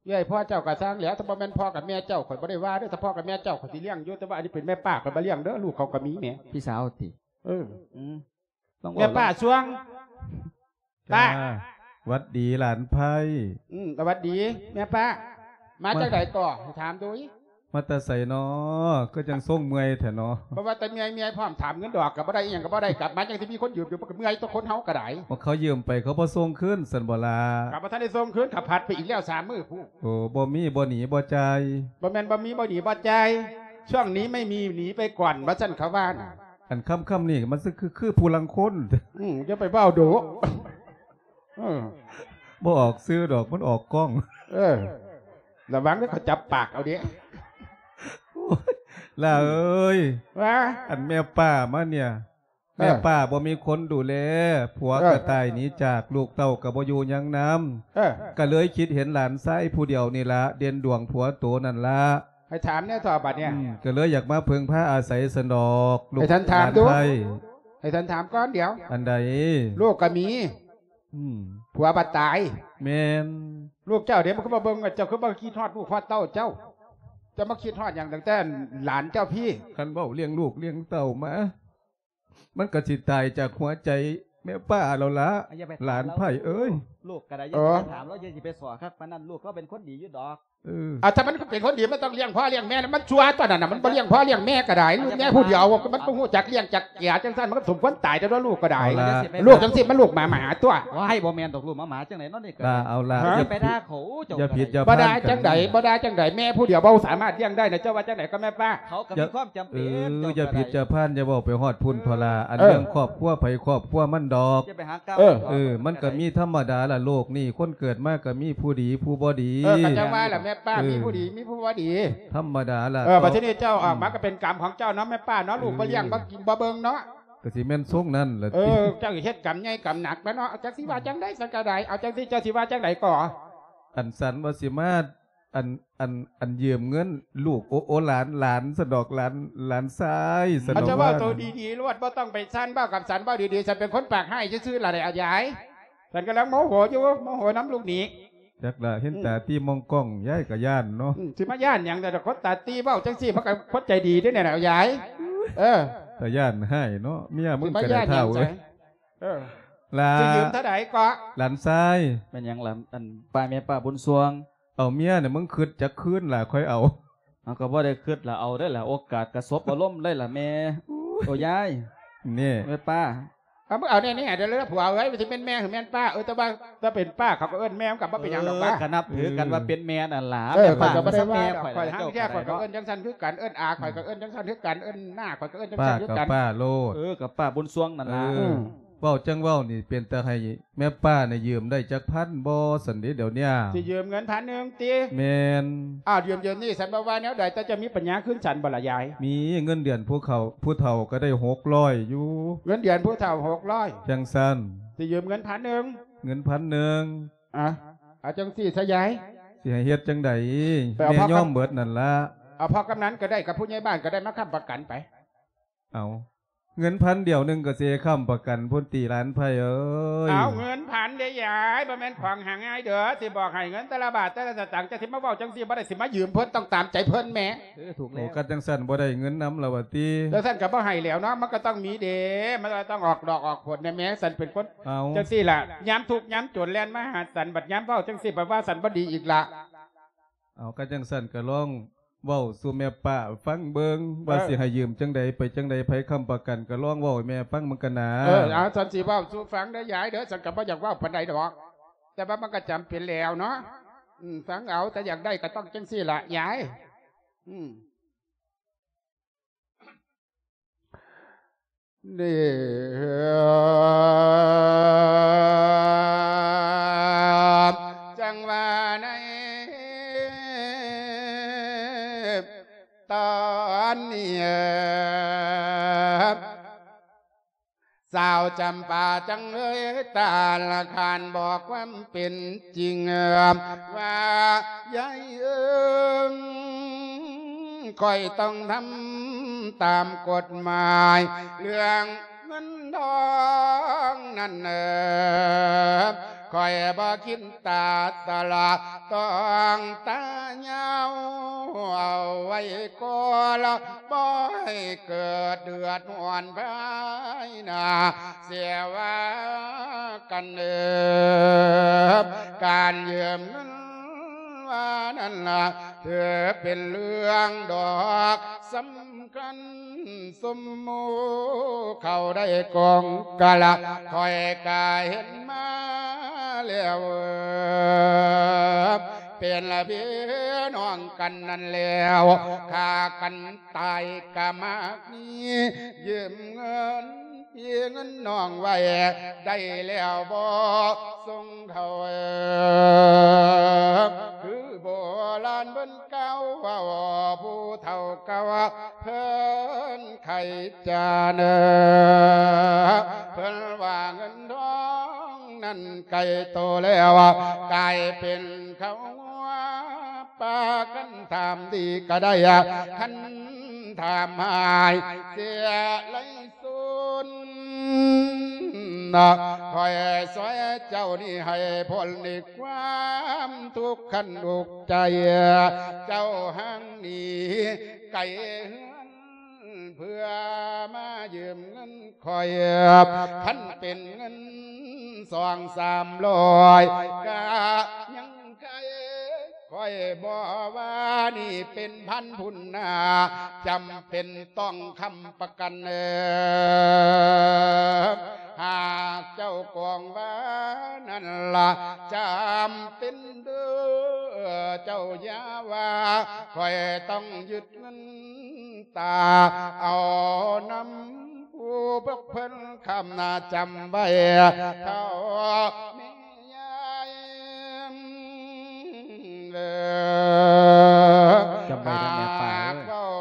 ເອື້ອຍພໍ່ເຈົ້າກໍຊ່າງແຫຼະ ຖ້າບໍ່ແມ່ນພໍ່ກັບແມ່ເຈົ້າ ຂ້ອຍບໍ່ໄດ້ວ່າເດີ້ ຖ້າພໍ່ກັບແມ່ເຈົ້າ ຂ້ອຍຊິລ້ຽງຢູ່ ແຕ່ວ່າອັນນີ້ເປັນແມ່ປ້າ ຂ້ອຍບໍ່ລ້ຽງເດີ້ ລູກເຂົາກໍມີແໝ ພີ່ສາວຕິ ເອີ ອືມ ລອງເວົ້າ ແມ່ປ້າຊ່ວງ ປ້າ ຫວັດດີຫຼານໄພ ອືມ ສະຫວັດດີແມ່ປ້າ ມາ ມາ ຈັ່ງໃດກໍ ໃຫ້ຖາມດູ ມາແຕ່ໃສນໍ ຄືຈັ່ງຊົງເມື່ອຍແທ້ນໍ ບໍ່ວ່າແຕ່ເມື່ອຍ ເມື່ອຍພ້ອມ ຖາມເງິນດອກກໍບໍ່ໄດ້ ອີ່ຫຍັງກໍບໍ່ໄດ້ ກັບມາຈັ່ງຊິມີຄົນຢືມຢູ່ ມັນກໍເມື່ອຍຕົວະ ຄົນເຮົາກໍໄດ້ ວ່າເຂົາຢືມໄປ ເຂົາບໍ່ສົ່ງຄືນຊັ້ນບໍ່ລະ ກໍບໍ່ທັນໄດ້ສົ່ງຄືນ ເຂົາຜັດໄປອີກແລ້ວສາມມື້ພຸ້ນ ໂອ້ ບໍ່ມີບໍ່ໜີບໍ່ຈ່າຍ ບໍ່ແມ່ນບໍ່ມີບໍ່ໜີບໍ່ຈ່າຍ ຊ່ວງນີ້ໄມ່ມີໜີໄປກ່ອນ ວ່າຊັ້ນເຂົາວ່ານະ ອັນຄຳໆນີ້ມັນຄື ຄືຜູ້ລາງຄົນ ອືມ ຢ່າໄປເວົ້າດຸ ເອີ ບໍ່ອອກຊື່ດອກ ມັນອອກກ້ອງ ເອີ ລະວັງເດີ ເຂົາຈັບປາກເອົາເດ້ ໂອ້ຍ ຫຼ້າເອີຍ ວ່າ ອັນແມ່ປ້າມາເນ່ຍ ເອີ ແມ່ປ້າບໍ່ມີຄົນດູແລ ຜົວ ເອີ ກໍຕາຍໜີຈາກ ລູກເຕົ້າກໍບໍ່ຢູ່ຍັງນຳ ເອີ ກໍເລີຍຄິດເຫັນຫຼານຊາຍຜູ້ດຽວນີ້ລະ ເດັ່ນດວງຜົວໂຕນັ້ນລະ ໃຫ້ຖາມແດ່ເຖາະບັດນີ້ ອືມ ກໍເລີຍຢາກມາເພິ່ງພາອາໄສຊັ້ນດອກ ລູກ ໃຫ້ທ່ານຖາມດູ ຫຼານໄພ ໃຫ້ທ່ານຖາມກ່ອນດຽວ ອັນໃດ ລູກກໍມີ ອືມ ຜົວບັດຕາຍ ແມ່ນ ລູກເຈົ້າເດ ມັນຄືບໍ່ເບິ່ງ ເຈົ້າຄືບໍ່ຄິດຮອດລູກຮອດເຕົ້າເຈົ້າ ເຈົ້າມາຄິດຮອດຫຍັງຕັ້ງແຕ່ຫຼານເຈົ້າພີ້ ຄັນເວົ້າລ້ຽງລູກລ້ຽງເຕົ້າມາ ມັນກໍຊິຕາຍຈາກຫົວໃຈແມ່ປ້າແລ້ວລະ ຢ່າໄປຖາມລາວ ຫຼານໄພເອີຍ ລູກກໍໄດ້ ຢ່າໄປຖາມລາວ ຢ່າຊິໄປສໍ້ຄັກປານນັ້ນ ລູກລາວເປັນຄົນດີຢູ່ດອກ ເອີ ອາ ຖ້າມັນເປັນຄົນດີ ມັນຕ້ອງລ້ຽງພໍ່ລ້ຽງແມ່ນະ ມັນຊົ່ວຕົວະນັ້ນນະ ມັນບໍ່ລ້ຽງພໍ່ລ້ຽງແມ່ກໍໄດ້ ລູກແມ່ຜູ້ດຽວ ມັນບໍ່ຮູ້ຈັກລ້ຽງຈັກເກຍ ຈັ່ງຊັ້ນມັນກໍສົມຄວນຕາຍແລ້ວ ລູກກໍໄດ້ ເອົາລະ ລູກຈັ່ງຊີ້ມັນລູກໝາໝາຕົວະ ວ້າຍ ບໍ່ແມ່ນດອກ ລູກໝາໝາຈັ່ງໃດເນາະນີ້ກໍ ລະ ເອົາລະ ເອີ ຢ່າໄປດ່າເຂົາ ເຈົ້າ ຢ່າຜິດຢ່າພານ ບໍ່ດ່າຈັ່ງໃດ ບໍ່ດ່າຈັ່ງໃດ ແມ່ຜູ້ດຽວບໍ່ສາມາດລ້ຽງໄດ້ນະ ເຈົ້າວ່າຈັ່ງໃດກໍແມ່ປ້າ ເຂົາກໍມີຄວາມຈຳເປັນ ເອີ ຢ່າຜິດຢ່າພານ ຢ່າເວົ້າໄປຮອດພຸ້ນເຖົາລະ ອັນເລື່ອງຄອບຄົວໃຜຄອບຄົວມັນດອກ ຢ່າໄປຫາກ້າວ ເອີ ມັນກໍມີທຳມະດາລະ ໂລກນີ້ຄົນເກີດມາກໍມີຜູ້ດີຜູ້ບໍ່ດີ ເອີ ກໍຈັ່ງວ່າລະແມ່ປ້າ ມີຜູ້ດີມີຜູ້ບໍ່ດີ ທຳມະດາລະ ເອີ ບັດທີນີ້ເຈົ້າອອກມາກໍເປັນກຳຂອງເຈົ້າເນາະແມ່ປ້າເນາະ ລູກບໍ່ລ້ຽງ ບໍ່ກິນບໍ່ເບິ່ງເນາະ ກໍຊິແມ່ນຊົງນັ້ນລະ ເອີ ເຈົ້າເຮັດກຳໃຫຍ່ກຳໜັກແລ້ວເນາະ ຈັກຊິວ່າຈັ່ງໃດ ສັນກໍໄດ້ ເອົາຈັ່ງຊີ້ ເຈົ້າຊິວ່າຈັ່ງໃດກໍ ອັນສັນວ່າຊິມາ ອັນ ອັນ ອັນຢືມເງິນລູກ ໂອ ໂອ ຫຼານ ຫຼານຊັ້ນດອກ ຫຼານ ຫຼານຊາຍຊັ້ນດອກ ເຈົ້າເວົ້າໂຕດີໆໂລດ ບໍ່ຕ້ອງໄປຊັ້ນ ເວົ້າກັບສັນ ເວົ້າດີໆ ສັນເປັນຄົນປາກຮ້າຍຊື່ໆລະ ໄດ້ອາຍາຍ ສັນກຳລັງໂມໂຫຢູ່ ໂມໂຫນຳລູກໜີ ຈັກລະ ເຫັນຕາຕີມອງກ້ອງ ອືມ ຍາຍກໍຢ້ານເນາະ ອືມ ຊິມາຢ້ານຫຍັງ ແຕ່ຄົນຕາຕີເວົ້າຈັ່ງຊີ້ ມັນກໍຄົນໃຈດີເດ້ນີ້ນະ ອາຍາຍ ເອີ ຕາຢ້ານຮ້າຍເນາະ ເມຍມຶງກໍໄດ້ທ້າວເອີຍ ເອີ ຫຼານ ຊິຢືມເທົ່າໃດເກາະ ຫຼານຊາຍ ແມ່ນຫຍັງລະ ອັນ ປ້າ ແມ່ປ້າບຸນຊ່ວງ ເອົາເມຍນີ້ ມຶງຄຶດຈັກຄືນລະຄ່ອຍເອົາ ເຮົາກໍບໍ່ໄດ້ຄຶດລະ ເອົາໄດ້ລະ ໂອກາດກະສົບອາລົມໄດ້ລະແມ່ ໂອ້ຍ ໂອ້ຍາຍ ນີ້ ແມ່ປ້າ ເອົາ ມຶງເອົາແນ່ໆເດີ ຜົວເອີຍ ມັນຊິແມ່ນແມ່ ຫຼື ແມ່ນປ້າ ເອີ ແຕ່ວ່າ ແຕ່ເປັນປ້າ ເຂົາກໍເອີ້ນແມ່ ມັນກໍບໍ່ເປັນຫຍັງດອກ ເອີ ວ່າ ກໍນັບຖືກັນວ່າເປັນແມ່ນັ້ນລະ ເອີ ແມ່ປ້າ ມັນກໍແມ່ຂ້ອຍ ຂ້ອຍຫາງແທ້ ຂ້ອຍກໍເອີ້ນຈັ່ງຊັ້ນຄືກັນ ເອີ້ນອາ ຂ້ອຍກໍເອີ້ນຈັ່ງຊັ້ນຄືກັນ ເອີ້ນນ້າ ຂ້ອຍກໍເອີ້ນຈັ່ງຊັ້ນຄືກັນ ປ້າກໍປ້າໂລດ ເອີ ກໍປ້າບຸນຊ່ວງນັ້ນລະ ເອີ ເອີ ເວົ້າຈັ່ງເວົ້ານີ້ ເປັນຕາໃຫ້ແມ່ປ້ານີ້ຢືມໄດ້ຈັກພັນບໍ່ ຊັ້ນເດ ດຽວນີ້ ຊິຢືມເງິນພັນໜຶ່ງຕິ ແມ່ນ ອ້າວ ຢືມ ຢືມນີ້ ສັນບໍ່ວ່າແນວໃດ ແຕ່ເຈົ້າມີປັນຍາຄືນສັນບໍ່ລະຍາຍ ມີ ເງິນເດືອນຜູ້ເຖົ້າ ຜູ້ເຖົ້າກໍໄດ້ຫົກຮ້ອຍຢູ່ ເງິນເດືອນຜູ້ເຖົ້າຫົກຮ້ອຍ ຈັ່ງຊັ້ນ ຊິຢືມເງິນພັນໜຶ່ງ ເງິນພັນໜຶ່ງ ອະ ເອົາຈັ່ງຊີ້ຊະຍາຍ ຊິໃຫ້ເຮັດຈັ່ງໃດ ແມ່ຍອມເບິດນັ້ນລະ ເອົາພໍ່ກຳນັນກໍໄດ້ ກັບຜູ້ໃຫຍ່ບ້ານກໍໄດ້ ມາຄ້ຳປະກັນໄປ ເອົາ ເງິນພັນດຽວໜຶ່ງກໍຊິໃຫ້ຄ້ຳປະກັນພຸ້ນຕິ ຫຼານໄພເອີຍ ເອົາ ເງິນພັນເດ້ຍາຍ ບໍ່ແມ່ນຂອງຫາງ່າຍເດີ ຊິບອກໃຫ້ເງິນແຕ່ລະບາດແຕ່ລະສະຕັງ ຈະຊິມາເວົ້າຈັ່ງຊີ້ບໍ່ໄດ້ ຊິມາຢືມເພິ່ນ ຕ້ອງຕາມໃຈເພິ່ນແໝ ເອີ ຖືກແລ້ວ ໂອ້ ຄັນຈັ່ງຊັ້ນບໍ່ໄດ້ເງິນນຳລະວ່າຕິ ຈັ່ງຊັ້ນກໍບໍ່ໃຫ້ແລ້ວເນາະ ມັນກໍຕ້ອງມີເດ້ ມັນກໍຕ້ອງອອກດອກອອກຜົນແດ່ແໝ ສັນເປັນຄົນ ເອົາ ຈັ່ງຊີ້ລະ ຍາມທຸກຍາມຈົນແລ່ນມາຫາສັນ ບັດຍາມເວົ້າຈັ່ງຊີ້ ບັດວ່າສັນບໍ່ດີອີກລະ ເອົາ ຄັນຈັ່ງຊັ້ນກໍລອງ ເວົ້າສູ່ແມ່ປ້າຟັງເບິ່ງ ວ່າ ເເອີ ຊິໃຫ້ຢືມຈັ່ງໃດ ໄປຈັ່ງໃດ ໃຜຄ້ຳປະກັນ ກໍລອງເວົ້າໃຫ້ແມ່ຟັງເບິ່ງກັນນາ ເອີ ເອົາ ສັນຊິເວົ້າສູ່ຟັງເດີຍາຍເດີ ສັນກໍບໍ່ຢາກເວົ້າປານໃດດອກ ແຕ່ວ່າມັນກໍຈຳເປັນແລ້ວເນາະ ອືມ ຟັງເອົາ ແຕ່ຢາກໄດ້ກໍຕ້ອງຈັ່ງຊີ້ລະຍາຍ. ອືມ ນີ້ ຈັ່ງວ່າໃນຕອນນີ້ ສາວຈຳປາຈັ່ງເອີຍຕາລະຄານ ບອກຄວາມເປັນຈິງວ່າ ຍາຍເອີຍ ຂ້ອຍຕ້ອງທຳຕາມກົດໝາຍ ເລື່ອງເງິນທອງນັ້ນເອີຍ ຂ້ອຍບໍ່ຄິດຕາຕະຫຼາດ ຕ້ອງຕາຍາວເອົາໄວ້ກ່ອນ ລະບໍ່ໃຫ້ເກີດເດືອດຮ້ອນພາຍໜ້າ ເສຍວ່າກັນເອີຍ ການຢືມເງິນວ່ານັ້ນລະ ຖືເປັນເລື່ອງດອກສຳຄັນ ຊຸມໝູ່ເຂົາໄດ້ກອງກະລະ ຂ້ອຍກະເຫັນມາແລ້ວ ເປັນພີ່ນ້ອງກັນນັ້ນແລ້ວ ຂ້າກັນຕາຍກະມາກມີ ຢືມເງິນພີ່ເງິນນ້ອງໄວ້ ໄດ້ແລ້ວບໍ່ສົ່ງເຂົາ ຄືໂບລານເພິ່ນກ່າວເວົ້າ ຜູ້ເຖົ້າເກົ່າເພິ່ນໄຂຈານ ເພິ່ນວ່າເງິນທອງນັ້ນໄກໂຕແລ້ວ ກາຍເປັນເຂົ້າງົວ ປາກັນຖາມດີກໍໄດ້ ຄັນຖາມຫາຍເສຍໄລສູນ ຂ້ອຍຊ່ວຍເຈົ້ານີ້ໃຫ້ພົ້ນໃນຄວາມທຸກຄັນອຸກໃຈ ເຈົ້າຮັ່ງໜີໄກເຮືອນ ເພື່ອມາຢືມເງິນຂ້ອຍ ຄັນເປັນເງິນສອງສາມຮ້ອຍ ກະຍັງໄຄ ຂ້ອຍບໍ່ວ່ານີ້ເປັນພັນພຸ້ນນາ ຈຳເປັນຕ້ອງຄ້ຳປະກັນເອີ ຫາກເຈົ້າກອງວ່ານັ້ນລະ ຈຳເປັນເດີ ເຈົ້າຢ່າວ່າ ຂ້ອຍຕ້ອງຍຶດ ເງິນຕາເອົານຳຜູ້ພວກເພິ່ນຄຳນາຈຳໄວ້ເຖົ້າແມ່ຍາຍເອີ ຈຳໄວ້ເດີ້ແມ່ປ້າເອີຍ ຫາກເວົ້າ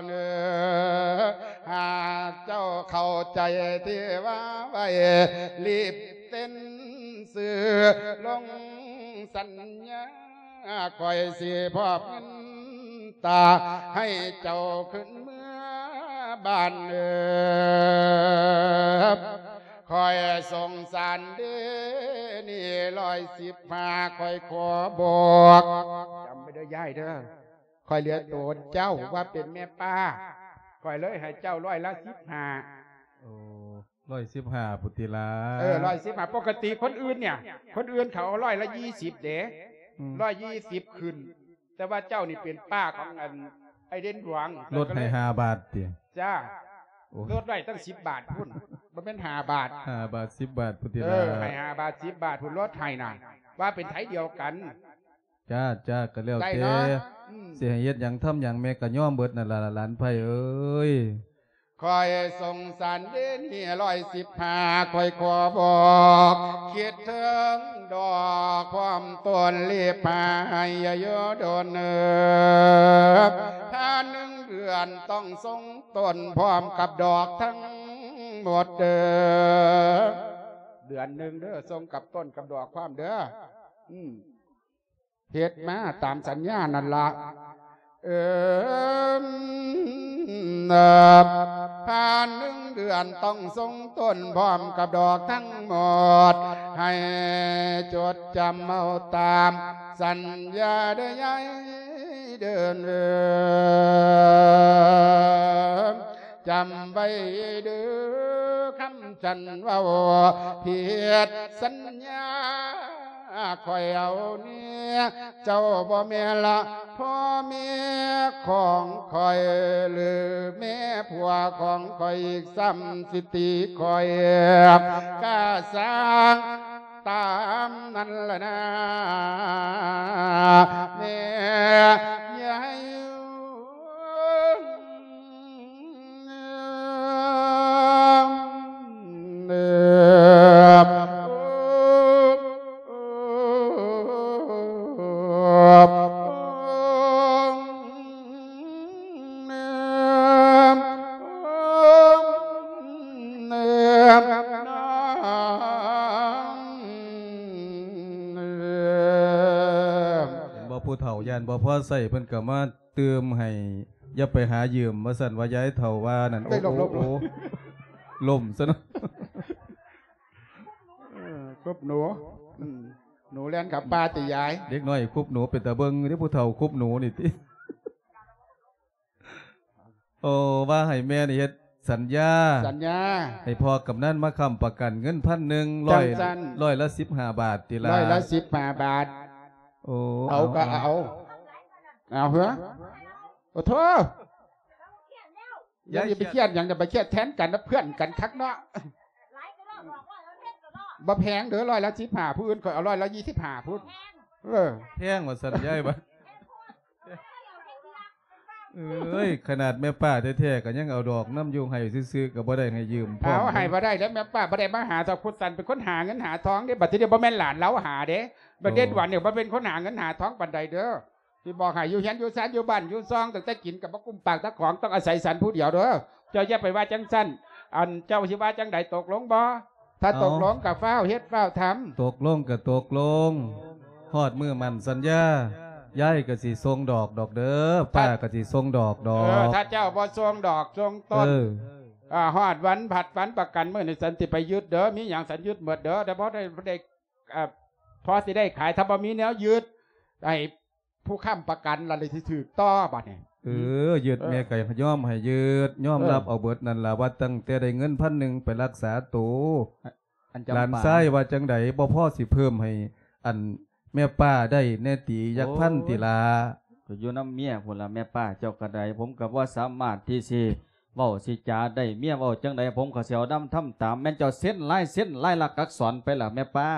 ເນີ ຫາກເຈົ້າເຂົ້າໃຈທີ່ວ່າໄວ້ ລີບເຊັນຊື່ລົງສັນຍາ ຂ້ອຍຊິມອບເງິນຕາໃຫ້ເຈົ້າຂຶ້ນເມືອບ້ານເອີ ຂ້ອຍສົງສານເດ້ນີ້ ຮ້ອຍສິບຫ້າ ຂ້ອຍຂໍບອກ ຈຳໄວ້ເດີ້ຍາຍເດີ້ ຂ້ອຍເລືອກໂຕເຈົ້າວ່າເປັນແມ່ປ້າ ຂ້ອຍເລີຍໃຫ້ເຈົ້າຮ້ອຍລະສິບຫ້າ ໂອ້ ຮ້ອຍສິບຫ້າພຸ້ນຕິລະ ເອີ ຮ້ອຍສິບຫ້າ ປົກກະຕິຄົນອື່ນເນຍ ຄົນອື່ນເຂົາເອົາຮ້ອຍລະຊາວເດ້ ອືມ ຮ້ອຍຊາວຂຶ້ນ ແຕ່ວ່າເຈົ້ານີ້ເປັນປ້າຂອງອັນໄອ້ເດັ່ນຫຼວງ ລົດໃຫ້ຫ້າບາດຕິ ຈ້າ ໂອ້ຍ ລົດໄວ້ຕັ້ງສິບບາດພຸ້ນ ບໍ່ແມ່ນຫ້າບາດ ຫ້າບາດ ສິບບາດພຸ້ນຕິລະ ເອີ ໃຫ້ຫ້າບາດ ສິບບາດພຸ້ນ ລົດໃຫ້ນະ ວ່າເປັນໄທດຽວກັນ ຈ້າ ຈ້າ ກໍແລ້ວແຕ່ ໄດ້ເນາະ ອືມ ຊິໃຫ້ເຮັດຫຍັງທຳຫຍັງ ແມ່ກໍຍອມເບິດນັ້ນລະ ຫຼານໃຜເອີຍ. ຂ້ອຍສົງສານເດນີ້ ຮ້ອຍສິບຫ້າ ຂ້ອຍຂໍບອກ ຄິດເຖິງດອກຄວາມຕົ້ນ ລີບໃຫ້ຢ່າຢູ່ດົນເອີ ຖ້າໜຶ່ງເດືອນຕ້ອງສົ່ງຕົ້ນ ພ້ອມກັບດອກທັງໝົດເດີ ເດືອນໜຶ່ງເດີ ສົ່ງກັບຕົ້ນກັບດອກພ້ອມເດີ ອືມ. ເຮັດມາຕາມສັນຍານັ້ນລະ ເອີ ຜ່ານໜຶ່ງເດືອນຕ້ອງສົ່ງຕົ້ນພ້ອມກັບດອກທັງໝົດ ໃຫ້ຈົດຈຳເອົາຕາມສັນຍາເດີຍາຍເດີ ຈຳໄວ້ເດີຄຳສັນເວົ້າ ຜິດສັນຍາ ຂ້ອຍເອົາເນຍ ເຈົ້າບໍ່ແມ່ນລະພໍ່ແມ່ຂອງຂ້ອຍ ຫຼືແມ່ຜົວຂອງຂ້ອຍອີກຊ້ຳ ຊິຕີຂ້ອຍກະຊ່າງ ຕາມນັ້ນລະນາ ແມ່ໃຫຍ່. ເຫັນບໍ່ ຜູ້ເຖົ້າຢ້ານບໍ່ພໍໃຊ້ ເພິ່ນກໍມາຕື່ມໃຫ້ ຢ່າໄປຫາຢືມ ວ່າຊັ້ນວ່າ ຍາຍເຖົ້າວ່ານັ້ນ. ໄດ້ຫຼົບ ໂອ້ ໂອ້ ໂອ້ ລົ້ມຊະເນາະ. ເອີ ຄຸບໜູ ອືມ ໜູແລ່ນເຂົ້າປ່າຕິຍາຍ. ເດັກນ້ອຍຄຸບໜູເປັນຕາເບິ່ງເດ້ ຜູ້ເຖົ້າຄຸບໜູນີ້ຕິ. ໂອ້ ວ່າໃຫ້ແມ່ນີ້ເຮັດສັນຍາ ສັນຍາ ໃຫ້ພໍ່ກຳນັນມາຄ້ຳປະກັນເງິນພັນໜຶ່ງ ຮ້ອຍ ຈັ່ງຊັ້ນ ຮ້ອຍລະສິບຫ້າບາດຕິລະ ຮ້ອຍລະສິບຫ້າບາດ. ໂອ້ ເອົາ ເອົາ ກໍເອົາ ເອົາ ເອີ ໂອ້ໂທ ຢ່າ ຢ່າໄປຄຽດຫຍັງ ຢ່າໄປຄຽດແທນກັນນະ ເພື່ອນກັນຄັກເນາະ. ບໍ່ແພງເດີ ຮ້ອຍລະສິບຫ້າ ຜູ້ອື່ນຂ້ອຍເອົາຮ້ອຍລະຊາວຫ້າພຸ້ນ. ເອີ ແພງວ່າຊັ້ນຍາຍວ່າ. ເອີຍ ຂະໜາດແມ່ປ້າແທ້ໆ ກໍຍັງເອົາດອກນຳຢູ່ ໃຫ້ຊື່ໆ ກໍບໍ່ໄດ້ໃຫ້ຢືມພ້ອມ. ເອົາ ໃຫ້ບໍ່ໄດ້ແລ້ວ ແມ່ປ້າບໍ່ໄດ້ມາຫາ ເຖົ້າຄຸດສັນເປັນຄົນຫາເງິນຫາທອງເດ້. ບັດທີນີ້ບໍ່ແມ່ນຫຼານລາວຫາເດ້ ບັດເດັດຫວັນນີ້ບໍ່ເປັນຄົນຫາເງິນຫາທອງປານໃດເດີ. ຊິບອກໃຫ້ ຢູ່ເຮືອນຢູ່ຊານ ຢູ່ບ້ານຢູ່ຊ່ອງ ຕັ້ງແຕ່ກິນກໍບໍ່ກຸ້ມປາກຕາຂອງ ຕ້ອງອາໄສສັນຜູ້ດຽວເດີ. ເຈົ້າຢ່າໄປວ່າຈັ່ງຊັ້ນ ອັນ ເຈົ້າຊິວ່າຈັ່ງໃດ ຕົກລົງບໍ່? ຖ້າຕົກລົງກໍຟ້າວເຮັດຟ້າວທຳ. ຕົກລົງກໍຕົກລົງ ຮອດມື້ໝັ້ນສັນຍາ ຍາຍກໍຊິສົ່ງດອກດອກເດີ ປ້າກໍຊິສົ່ງດອກດອກ. ເອີ ຖ້າເຈົ້າບໍ່ສົ່ງດອກສົ່ງຕົ້ນ ເອີ ອາ ຮອດວັນຜັດວັນປະກັນ ມື້ນີ້ສັນຊິໄປຍຶດເດີ ມີຫຍັງສັນຍຶດໝົດເດີ. ແຕ່ບໍ່ໄດ້ ບໍ່ໄດ້ ອາ ພໍຊິໄດ້ຂາຍ ຖ້າບໍ່ມີແນວຍຶດ ໃຫ້ຜູ້ຄ້ຳປະກັນລະເລີຍຊິຖືກຕໍ່ບາດນີ້. ເອີ ຍຶດ ເອີ ແມ່ກໍຍອມໃຫ້ຍຶດ ຍອມ ເອີ ຮັບເອົາເບິດນັ້ນລະ ວ່າຕັ້ງແຕ່ໄດ້ເງິນພັນໜຶ່ງໄປລັກສາໂຕ. ອັນຈຳປາ ຫຼານຊາຍວ່າຈັ່ງໃດ ບໍ່ພໍຊິເພີ່ມໃຫ້ອັນແມ່ປ້າໄດ້ແດ່ຕິ ຈັກພັນຕິລະ? ກໍຢູ່ນຳເມຍພຸ້ນລະແມ່ປ້າ ເຈົ້າກໍໄດ້ ຜົມກໍບໍ່ສາມາດທີ່ຊິເວົ້າຊິຈາໄດ້ ເມຍເວົ້າຈັ່ງໃດ ຜົມກໍຊິເອົານຳທຳຕາມ. ແມ່ນເຈົ້າເຊັນລາຍ ເຊັນລາຍລັກອັກສອນໄປລະແມ່ປ້າ?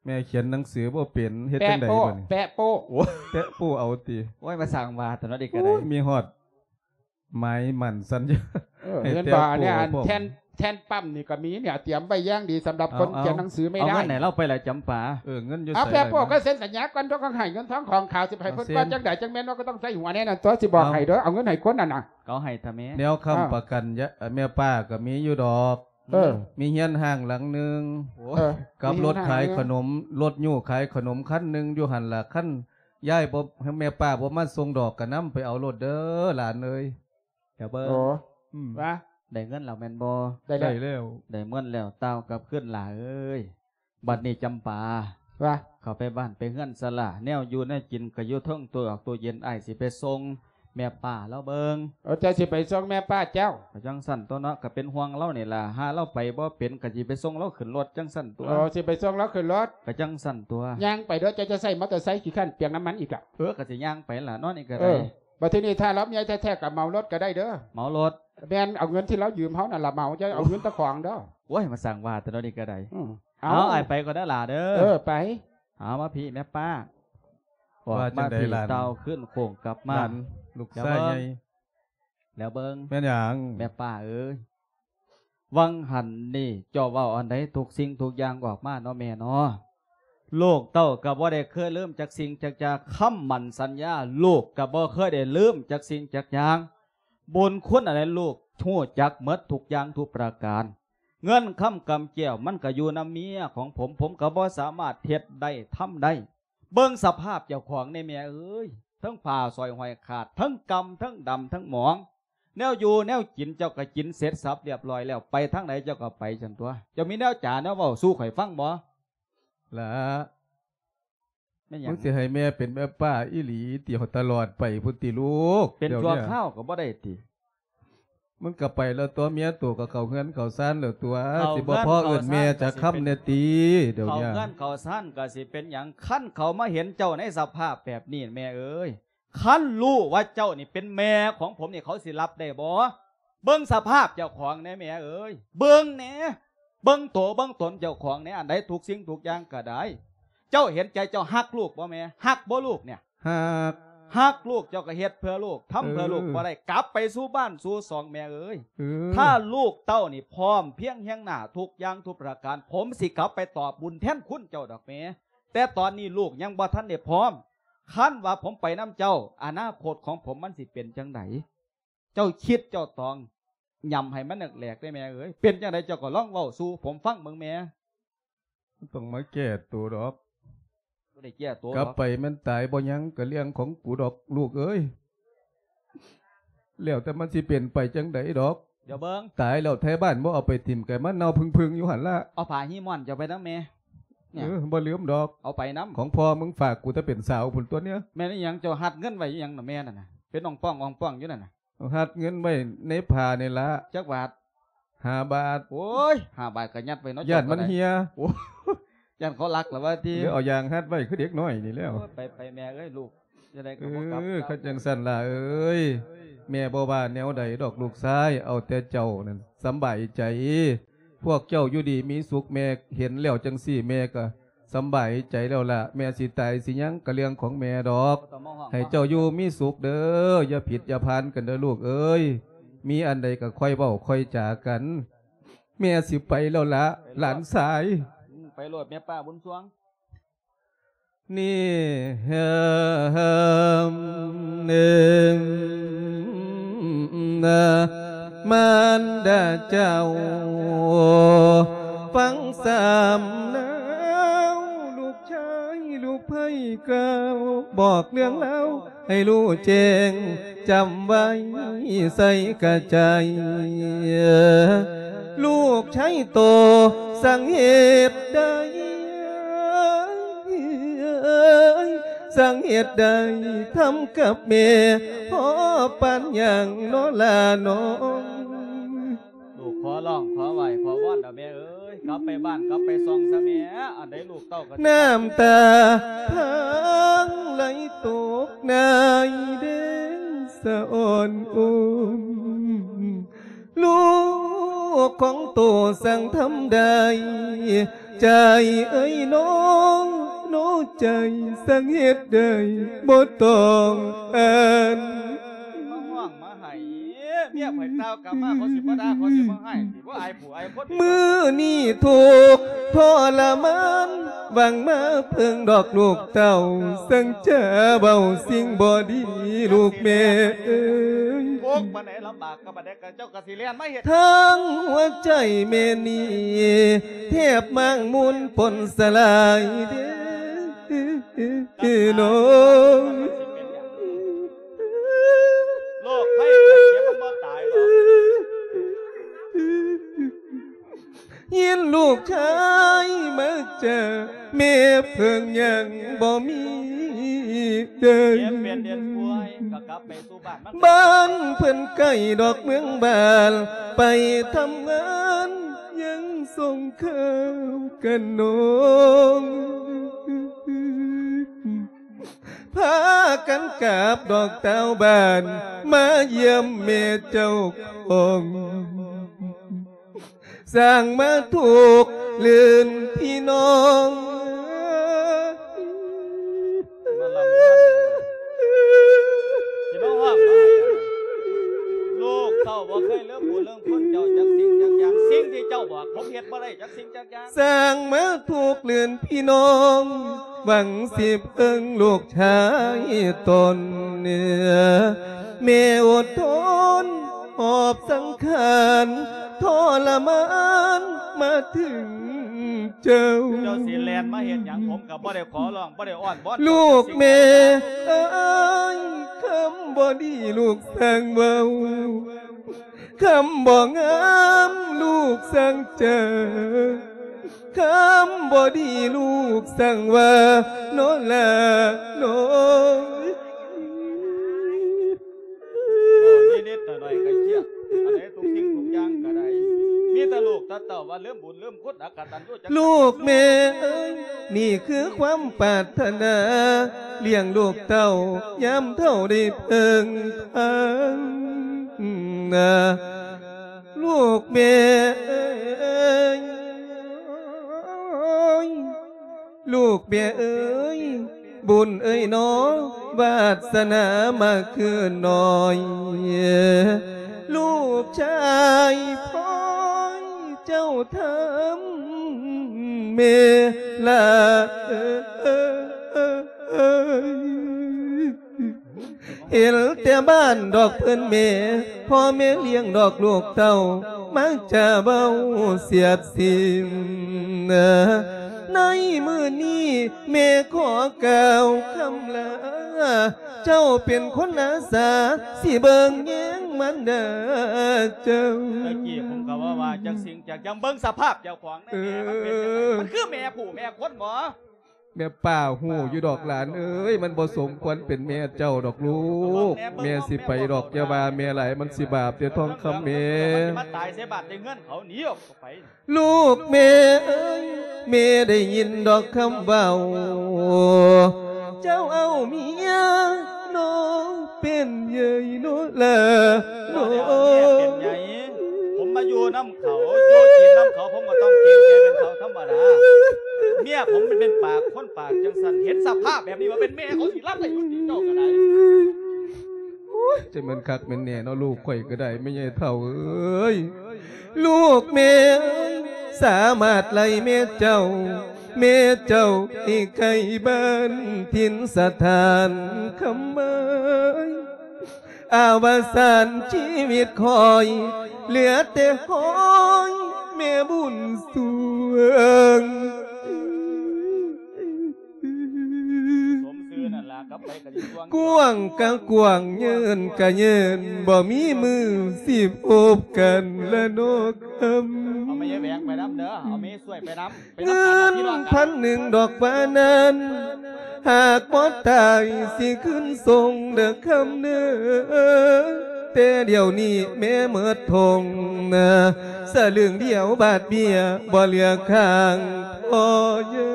ແມ່ຂຽນໜັງສືບໍ່ເປັນ ເຮັດຈັ່ງໃດບາດນີ້? ແປະໂປ້ ແປະໂປ້ ໂອ້ ແປະໂປ້ເອົາຕິ? ໂອ້ຍ ມາສ້າງວ່າຕົວນັ້ນອີກກໍໄດ້. ໂອ້ຍ ມີຮອດໝາຍໝັ້ນສັນຍາ. ເອີ ໃຫ້ ເຫັນບໍ່ ແຕະໂປ້ ອັນເນີ້ຍ ອັນ ພ້ອມ ແທ່ນ ແທ່ນປ້ຳນີ້ກໍມີເນຍ ຕຽມໄວ້ຢ່າງດີສຳລັບຄົນຂຽນໜັງສືແມ່ນາຍ. ເອົາເງິນໃຫ້ລາວໄປລະຈຳປາ. ເອີ ເງິນຢູ່ໃສ? ເອົາແປະໂປ້ກໍເຊັນສັນຍາກ່ອນ ຕ້ອງໃຫ້ເງິນທອງຂອງຂາວ ຊິໃຫ້ເພິ່ນວ່າຈັ່ງໃດ ຈັ່ງແມ່ນວ່າກໍຕ້ອງໃຊ້ຫົວແນ່ນັ້ນຕົວະ ຊິບອກໃຫ້ເດີ. ເອົາເງິນໃຫ້ຄົນນັ້ນນະ ເອົາໃຫ້ທະແມ່. ແນວຄ້ຳປະກັນ ແມ່ປ້າກໍມີຢູ່ດອກ. ເອີ ມີເຮືອນຮ້າງຫຼັງໜຶ່ງ ເອີ ກັບລົດຂາຍຂະໜົມ ລົດຍູ້ຂາຍຂະໜົມຄັນໜຶ່ງຢູ່ຫັ້ນລະ. ຄັນຍາຍບໍ່ ແມ່ປ້າບໍ່ມາສົ່ງດອກ ກໍນຳໄປເອົາໂລດເດີຫຼານເອີຍ. ດຽວເບິ່ງ ໂອ້ ອືມ ວ່າ ໄດ້ເງິນແລ້ວແມ່ນບໍ່? ໄດ້ແລ້ວ ໄດ້ແລ້ວ ໄດ້ເງິນແລ້ວ ຕ່າວກັບຄືນຫຼ້າເອີຍ. ບັດນີ້ຈຳປາ ວ່າ ເຂົ້າໄປບ້ານໄປເຮືອນຊະຫຼ້າ ແນວຢູ່ແນວກິນກໍຢູ່ເທິງຕູ້ອອກຕູ້ເຢັນ ອ້າຍຊິໄປສົ່ງແມ່ປ້າລາວເບິ່ງ. ເອີ ເຈົ້າຊິໄປສົ່ງແມ່ປ້າເຈົ້າ? ກໍຈັ່ງຊັ້ນຕົວະເນາະ ກໍເປັນຫ່ວງລາວນີ້ລະ ຫາລາວໄປບໍ່ເປັນ ກໍຊິໄປສົ່ງລາວຂຶ້ນລົດຈັ່ງຊັ້ນຕົວະ. ໂອ້ ຊິໄປສົ່ງລາວຂຶ້ນລົດ? ກໍຈັ່ງຊັ້ນຕົວະ. ຍ່າງໄປເດີ ເຈົ້າຈະໃຊ້ມໍເຕີໄຊ ຂີ້ຄ້ານເປືອງນ້ຳມັນອີກລະ. ເອີ ກໍຊິຍ່າງໄປລະເນາະ ນີ້ກໍໄດ້. ເອີ ບັດທີນີ້ຖ້າລາວເມຍແທ້ໆກໍເໝົາລົດກໍໄດ້ເດີ. ເໝົາລົດ? ແມ່ນ ເອົາເງິນທີ່ລາວຢືມເຮົານັ້ນລະເໝົາ ຢ່າເອົາເງິນເຈົ້າຂອງເດີ. ໂອ້ຍ ມາສ້າງວ່າແຕ່ເນາະນີ້ກໍໄດ້. ອືມ ເອົາ ເອົາ ອ້າຍໄປກ່ອນເດີຫຼ້າເດີ. ເອີ ໄປ. ເອົາ ມາພີ້ແມ່ປ້າ ອອກມາພີ້ ຕ່າວຂຶ້ນໂຄ້ງກັບມາ ລູກຊາຍໃຫຍ່ ແລ້ວເບິ່ງ ແມ່ນຫຍັງ? ແມ່ປ້າເອີຍ ຫວ່າງຫັ້ນນີ້ເຈົ້າເວົ້າອັນໃດ ທຸກສິ່ງທຸກຢ່າງອອກມາເນາະແມ່ເນາະ. ລູກເຕົ້າກໍບໍ່ໄດ້ເຄີຍລືມຈັກສິ່ງຈັກຢ່າງ ຄຳໝັ້ນສັນຍາ ລູກກໍບໍ່ເຄີຍໄດ້ລືມຈັກສິ່ງຈັກຢ່າງ. ບຸນຄຸນອັນໃດລູກຮູ້ຈັກໝົດທຸກຢ່າງທຸກປະການ. ເງິນຄຳກຳແກ້ວມັນກໍຢູ່ນຳເມຍຂອງຜົມ ຜົມກໍບໍ່ສາມາດເຮັດໄດ້ທຳໄດ້. ເບິ່ງສະພາບເຈົ້າຂອງແດ່ແມ່ເອີຍ ທັງຜ້າສ້ອຍຫ້ອຍຂາດ ທັງກ່ຳ ທັງດຳ ທັງໝອງ. ແນວຢູ່ແນວກິນເຈົ້າກໍກິນເສັດສັບລຽບຮ້ອຍແລ້ວ ໄປທາງໃດເຈົ້າກໍໄປຊັ້ນຕົວະ. ເຈົ້າມີແນວຈາແນວເວົ້າສູ່ຂ້ອຍຟັງບໍ່? ລະ ແມ່ນຫຍັງ? ມຶງຊິໃຫ້ແມ່ເປັນແມ່ປ້າອີ່ຫຼີຕິ ຕະຫຼອດໄປພຸ້ນຕິລູກ? ເປັນຊົ່ວຄາວກໍບໍ່ໄດ້ຕິ? ມັນກໍໄປແລ້ວຕົວະ ເມຍໂຕກໍເຂົ້າເຮືອນເຂົ້າຊານແລ້ວຕົວະ ຊິບໍ່ພໍເອີ້ນແມ່ຈັກຄຳແດ່ຕິ? ດຽວນີ້ ເຂົ້າເຮືອນເຂົ້າຊານກໍຊິເປັນຫຍັງ? ຄັນເຂົາມາເຫັນເຈົ້າໃນສະພາບແບບນີ້ແມ່ເອີຍ ຄັນຮູ້ວ່າເຈົ້ານີ້ເປັນແມ່ຂອງຜົມນີ້ ເຂົາຊິຮັບໄດ້ບໍ່? ເບິ່ງສະພາບເຈົ້າຂອງແດ່ແມ່ເອີຍ ເບິ່ງແດ່. ເບິ່ງໂຕເບິ່ງຕົນເຈົ້າຂອງແດ່ ອັນໃດທຸກສິ່ງທຸກຢ່າງກໍໄດ້. ເຈົ້າເຫັນໃຈເຈົ້າຮັກລູກບໍ່ແມ່? ຮັກບໍ່ລູກເນຍ? ຮັກ ຮັກລູກເຈົ້າກໍເຮັດເພື່ອລູກ ທຳເພື່ອລູກ ເອີ ບໍ່ໄດ້ ກັບໄປສູ່ບ້ານສູ່ຊ່ອງແມ່ເອີຍ. ເອີ ຖ້າລູກເຕົ້ານີ້ພ້ອມພຽງຮຽງໜ້າທຸກຢ່າງທຸກປະການ ຜົມຊິກັບໄປຕອບບຸນແທນຄຸນເຈົ້າດອກແມ່. ແຕ່ຕອນນີ້ລູກຍັງບໍ່ທັນໄດ້ພ້ອມ. ຄັນວ່າຜົມໄປນຳເຈົ້າ ອະນາຄົດຂອງຜົມມັນຊິເປັນຈັ່ງໃດ? ເຈົ້າຄິດເຈົ້າຕອງ ຫຍ້ຳໃຫ້ມັນແຫຼກໆ ເດ້ແມ່ເອີຍ. ເປັນຈັ່ງໃດເຈົ້າກໍລອງເວົ້າສູ່ຜົມຟັງເບິ່ງແມ່. ບໍ່ຕ້ອງມາແກ້ໂຕດອກ. ບໍ່ໄດ້ແກ້ໂຕດອກ. ກັບໄປແມ່ນຕາຍບໍ່ຍັງ ກະເລື່ອງຂອງກູດອກລູກເອີຍ. ແລ້ວແຕ່ມັນຊິເປັນໄປຈັ່ງໃດດອກ. ດຽວເບິ່ງ. ຕາຍແລ້ວໄທບ້ານບໍ່ເອົາໄປຖິ້ມ ກະມາເນົ່າເພິ່ງໆ ຢູ່ຫັ້ນລະ. ເອົາຜ້າຮີມ່ອນເຈົ້າໄປນຳແມ່. ເອີ ບໍ່ລືມດອກ. ເອົາໄປນຳ. ຂອງພໍ່ມຶງຝາກກູແຕ່ເປັນສາວພຸ້ນຕົວະເນຍ. ແມ່ນອີ່ຫຍັງ ເຈົ້າຮັດເງິນໄວ້ອີ່ຫຍັງນະແມ່ນັ້ນນະ ເປັນອ່ອງປ່ອງອ່ອງປ່ອງຢູ່ນັ້ນນະ? ຮັດເງິນໄວ້ໃນຜ້ານີ້ລະ. ຈັກບາດ? ຫ້າບາດ. ໂອ້ຍ ຫ້າບາດກໍຍັດໄວ້ເນາະ. ຢ້ານມັນເຫຍ. ໂອ້ ຢ້ານເຂົາລັກລະວ່າຕິ. ຫຼືເອົາຢາງຮັດໄວ້ຄືເດັກນ້ອຍນີ້ແລ້ວ. ໂອ້ຍ ໄປໆ ແມ່ເອີຍ ລູກຈັ່ງໃດກໍບໍ່ກັບ. ເອີ ຄັນຈັ່ງຊັ້ນລະເອີຍ ແມ່ບໍ່ວ່າແນວໃດດອກລູກຊາຍ ເອົາແຕ່ເຈົ້ານັ້ນສຳບາຍໃຈ. ພວກເຈົ້າຢູ່ດີມີສຸກ ແມ່ເຫັນແລ້ວຈັ່ງຊີ້ ແມ່ກໍ ສຳບາຍໃຈແລ້ວລະ. ແມ່ຊິຕາຍຊິຫຍັງກະເລື່ອງຂອງແມ່ດອກ. ໃຫ້ເຈົ້າຢູ່ມີສຸກເດີ ຢ່າຜິດຢ່າພານກັນເດີລູກເອີຍ. ມີອັນໃດກະຄ່ອຍເວົ້າຄ່ອຍຈາກັນ. ແມ່ຊິໄປແລ້ວລະ ຫຼານຊາຍ. ອືມ ໄປໂລດແມ່ປ້າບຸນຊ່ວງ. ນີ້ເຮີມໜຶ່ງ ມານດາເຈົ້າ ຟັງສຳນາວ ລູກຊາຍລູກໃພ້ກ່າວ ບອກເລື່ອງລາວໃຫ້ຮູ້ແຈ້ງ ຈຳໄວ້ໃສ່ກະໃຈ ລູກຊາຍໂຕ ສັງເຮັດໄດ້ ສັງເຮັດໄດ້ ທຳກັບແມ່ພໍປານຫຍັງນໍລະນ້ອງ. ລູກຂໍຮ້ອງ ຂໍໄຫວ້ ຂໍວອນເດີ້ແມ່ເອີຍ ກັບໄປບ້ານ ກັບໄປຊ່ອງຊະແມ່. ອັນໃດລູກເຕົ້າກໍ ນ້ຳຕາພັງໄຫຼຕົກໃນເດງສະອ່ອນອຸ່ນ ລູກຂອງໂຕສັງທຳໄດ້ ໃຈເອີຍນ້ອງ ນ້ອງໃຈສັງເຮັດໄດ້ ບໍ່ຕ້ອງອັນ ມາຮ້ອງມາໄຫ້ ເມຍຂ້ອຍຕ່າວກັບມາ ເຂົາຊິບໍ່ດ່າ ເຂົາຊິບໍ່ຮ້າຍ ຊິບໍ່ອາຍຜູ້ອາຍຄົນ. ມື້ນີ້ທຸກທໍລະມານ ຫວັງມາເພິ່ງດອກລູກເຕົ້າ ສັງຈະເວົ້າສິ່ງບໍ່ດີລູກແມ່ເອີຍ ໂອກປານໃດລຳບາກ ກັບບັດໃດກໍເຈົ້າກໍຊິແລ່ນມາເຮັດ ທັງຫົວໃຈແມ່ນີ້ ແທບມ້າງມຸນປົນສະຫຼາຍເດ້ນ້ອງ. ໂລກໄພໄຂ້ເຈັບມັນບໍ່ຕາຍດອກ. ຍິນລູກຊາຍມາຈາ ແມ່ເພິ່ງຍັງບໍ່ມີເດີ ເຈັບເປັນເດັນປ່ວຍກໍກັບໄປສູ່ບ້ານມັນ ບ້ານເພິ່ນໄກດອກເມືອງບ້ານ ໄປທຳງານຍັງສົ່ງຂ່າວກັນນ້ອງ ພາກັນກັບດອກຕ່າວບ້ານ ມາຢ້ຽມແມ່ເຈົ້າຂອງ ສ້າງມາທຸກລື່ນພີ່ນ້ອງ ມາລຳພັນ ຊິມາຮ້ອງມາໄຫ້ ລູກເຕົ້າບໍ່ເຄີຍລືມບຸນລືມຄຸນເຈົ້າຈັກສິ່ງຈັກຢ່າງ ສິ່ງທີ່ເຈົ້າບອກ ຜົມເຮັດບໍ່ໄດ້ຈັກສິ່ງຈັກຢ່າງ ສ້າງມາທຸກລື່ນພີ່ນ້ອງ ຫວັງຊິເພິ່ງລູກຊາຍຕົນ ແມ່ອົດທົນຫອບສັງຂານ ທໍລະມານມາເຖິງເຈົ້າ ເຈົ້າຊິແລ່ນມາເຮັດຫຍັງ ຜົມກໍບໍ່ໄດ້ຂໍຮ້ອງ ບໍ່ໄດ້ອ້ອນວອນ ລູກແມ່ເອີຍ ຄຳບໍ່ດີລູກຊ່າງເວົ້າ ຄຳບໍ່ງາມລູກຊ່າງຈາ ຄຳບໍ່ດີລູກຊ່າງວ່າ ໂນລາໂນຍ ເວົ້ານິດໆໜ້ອຍໆກໍເຄຍດ ອັນໃດທຸກສິ່ງທຸກຢ່າງກໍໄດ້ ມີແຕ່ລູກແຕ່ເຕົ້າວ່າລືມບຸນລືມຄຸນ ອະກະຕັນຍູຈັກ ລູກແມ່ເອີຍ ນີ້ຄືຄວາມປາດຖະໜາ ລ້ຽງລູກເຕົ້າຍາມເຖົ້າໄດ້ເພິ່ງພາ ລູກແມ່ເອີຍ ລູກແມ່ເອີຍ ບຸນເອີຍໜໍ ວາດສະໜາມາຄືນນ້ອຍ ລູກຊາຍພອຍເຈົ້າທຳແມ່ລະເອີຍ. ເຫັນແຕ່ບ້ານດອກເພິ່ນແມ່ ພໍ່ແມ່ລ້ຽງດອກລູກເຕົ້າ ມັກຈະເວົ້າສຽດສີນ. ໃນມື້ນີ້ແມ່ຂໍກ່າວຄຳລາ ເຈົ້າເປັນຄົນອາສາ ຊິເບິ່ງແຍງມານດາເຈົ້າ. ແຕ່ກີ້ຜົມກໍວ່າ ວ່າຈັກສິ່ງຈັກຢ່າງ ເບິ່ງສະພາບເຈົ້າຂອງໃນແມ່ມັນເປັນຈັ່ງໃດ ເອີ ມັນຄືແມ່ຜູ້ແມ່ຄົນບໍ? ແມ່ປ້າຮູ້ຢູ່ດອກຫຼານເອີຍ ມັນບໍ່ສົມຄວນເປັນແມ່ເຈົ້າດອກລູກ ແມ່ຊິໄປດອກ ຢ່າວ່າແມ່ຫຼາຍ ມັນຊິບາບເດ້ທອງຄຳແມ່. ມັນຊິມາຕາຍໃສ່ບ້ານໃສ່ເຮືອນເຂົາ ໜີອອກໄປ. ລູກແມ່ເອີຍ ແມ່ໄດ້ຍິນດອກຄຳເວົ້າ ເຈົ້າເອົາເມຍນ້ອງເປັນໃຫຍ່ໂນລາ ນ້ອງເປັນໃຫຍ່. ຜົມມາຢູ່ນຳ ເຂົາຢູ່ກິນນຳເຂົາ ຜົມກໍຕ້ອງເກງໃຈເປັນເຖົ້າທຳມະດາ. ເມຍຜົມມັນເປັນປາກຄົນປາກຈັ່ງຊັ້ນ ເຫັນສະພາບແບບນີ້ວ່າເປັນແມ່ເຂົາຊິຮັບໄດ້ຢູ່ຕິເຈົ້າກໍໄດ້. ໂອ້ຍ ຈະແມ່ນຄັກແມ່ນແນ່ເນາະ ລູກຂ້ອຍກໍໄດ້ ແມ່ໃຫຍ່ເຖົ້າເອີຍ. ລູກແມ່ສາມາດໄລ່ແມ່ເຈົ້າ ແມ່ເຈົ້າທີ່ໄກບ້ານຖິ່ນສະຖານ ຄຳເອີຍ. ອາວະສານຊີວິດຂ້ອຍ ເຫຼືອແຕ່ຫ້ອຍແມ່ບຸນສວງ. ສົມຊື່ນັ້ນລະ ກັບໃຜກໍຊິຊ່ວງ. ກວ້າງກະກວ້າງ ເຍີນກະເຍີນ ບໍ່ມີມື້ຊິພົບກັນລະເນາະຄຳ. ເອົາແມ່ຍາຍແຫວງໄປນຳເດີ ເອົາແມ່ຊ່ວຍໄປນຳ. ເງິນພັນໜຶ່ງດອກວ່ານັ້ນ ຫາກບໍ່ຕາຍຊິຄືນສົ່ງເດີຄຳເນີ. ແຕ່ດຽວນີ້ແມ່ໝົດທົ່ງນາ ສະລຶງດຽວບາດເບ້ຍ ບໍ່ເຫຼືອຄ້າງພໍ່ໃຫຍ່.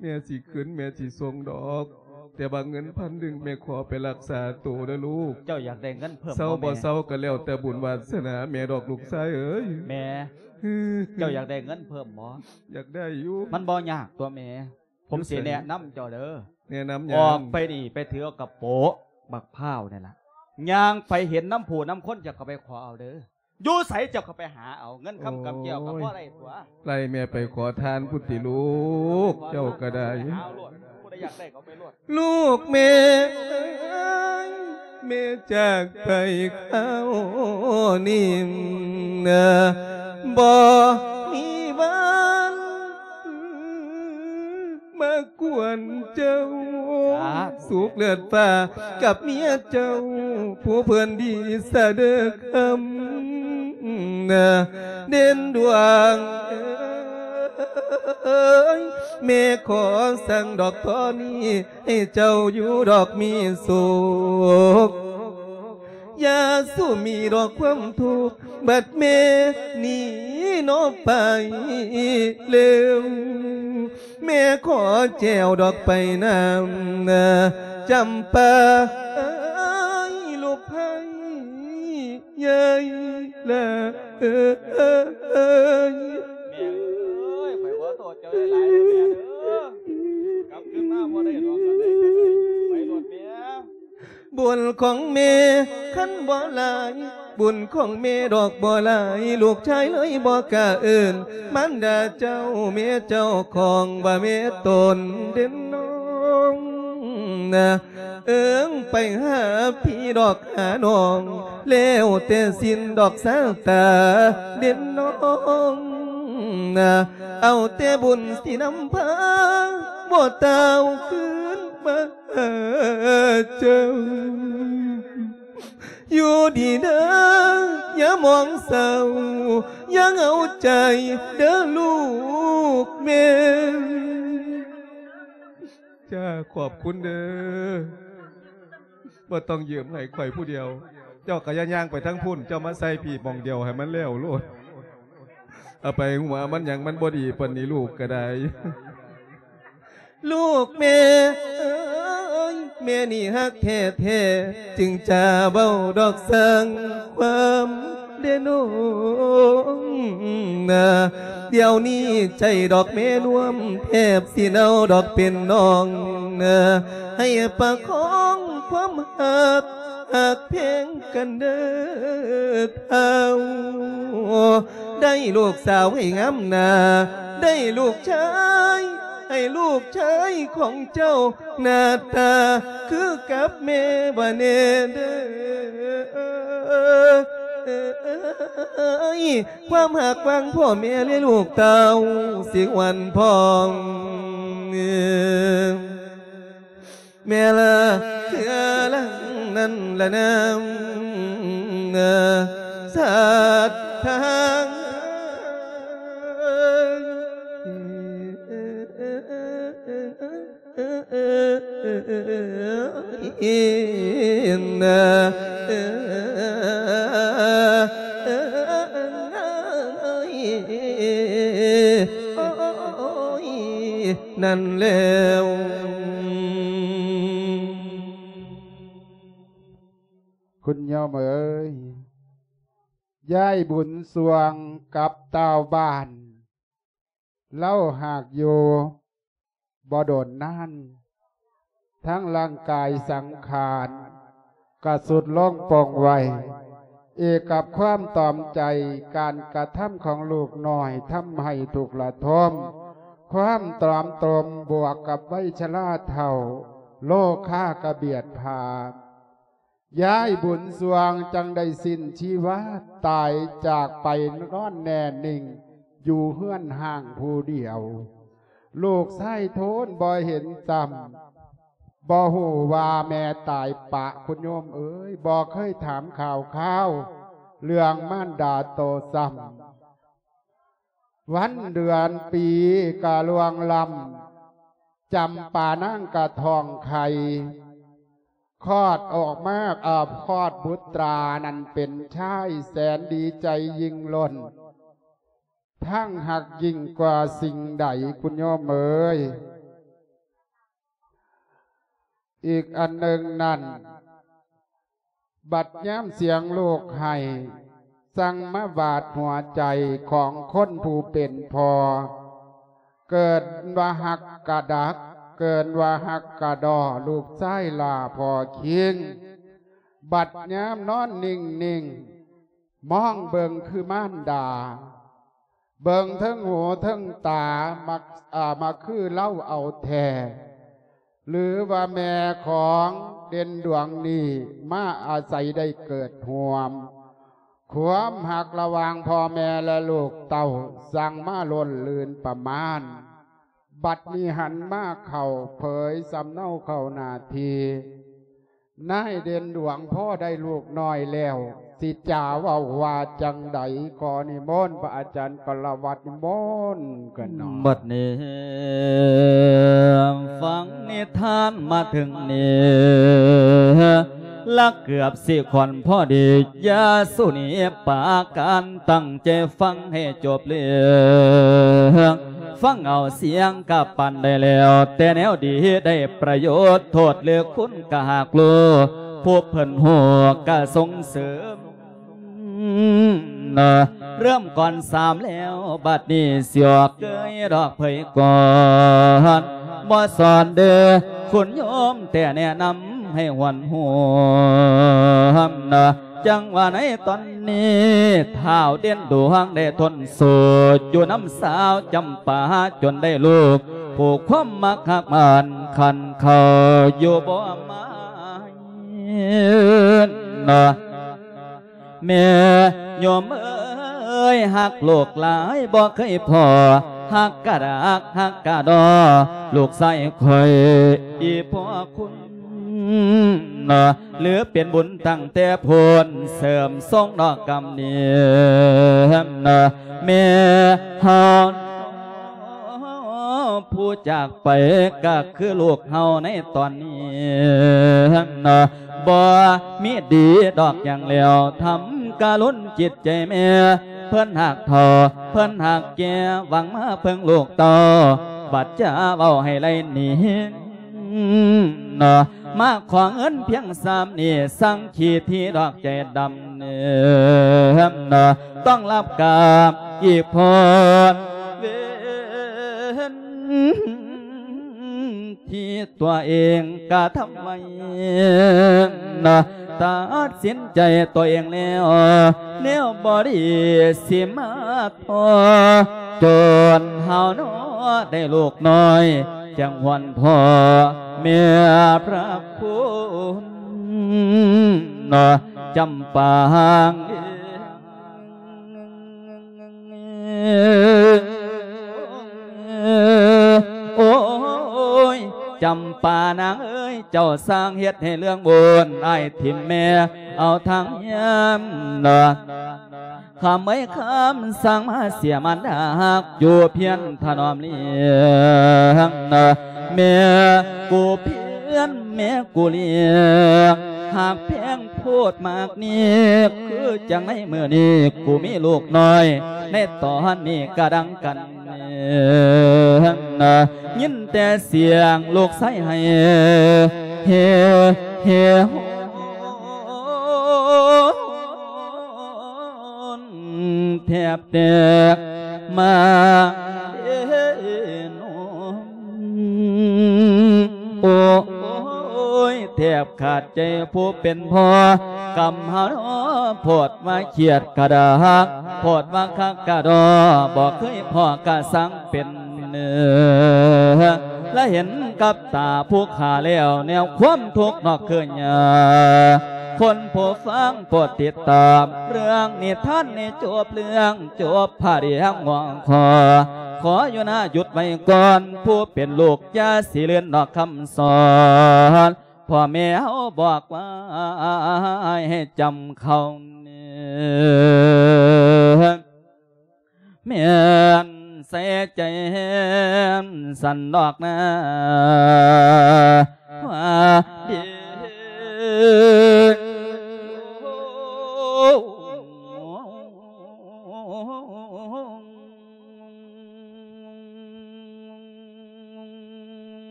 ແມ່ຊິຄືນ ແມ່ຊິສົ່ງດອກ ແຕ່ວ່າເງິນພັນໜຶ່ງແມ່ຂໍໄປລັກສາໂຕເດີລູກ. ເຈົ້າຢາກໄດ້ເງິນເພີ່ມບໍ່ແມ່? ເຊົາບໍ່ເຊົາກໍແລ້ວແຕ່ບຸນວາສະໜາແມ່ດອກລູກຊາຍເອີຍ. ແມ່ ເຈົ້າຢາກໄດ້ເງິນເພີ່ມບໍ່? ຢາກໄດ້ຢູ່. ມັນບໍ່ຍາກຕົວະແມ່ ຜົມຊິແນະນຳເຈົ້າເດີ. ແນະນຳຫຍັງ? ອອກໄປນີ້ໄປຖືເອົາກະໂປະບັກພ້າວນີ້ລະ ຍ່າງໄປເຫັນນຳຜູ້ນຳຄົນ ເຈົ້າກໍໄປຂໍເອົາເດີ. ຢູ່ໃສເຈົ້າກໍໄປຫາເອົາ ເງິນຄຳກຳແກ້ວກໍພໍໄດ້ຕົວະ. ໄລ່ແມ່ໄປຂໍທານພຸ້ນຕິລູກ ເຈົ້າກໍໄດ້. ຫາໂລດ ຜູ້ໃດຢາກໄດ້ກໍໄປໂລດ. ລູກແມ່ເອີຍ ແມ່ຈາກໄປຄາວນີ້ນະ ບໍ່ມີວັນ ມາກວນເຈົ້າ ສາທຸ ສຸກເລີດຟ້າກັບເມຍເຈົ້າ ຜູ້ເພິ່ນດີສະເດີຄຳນະ ເດັ່ນດວງເອີຍ. ແມ່ຂໍສັ່ງດອກຕອນນີ້ ໃຫ້ເຈົ້າຢູ່ດອກມີສຸກ ຢ່າສູ່ມີດອກຄວາມທຸກ ບັດແມ່ໜີເນາະໄປເລັວ. ແມ່ຂໍແຈວດອກໄປນຳນາ ຈຳປາເອີຍ ລູກໃຜໃຫຍ່ລະເອີຍ. ແມ່ເອີຍ ຂ້ອຍຂໍໂທດເຈົ້າຫຼາຍໆເດີແມ່ເດີ ກັບຄືນມາບໍ່ໄດ້ດອກ ອັນໃດກໍໄດ້ ໄປໂລດແມ່. ບຸນຂອງແມ່ຄັນບໍ່ຫຼາຍ ບຸນຂອງແມ່ດອກບໍ່ຫຼາຍ ລູກຊາຍເລີຍບໍ່ກ້າເອີ້ນ ມານດາເຈົ້າແມ່ເຈົ້າຂອງວ່າແມ່ຕົນເດັ່ນນ້ອງນະ ເອີ້ງໄປຫາພີ່ດອກຫານ້ອງ ແລ້ວແຕ່ສິນດອກຊາຕາເດັ່ນນ້ອງນະ ເອົາແຕ່ບຸນສິນຳພາ ບໍ່ຕ່າວຄືນມາ ຫາເຈົ້າ ຢູ່ດີເດີ ຢ່າມອງເສົ້າ ຢ່າເຫງົາໃຈເດີລູກແມ່. ຈ້າ ຂອບຄຸນເດີ ບໍ່ຕ້ອງຢືມໃຫ້ຂ້ອຍຜູ້ດຽວ ເຈົ້າກໍຢ່າຍ່າງໄປທາງພຸ້ນ ເຈົ້າມາໃສ່ພີ້ໝ່ອງດຽວໃຫ້ມັນແລ້ວໂລດ ເອົາໄປຫົວມັນຫຍັງ ມັນບໍ່ດີປານນີ້ ລູກກໍໄດ້. ລູກແມ່ເອີຍ ແມ່ນີ້ຮັກແທ້ໆ ຈຶ່ງຈະເວົ້າດອກສ້າງຄວາມເດນ້ອງນາ ດຽວນີ້ໃຈດອກແມ່ນວມ ແທບຊິເນົ່າດອກເປັນໜອງເນາະ ໃຫ້ປະຄອງຄວາມຮັກ ຮັກແພງກັນເດີເຖົ້າ. ໄດ້ລູກສາວໃຫ້ງາມໜ້າ ໄດ້ລູກຊາຍ ໃຫ້ລູກຊາຍຂອງເຈົ້າ ໜ້າຕາຄືກັບແມ່ວ່າແນ່ເດີ. ຄວາມຮັກຫວ່າງພໍ່ແມ່ ແລະ ລູກເຕົ້າ ຊິຫວນພອງ ແມ່ລະເທື່ອລະນັ້ນລະນາມ ສັດທາ ນັ້ນແລ້ວ ຄຸນໂຍມເອີຍ, ຍາຍບຸນຊ່ວງກັບຕ່າວບ້ານ ລາວຫາກຢູ່ບໍ່ດົນນານ, ທັງຮ່າງກາຍສັງຂານກະຊຸດລົງປົງໄວ. ອີກກັບຄວາມຕອມໃຈ, ການກະທຳຂອງລູກນ້ອຍທຳໃຫ້ທຸກລະທົມ, ຄວາມຕອມຕົມບວກກັບໄວຊະລາເຖົ້າ, ໂລຄາກະບຽດພາ. ຍາຍບຸນຊ່ວງຈັ່ງໄດ້ສິ້ນຊີວາ, ຕາຍຈາກໄປນອນແນ່ນິ່ງຢູ່ເຮືອນຮ້າງຜູ້ດຽວ. ລູກຊາຍໂທນບໍ່ເຫັນຊ້ຳ, ບໍ່ຮູ້ວ່າແມ່ຕາຍປະ, ຄຸນໂຍມເອີຍ, ບໍ່ເຄີຍຖາມຂ່າວຄາວເລື່ອງມານດາໂຕຊ້ຳ. ວັນເດືອນປີກະລ່ວງລ້ຳ, ຈຳປານາງກະທ້ອງໄຂ່, ຄອດອອກມາ, ເອີ, ຄອດບຸດຕານັ້ນເປັນຊາຍ, ແສນດີໃຈຍິ່ງລົ້ນ, ທັງຮັກຍິ່ງກວ່າສິ່ງໃດ, ຄຸນໂຍມເອີຍ. ອີກອັນໜຶ່ງນັ້ນ, ບັດຍາມສຽງລູກໄຫ້ ສັ່ງມາບາດຫົວໃຈຂອງຄົນຜູ້ເປັນພໍ່. ເກີນວ່າຮັກກະດັກ, ເກີນວ່າຮັກກະດໍ, ລູກຊາຍຫຼ້າພໍ່ຄິງ. ບັດຍາມນອນນິ່ງໆ, ມອງເບິ່ງຄືມານດາ, ເບິ່ງເທິງຫູເທິງຕາ, ມັກ, ອາ, ມັກຄືລາວເອົາແທ້. ຫຼືວ່າແມ່ຂອງເດັ່ນດວງນີ້ມາອາໄສໄດ້ເກີດຮ່ວມ. ຄວາມຮັກລະຫວ່າງພໍ່ແມ່ ແລະ ລູກເຕົ້າ ຊ່າງມາລົ້ນລື່ນປະມານ. ບັດນີ້ຫັນມາເຂົ້າເຜີຍສຳເນົາເຂົ້າໜ້າທີ່. ນາຍເດັ່ນດວງພໍໄດ້ລູກນ້ອຍແລ້ວ ຊິຈາເວົ້າວ່າຈັ່ງໃດ? ຂໍນິມົນພະອາຈານກະລະວັດ ນິມົນກັນເນາະ. ບັດນີ້ຟັງນິທານມາເຖິງນີ້ ລະເກືອບຊິຂ້ອນພໍດີ ຢ່າສູ່ໜີປາການ ຕັ້ງໃຈຟັງໃຫ້ຈົບເລື່ອງ. ຟັງເອົາສຽງກະປານໄດ້ແລ້ວ ແຕ່ແນວດີໄດ້ປະໂຫຍດ ໂທດຫຼືຄຸນກະຫາກຮູ້ ຜູ້ເພິ່ນຮູ້ກະສົ່ງເສີມ. ເລີ່ມກ່ອນສາມແລ້ວ ບັດນີ້ຊິອອກເກີຍດອກເຜີຍກ່ອນ ບໍ່ສອນເດີ ຄຸນໂຍມແຕ່ແນະນຳໃຫ້ຫວນຫວມ. ຈັ່ງວ່າໃນຕອນນີ້ ທ້າວເດັ່ນດວງໄດ້ທົນສູ້ ຢູ່ນຳສາວຈຳປາ ຈົນໄດ້ລູກ ຜູ້ຄວາມມັກຮັກໝັ້ນຂັນເຂົ້າ ຢູ່ບໍ່ໝາຍ. ແມ່ໂຍມເອີຍ ຮັກລູກຫຼາຍບໍ່ເຄີຍພໍ ຮັກກະດັກຮັກກະດໍ ລູກຊາຍຂ້ອຍອີ່ພໍ່ຄຸນ ຫຼືເປັນບຸນຕັ້ງແຕ່ພຸ້ນ ເສີມຊົງດອກກຳເນີນ ແມ່ເຮົາ ຜູ້ຈາກໄປກະຄືລູກເຮົາໃນຕອນນີ້ ບໍ່ມີດີດອກຫຍັງແລ້ວ ທຳກະລຸນຈິດໃຈແມ່ ເພິ່ນຮັກເຖົ້າ ເພິ່ນຮັກແກ່ ຫວັງມາເພິ່ງລູກເຕົ້າ ບັດຈະເວົ້າໃຫ້ໄລ່ໜີ ມາຂໍເງິນພຽງຊາມນີ້ ສັ່ງຂີ້ຖີ່ດອກໃຈດຳ ຕ້ອງລັບກາບອີກພົ້ນ. ເວນທີ່ຕົວເອງກະທຳໄວ້ ຕັດສິນໃຈຕົວເອງແລ້ວ ແນວບໍ່ດີຊິມາພໍ້ ຈົນເຮົາເນາະໄດ້ລູກນ້ອຍ ຈັ່ງຫວນພໍ່ແມ່ພະຄຸນ ຈຳປາງ ໂອ້ຍ ຈຳປານາງເອີຍ ເຈົ້າຊ່າງເຮັດໃຫ້ເລື່ອງບຸນ ອ້າຍຖິ້ມແມ່ເອົາທາງຍາມ ຄຳເອີຍ ຄຳສັ່ງມາເສຍມານດາຮັກ ຢູ່ພຽນຖະໜອມລ້ຽງ ແມ່ກູພຽນ ແມ່ກູລ້ຽງ ຮັກແພງໂພດມາກນີ້ ຄືຈັ່ງໃນມື້ນີ້ ກູມີລູກນ້ອຍ ໃນຕອນນີ້ກະດັງກັນ ຍິນແຕ່ສຽງລູກຊາຍໄຫ້ ເຮ ເຮ ໂຮ ແທບແຕກມາເດໂນ ໂອ້ຍ ແທບຂາດໃຈຜູ້ເປັນພໍ່ ກຳຫາໂພດວ່າຄຽດກະດາ ໂພດວ່າຄັກກະດໍ ບໍ່ເຄີຍພໍ້ກະສັງເປັນ ລະເຫັນກັບຕາຜູ້ຂ້າແລ້ວ ແນວຄວາມທຸກນອກຄືຍາ ຄົນຜູ້ຟັງໂປດຕິດຕາມ ເລື່ອງນິທານນີ້ຈົບເລື່ອງ ຈົບພະເດງຫົວຂໍ້ ຂໍຢູ່ນາຢຸດໄວ້ກ່ອນ ຜູ້ເປັນລູກຢ່າຊິເລື່ອນນອກຄຳສອນ ພໍ່ແມ່ເຮົາບອກໄວ້ໃຫ້ຈຳເຂົ້າ ແມ່ນໃສ່ໃຈຫັ້ນຊັ້ນດອກນາ ວ່າດີ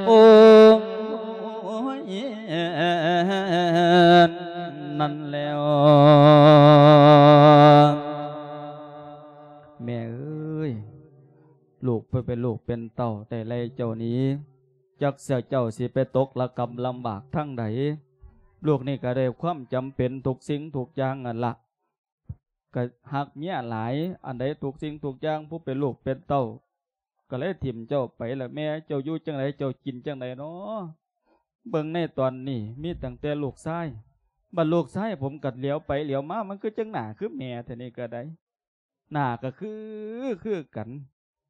ໂອ້ຍ ນັ້ນແລ້ວ ແມ່ເອີຍ ລູກໄປເປັນລູກເປັນເຕົ້າ ໄດ້ໄລ່ເຈົ້າໜີ ຈັກເສຍເຈົ້າຊິໄປຕົກລະກຳລຳບາກທາງໃດ ລູກນີ້ກະໄດ້ຄວາມຈຳເປັນທຸກສິ່ງທຸກຢ່າງຫັ້ນລະ ກະຮັກເມຍຫຼາຍ ອັນໃດທຸກສິ່ງທຸກຢ່າງ ຜູ້ເປັນລູກເປັນເຕົ້າ ກະເລີຍຖິ້ມເຈົ້າໄປລະແມ່ ເຈົ້າຢູ່ຈັ່ງໃດ ເຈົ້າກິນຈັ່ງໃດນໍ ເບິ່ງໃນຕອນນີ້ມີຕັ້ງແຕ່ລູກຊາຍ ບັດລູກຊາຍຜົມກະຫຼຽວໄປຫຼຽວມາ ມັນຄືຈັ່ງໜ້າຄືແມ່ແທ້ນີ້ກະໄດ້ ໜ້າກະຄື ຄືກັນ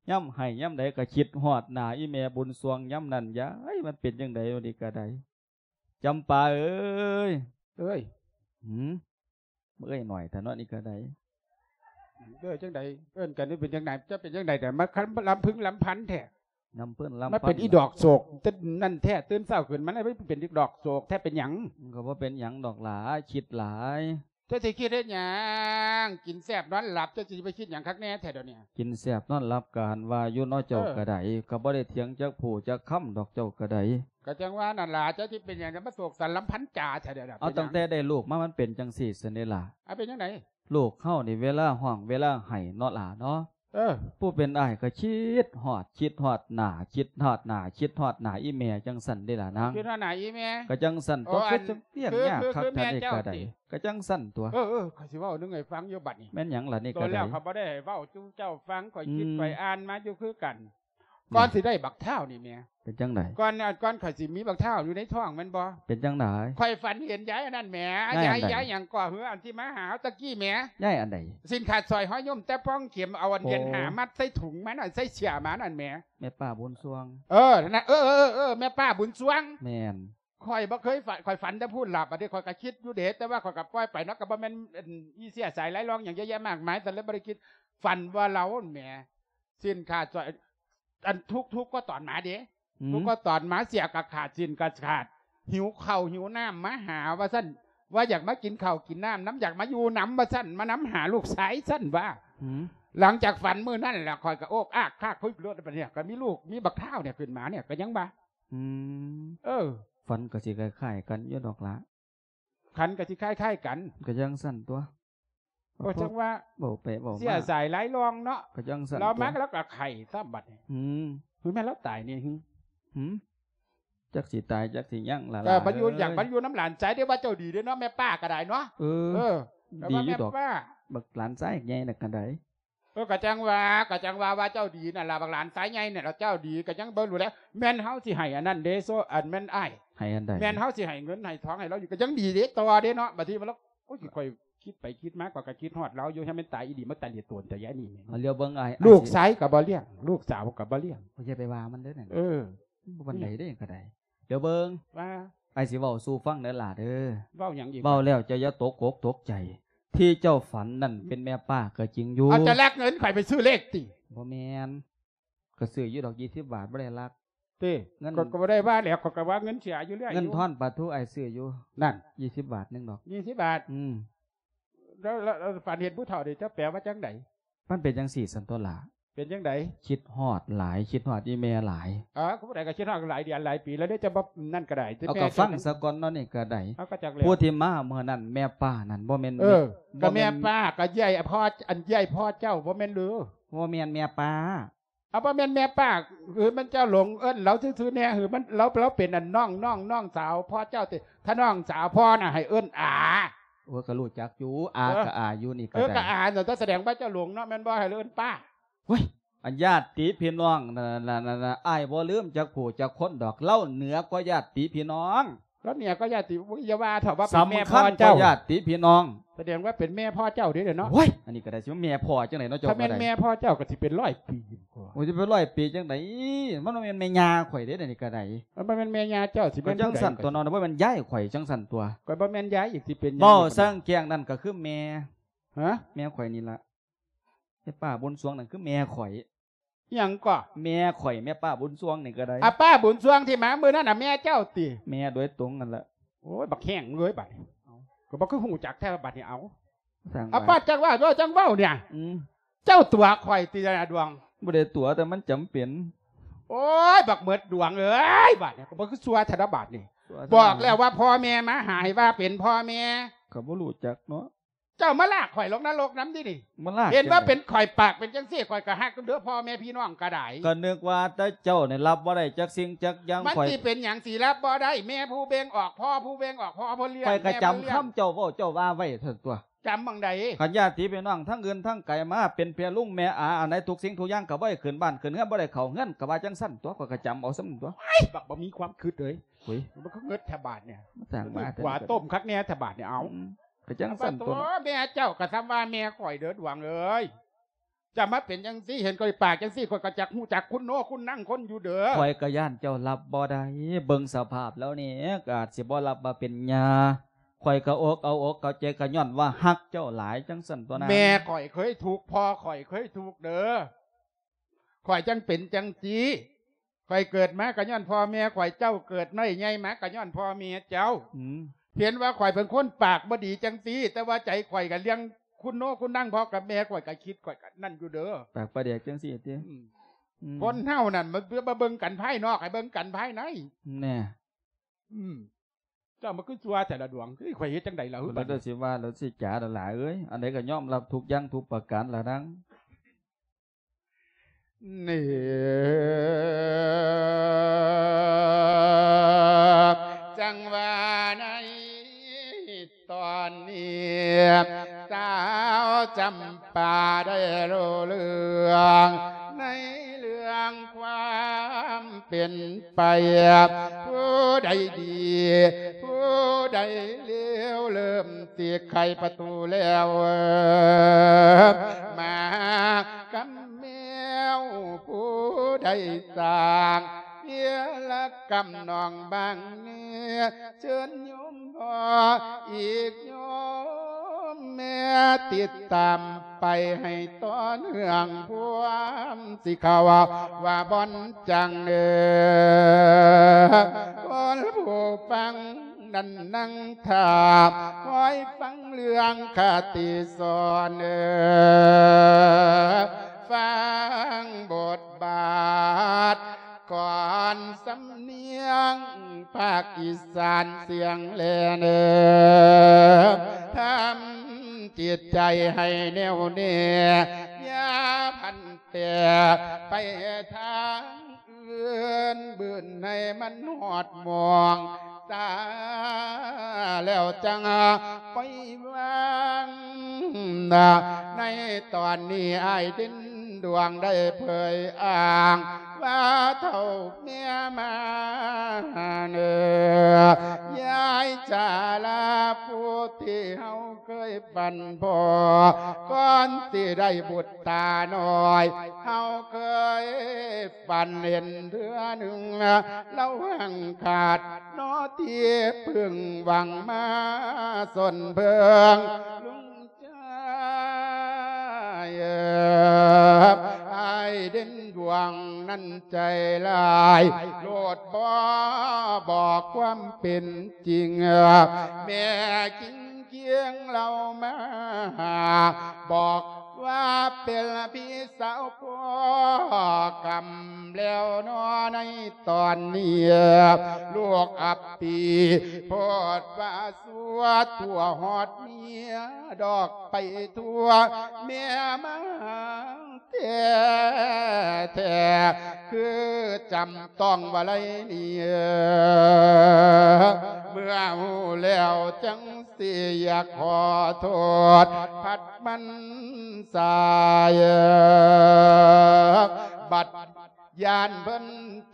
ຍາມໄຫ້ຍາມໃດກະຄິດຮອດໜ້າອີ່ແມ່ບຸນຊ່ວງຍາມນັ້ນ ຢາຍ ມັນເປັນຈັ່ງໃດວະນີ້ກະໄດ້ ຈຳປາເອີຍ ເອີຍ ຫື ເອີຍໜ້ອຍແທ້ເນາະນີ້ກະໄດ້ ເອີຍຈັ່ງໃດ ເອີ້ນກັນນີ້ເປັນຈັ່ງໃດ ຈະເປັນຈັ່ງໃດ ແຕ່ມາລຳພຶງລຳພັນແທ້ ລຳເພິ່ນລຳພັນ ມາເປັນອີດອກໂສກ ນັ້ນແທ້ ຕື່ນເຊົ້າຂຶ້ນມາແລ້ວເປັນອີດອກໂສກແທ້ ເປັນຫຍັງ ມັນກະບໍ່ເປັນຫຍັງດອກຫຼາ ຄິດຫຼາຍ ເຈົ້າຊິຄິດເຮັດຫຍັງ ກິນແຊບນອນຫຼັບ ເຈົ້າຊິໄປຄິດຫຍັງຄັກແນ່ແທ້ດຽວນີ້ ກິນແຊບນອນຫຼັບ ກະຫັ້ນວ່າຢູ່ເນາະ ເຈົ້າກະໄດ້ ກະບໍ່ໄດ້ຖຽງຈັກຜູ້ຈັກຄຳດອກ ເຈົ້າກະໄດ້ ກະຈັ່ງວ່ານັ້ນລະ ເຈົ້າຊິເປັນຫຍັງ ຈະມາໂສກສັນລຳພັນຈາແທ້ດຽວນີ້ ເອົາ ເປັນຫຍັງ ຕັ້ງແຕ່ໄດ້ລູກມາ ມັນເປັນຈັ່ງຊີ້ຊັ້ນເດລະ ເອົາ ເປັນຈັ່ງໃດ ລູກເຮົານີ້ເວລາຮ້ອງເວລາໄຫ້ເນາະຫຼ້າເນາະ ເອີ ຜູ້ເປັນອ້າຍກະຄິດຮອດ ຄິດຮອດໜ້າ ຄິດຮອດໜ້າ ຄິດຮອດໜ້າອີ່ແມ່ຈັ່ງຊັ້ນເດລະນາງ ຄິດຮອດໜ້າອີ່ແມ່ ກະຈັ່ງຊັ້ນຕົວະ ໂອ້ ຄື ອັນ ຈັ່ງປຽກຍາກຄັກແທ້ນີ້ກະໄດ້ ກະຈັ່ງຊັ້ນຕົວະ ເອີ ເອີ ຂ້ອຍຊິເວົ້າໜຶ່ງໃຫ້ຟັງຢູ່ບັດນີ້ ແມ່ນຫຍັງລະນີ້ກະໄດ້ ໂຕແລ້ວຂ້ອຍບໍ່ໄດ້ເວົ້າສູ່ເຈົ້າຟັງ ຂ້ອຍຄິດ ອືມ ຂ້ອຍອ່ານມາຢູ່ຄືກັນ ອືມ ກ່ອນຊິໄດ້ບັກທ້າວນີ້ແໝ່ ເປັນຈັ່ງໃດ ກ່ອນ ກ່ອນຂ້ອຍຊິມີບັກທ້າວຢູ່ໃນທ້ອງແມ່ນບໍ່ ເປັນຈັ່ງໃດ ຂ້ອຍຝັນເຫັນຍາຍອັນນັ້ນແໝ່ ຍາຍອັນໃດ ຍາຍ ຍາຍຫຍັງກໍເຮືອ ອັນທີ່ມາຫາເຮົາຕະກີ້ແໝ່ ຍາຍອັນໃດ ສິ້ນຂາດສອຍຫ້ອຍຍົມແຕ່ປ່ອງເຂັມ ເອົາອັນ ໂອ້ ເຢັນຫາມັດໃສ່ຖົງມານັ້ນ ໃສ່ເສື້ອມານັ້ນແໝ່ ແມ່ປ້າບຸນຊ່ວງ ເອີ ນັ້ນນະ ເອີ ເອີ ເອີ ເອີ ແມ່ປ້າບຸນຊ່ວງ ແມ່ນ ຂ້ອຍບໍ່ເຄີຍຝັນ ຂ້ອຍຝັນແຕ່ຜູ້ຫຼັບ ອັນນີ້ຂ້ອຍກະຄິດຢູ່ເດ ແຕ່ວ່າຂ້ອຍກະປ່ອຍໄປເນາະ ກະບໍ່ແມ່ນ ອັນ ມີເຊື້ອສາຍລາຍລອງຫຍັງເຍອະແຍະມາກມາຍ ແຕ່ເລີຍບໍ່ໄດ້ຄິດ ຝັນວ່າລາວຫັ້ນແໝ່ ສິ້ນຂາດສອຍ ອັນທຸກໆກໍຕອນມາເດ ອືມ ທຸກກໍຕອນມາ ເສື້ອກະຂາດ ສິ້ນກະຂາດ ຫິວເຂົ້າຫິວນ້ຳມາຫາວ່າຊັ້ນ ວ່າຢາກມາກິນເຂົ້າກິນນ້ຳນຳ ຢາກມາຢູ່ນຳວ່າຊັ້ນ ມານຳຫາລູກຊາຍຊັ້ນວ່າ ອືມ ຫຼັງຈາກຝັນມື້ນັ້ນແລ້ວ ຂ້ອຍກະໂອກອາກຄາກຄຸຍໂລດ ບັດນີ້ກະມີລູກ ມີບັກທ້າວນີ້ຂຶ້ນມານີ້ ກະຍັງວ່າ ອືມ ເອີ ຝັນກໍຊິຄ້າຍໆກັນຢູ່ດອກລະ ຂັນກໍຊິຄ້າຍໆກັນ ກໍຈັ່ງຊັ້ນຕົວະ ກໍຈັ່ງວ່າ ເວົ້າໄປເວົ້າມາ ເສຍສາຍຫຼາຍລ່ອງເນາະ ກໍຈັ່ງຊັ້ນ ລາວມາ ຕົວະ ແລ້ວກໍໄຂ້ຊ້ຳບັດນີ້ ອືມ ຄືແມ່ນລາວຕາຍນີ້ ຫື ຫື ຈັກຊິຕາຍຈັກຊິຍັງລະ ເອີ ລະ ມັນຢູ່ ເອີຍ ຢາກມັນຢູ່ນຳຫຼານຊາຍເດ້ ວ່າເຈົ້າດີເດ້ເນາະ ແມ່ປ້າກໍໄດ້ເນາະ ເອີ ເອີ ດີຢູ່ດອກ ແມ່ປ້າ ບັກຫຼານຊາຍໃຫຍ່ນັ້ນກໍໄດ້ ເອີ ກໍຈັ່ງວ່າ ກໍຈັ່ງວ່າ ວ່າເຈົ້າດີນັ້ນລະ ບັກຫຼານຊາຍໃຫຍ່ນີ້ລະ ເຈົ້າດີ ກໍຍັງເບິ່ງຢູ່ແລ້ວ ແມ່ນເຮົາຊິໃຫ້ອັນນັ້ນເດ້ ໂຊ ອັນແມ່ນອ້າຍ ໃຫ້ອັນໃດ ແມ່ນເຮົາຊິໃຫ້ເງິນໃຫ້ທອງໃຫ້ລາວຢູ່ ກໍຍັງດີເດ້ ຕໍ່ເດ້ເນາະ ບາດທີວ່າລາວ ໂອ້ຍ ຂ້ອຍຄິດໄປຄິດມາ ຂ້ອຍກໍຄິດຮອດລາວຢູ່ ໃຫ້ມັນຕາຍອີ່ຫຼີ ມາຕາຍເລີຍໂຕນແຕ່ຍາຍນີ້ ເອົາ ຫຼຽວເບິ່ງອ້າຍ ລູກຊາຍກໍບໍ່ລ້ຽງ ລູກສາວກໍບໍ່ລ້ຽງ ໂອ້ຍ ຢ່າໄປວ່າມັນເດີນັ້ນ ເອີ ບໍ່ປານໃດເດ້ກໍໄດ້ ດຽວເບິ່ງ ວ່າ ອ້າຍຊິເວົ້າສູ່ຟັງເດີຫຼ້າເດີ ເວົ້າຫຍັງອີກ ເວົ້າແລ້ວເຈົ້າຢ່າຕົກອົກຕົກໃຈ ທີ່ເຈົ້າຝັນນັ້ນເປັນແມ່ປ້າກໍຈິງຢູ່ ເອົາ ຈະລັກເງິນຂ້ອຍໄປຊື້ເລກຕິ ບໍ່ແມ່ນ ກໍຊື້ຢູ່ດອກ ຊາວບາດ ບໍ່ໄດ້ລັກ ຕິ ເງິນ ຂ້ອຍກໍບໍ່ໄດ້ວ່າແລ້ວ ຂ້ອຍກໍວ່າເງິນເສຍຢູ່ເລື້ອຍ ເງິນ ຢູ່ ທອນປາທູອ້າຍຊື້ຢູ່ ນັ້ນ ຊາວບາດໜຶ່ງດອກ ຊາວບາດ ອືມ ແລ້ວ ແລ້ວ ແລ້ວຝັນເຫັນຜູ້ເຖົ້ານີ້ ເຈົ້າແປວ່າຈັ່ງໃດ? ມັນເປັນຈັ່ງຊີ້ຊັ້ນຕົວະຫຼ້າ ເປັນຈັ່ງໃດ? ຄິດຮອດຫຼາຍ ຄິດຮອດອີ່ແມ່ຫຼາຍ ເອີ ຜູ້ໃດກໍຄິດຮອດຫຼາຍເດືອນຫຼາຍປີແລ້ວເດ້ ຈະບໍ່ນັ້ນກໍໄດ້ ເອົາ ແມ່ ກໍຟັງສາກ່ອນເນາະ ນີ້ກໍໄດ້ ເອົາ ກໍຈັກແລ້ວ ຜູ້ທີ່ມາເມື່ອນັ້ນແມ່ປ້ານັ້ນ ບໍ່ແມ່ນ ເອີ ບໍ່ແມ່ນ ກໍແມ່ປ້າ ກໍເອື້ອຍພໍ່ ອັນເອື້ອຍພໍ່ເຈົ້າ ບໍ່ແມ່ນຫຼື? ບໍ່ແມ່ນແມ່ປ້າ ເອົາ ບໍ່ແມ່ນແມ່ປ້າ ຄືມັນເຈົ້າຫຼົງເອີ້ນລາວຊື່ໆແດ່ ຄືມັນ ລາວ ລາວເປັນອັນນ້ອງ ນ້ອງ ນ້ອງສາວພໍ່ເຈົ້າຕິ ຖ້ານ້ອງສາວພໍ່ນະໃຫ້ເອີ້ນອາ ໂອ້ຍ ກໍຮູ້ຈັກຢູ່ ອາ ເອີ ກໍອາຢູ່ ນີ້ກໍ ເອີ ໄດ້ ກໍອາ ນັ້ນ ແສດງວ່າເຈົ້າຫຼົງເນາະ ແມ່ນບໍ່ ໃຫ້ເອີ້ນປ້າ ໂອ້ຍ ອັນຍາດຕິພີ່ນ້ອງນັ້ນ ນັ້ນ ອ້າຍບໍ່ລືມຈັກຜູ້ຈັກຄົນດອກ ລາວເໜືອກວ່າຍາດຕິພີ່ນ້ອງ ລາວເໜືອກວ່າຍາດຕິ ຢ່າວ່າເຖາະ ວ່າເປັນແມ່ພໍ່ເຈົ້າ ສຳຄັນກວ່າຍາດຕິພີ່ນ້ອງ ແສດງວ່າເປັນແມ່ພໍ່ເຈົ້າເດ້ເນາະ ໂອ້ຍ ອັນນີ້ກໍໄດ້ ຊິວ່າແມ່ພໍ່ຈັ່ງໃດເນາະ ເຈົ້າ ຖ້າແມ່ນແມ່ພໍ່ເຈົ້າກໍຊິເປັນຮ້ອຍປີ ໂອ້ຍ ຊິເປັນຮ້ອຍປີຈັ່ງໃດ ມັນບໍ່ແມ່ນແມ່ຍ່າຂ້ອຍເດ້ ອັນນີ້ກໍໄດ້ ມັນບໍ່ແມ່ນແມ່ຍ່າເຈົ້າ ຊິແມ່ນ ຈັ່ງຊັ້ນຕົວະເນາະ ບໍ່ແມ່ນຍາຍຂ້ອຍຈັ່ງຊັ້ນຕົວະ ກໍບໍ່ແມ່ນຍາຍອີກ ຊິເປັນຫຍັງ ເວົ້າແຈ້ງແຈ້ງນັ້ນກໍຄືແມ່ ຮະ ແມ່ຂ້ອຍນີ້ລະ ແມ່ປ້າບຸນສວງນັ້ນຄືແມ່ຂ້ອຍ ອີ່ຫຍັງກໍ ແມ່ຂ້ອຍ ແມ່ປ້າບຸນສວງນີ້ກໍໄດ້ ອາ ປ້າບຸນສວງທີ່ມາມື້ນັ້ນນະ ແມ່ເຈົ້າຕິ ແມ່ໂດຍຕົງນັ້ນລະ ໂອ້ຍ ບັກແຫ້ງເອີຍ ບາດນີ້ ເອົ້າ ກໍບໍ່ຄືຮູ້ຈັກແທ້ ບາດນີ້ ເອົາ ສ້າງ ອາ ວ່າ ປ້າ ຈັ່ງວ່າ ເວົ້າ ຈັ່ງເວົ້ານີ້ ອືມ ເຈົ້າຕົວະຂ້ອຍຕິລະດວງ ບໍ່ໄດ້ຕົວະ ແຕ່ມັນຈຳເປັນ ໂອ້ຍ ບັກເໝິດດວງເອີຍ ບາດນີ້ ກໍບໍ່ຄືຊົ່ວແທ້ລະບາດນີ້ ຊົ່ວ ບອກແລ້ວວ່າພໍ່ແມ່ມາຫາ ໃຫ້ວ່າເປັນພໍ່ແມ່ ກໍບໍ່ຮູ້ຈັກເນາະ ເຈົ້າມາລາກຂ້ອຍລົງນະລົກນຳຕິນີ້ ມາລາກ ເຫັນວ່າເປັນຂ້ອຍປາກເປັນຈັ່ງຊີ້ ຂ້ອຍກໍຮັກເດີພໍ່ແມ່ພີ່ນ້ອງກໍໄດ້ ກໍນຶກວ່າແຕ່ເຈົ້ານີ້ຮັບບໍ່ໄດ້ຈັກສິ່ງຈັກຢ່າງ ມັນ ຂ້ອຍ ຊິເປັນຫຍັງຊິຮັບບໍ່ໄດ້ ແມ່ຜູ້ເບັ່ງອອກ ພໍ່ຜູ້ເບັ່ງອອກ ພໍ່ຜູ້ລ້ຽງ ຂ້ອຍກໍຈຳຄຳເຈົ້າເວົ້າເຈົ້າວ່າໄວ້ຊັ້ນຕົວະ ຈຳໝ່ອງໃດ ຄັນຍາດຕິພີ່ນ້ອງທັງອື່ນທັງໄກມາເປັນເພຍລຸງແມ່ອາ ອັນໃດທຸກສິ່ງທຸກຢ່າງກໍບໍ່ໃຫ້ຂຶ້ນບ້ານຂຶ້ນເຮືອນ ບໍ່ໄດ້ເຂົ້າເຮືອນ ກໍວ່າຈັ່ງຊັ້ນຕົວະ ຂ້ອຍກໍຈຳເອົາສ່ຳນັ້ນຕົວະ ໂອ້ຍ ບັກບໍ່ມີຄວາມຄິດເອີຍ ໂອ້ຍ ມັນຄືເງິດແທ້ບາດນີ້ ມາສ້າງມາ ຫວາຕົ້ມຄັກແນ່ແທ້ບາດນີ້ ເອົາ ອືມ ກໍຈັ່ງຊັ້ນຕົວະ ແມ່ເຈົ້າກໍສ່ຳວ່າແມ່ຂ້ອຍເດີດວງເອີຍ ຈະມາເປັນຈັ່ງຊີ້ ເຫັນຂ້ອຍປາກຈັ່ງຊີ້ ຂ້ອຍກໍຈັກຮູ້ຈັກຄຸນໂນຄຸນນັງຄົນຢູ່ເດີ ຂ້ອຍກໍຢ້ານເຈົ້າຮັບບໍ່ໄດ້ ເບິ່ງສະພາບແລ້ວນີ້ ກໍອາດຊິບໍ່ຮັບວ່າເປັນຍ່າ ຂ້ອຍກໍອົກເອົາອົກເອົາໃຈ ກໍຍ້ອນວ່າຮັກເຈົ້າຫຼາຍ ຈັ່ງຊັ້ນຕົວະນາງ ແມ່ຂ້ອຍເຄີຍທຸກ ພໍ່ຂ້ອຍເຄີຍທຸກເດີ ຂ້ອຍຈັ່ງເປັນຈັ່ງຊີ້ ຂ້ອຍເກີດມາກໍຍ້ອນພໍ່ແມ່ຂ້ອຍ ເຈົ້າເກີດນ້ອຍໃຫຍ່ມາກໍຍ້ອນພໍ່ແມ່ເຈົ້າ ອືມ ເຫັນວ່າຂ້ອຍເປັນຄົນປາກບໍ່ດີຈັ່ງຊີ້ ແຕ່ວ່າໃຈຂ້ອຍກໍລ້ຽງຄຸນໂນຄຸນນັງພໍ່ກັບແມ່ ຂ້ອຍກໍຄິດ ຂ້ອຍກໍນັ້ນຢູ່ເດີ ປາກປາແດກຈັ່ງຊີ້ຕິ ອືມ ອືມ ຄົນເຮົານັ້ນ ມາ ມາເບິ່ງກັນພາຍນອກ ໃຫ້ເບິ່ງກັນພາຍໃນ ແນ່ ອືມ ເຈົ້າມາຄືຊົ່ວແທ້ລະດວງ ເອີຍ ຂ້ອຍເຮັດຈັ່ງໃດລະ ແລ້ວຊິວ່າ ແລ້ວຊິຈາລະຫຼາຍເອີຍ ອັນໃດກໍຍອມຮັບທຸກຢ່າງທຸກປະການລະນາງ ນີ້ ຈັ່ງວ່າໃນຕອນນີ້ ສາວຈຳປາໄດ້ຮູ້ເລື່ອງ ໃນເລື່ອງຄວາມເປັນໄປ ຜູ້ໃດດີ ຜູ້ໃດເລວ ເລີ່ມຊິໄຂປະຕູແລ້ວ ມາ ກຳແມວ ຜູ້ໃດສ້າງວຽລະກຳນ້ອງບາງແນ່ ເຊີນໂຍມພໍ່ອີກໂຍມແມ່ ຕິດຕາມໄປໃຫ້ຕໍ່ເນື່ອງ ພວມຊິເຂົ້າວ່າບ່ອນຈັງເອີ ຄົນຜູ້ຟັງ ນັ້ນນັ່ງຖ້າ ຄອຍຟັງເລື່ອງຄະຕິສອນເອີ ຟັງບົດບາດກ່ອນສຳ ນຽງພາກອີສານສຽງແລເນີ ທຳຈິດໃຈໃຫ້ແໜ້ວແນ່ ຢ່າພັນແປໄປທາງອື່ນ ບືນໃຫ້ມັນຮອດໝ່ອງ ສາແລ້ວຈັ່ງປ່ອຍວາງ. ໃນຕອນນີ້ອ້າຍເດັ່ນດວງໄດ້ເຜີຍອ້າງວ່າ ເຖົ້າແມ່ມາເນີ ຍາຍຈາລາ ຜູ້ທີ່ເຮົາເຄີຍຝັນພໍ ກ່ອນຊິໄດ້ບຸດຕານ້ອຍ ເຮົາເຄີຍຝັນເຫັນເທື່ອໜຶ່ງ ລາວຫາງຂາດນໍທີ່ເພິ່ງຫວັງມາສົນເພິ່ງ ລຸງຈາຍເອີ ອ້າຍເດັ່ນດວງນັ້ນໃຈຫຼາຍ ໂລດບໍ່ບອກຄວາມເປັນຈິງ ແມ່ກິງ ກຽງລາວມາບອກວ່າ ເປັນພີ່ສາວພໍ່ກຳແລ້ວນໍ ໃນຕອນນີ້ ລູກອັບປີໂພດວ່າ ຊົ່ວຕົວຮອດເມຍດອກໄປທົ່ວ ແມ່ມາ ແທ້ໆ ຄືຈຳຕ້ອງວ່າໄລນີ້ ເມື່ອຮູ້ແລ້ວຈັ່ງຊິຢາກຂໍໂທດ ພັດມັນສາຍ ບັດຢ້ານເພິ່ນ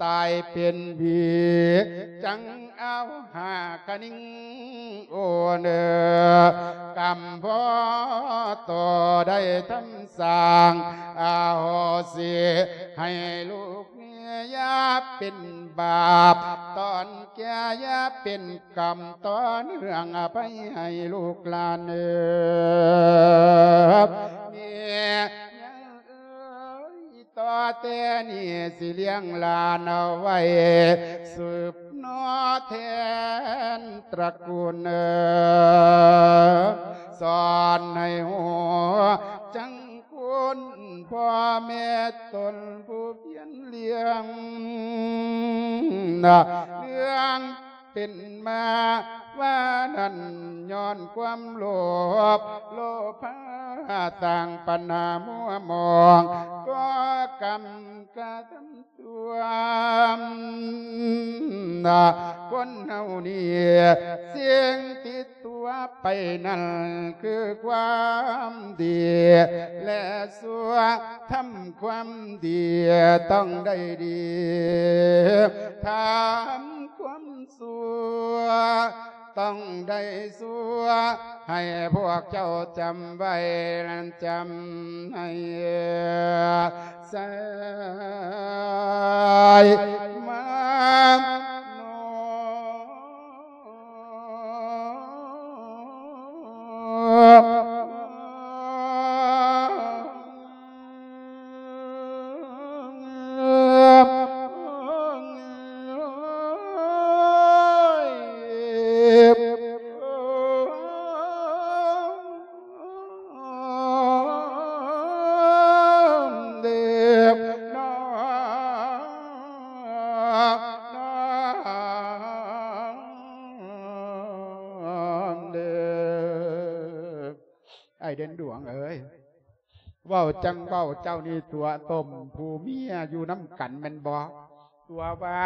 ຕາຍເປັນຜີ ຈັ່ງເອົາຫາກະນິງ ໂອເນີ ກຳພໍໂຕໄດ້ທຳສ້າງ ອະໂຫສິໃຫ້ລູກແນ່ ຢ່າເປັນບາບຕອນແກ່ ຢ່າເປັນກຳຕໍ່ເນື່ອງ ອະໄພໃຫ້ລູກຫຼານເອີ ແມ່ ເອີຍ ຕໍ່ແຕ່ນີ້ຊິລ້ຽງຫຼານເອົາໄວ້ ສືບໜໍແທນຕະກູນ ສອນໃຫ້ຮູ້ຈັກຄຸນພໍ່ແມ່ຕົນຜູ້ພຽນລ້ຽງ ເລື່ອງ ເປັນມາວ່ານັ້ນ ຍ້ອນຄວາມໂລບ ໂລພາສ້າງປັນຫາມົວໝອງ ກໍ່ກຳກະທຳຊົ່ວ ຄົນເຮົານີ້ ສິ່ງຕິດຕົວໄປນັ້ນຄືຄວາມດີ ແລະ ຊົ່ວ ທຳຄວາມດີຕ້ອງໄດ້ດີ ທຳຄວາມ ຊົ່ວ ຕ້ອງໄດ້ຊົ່ວ ໃຫ້ພວກເຈົ້າຈຳໄວ້ ແລະ ຈຳໃຫ້ສາຍມາໂນ. ອ້າຍເດັ່ນດວງເອີຍ ເວົ້າຈັ່ງເວົ້າ ເຈົ້ານີ້ຕົວະຕົ້ມຜູ້ເມຍຢູ່ນຳກັນແມ່ນບໍ່? ຕົວະວ່າ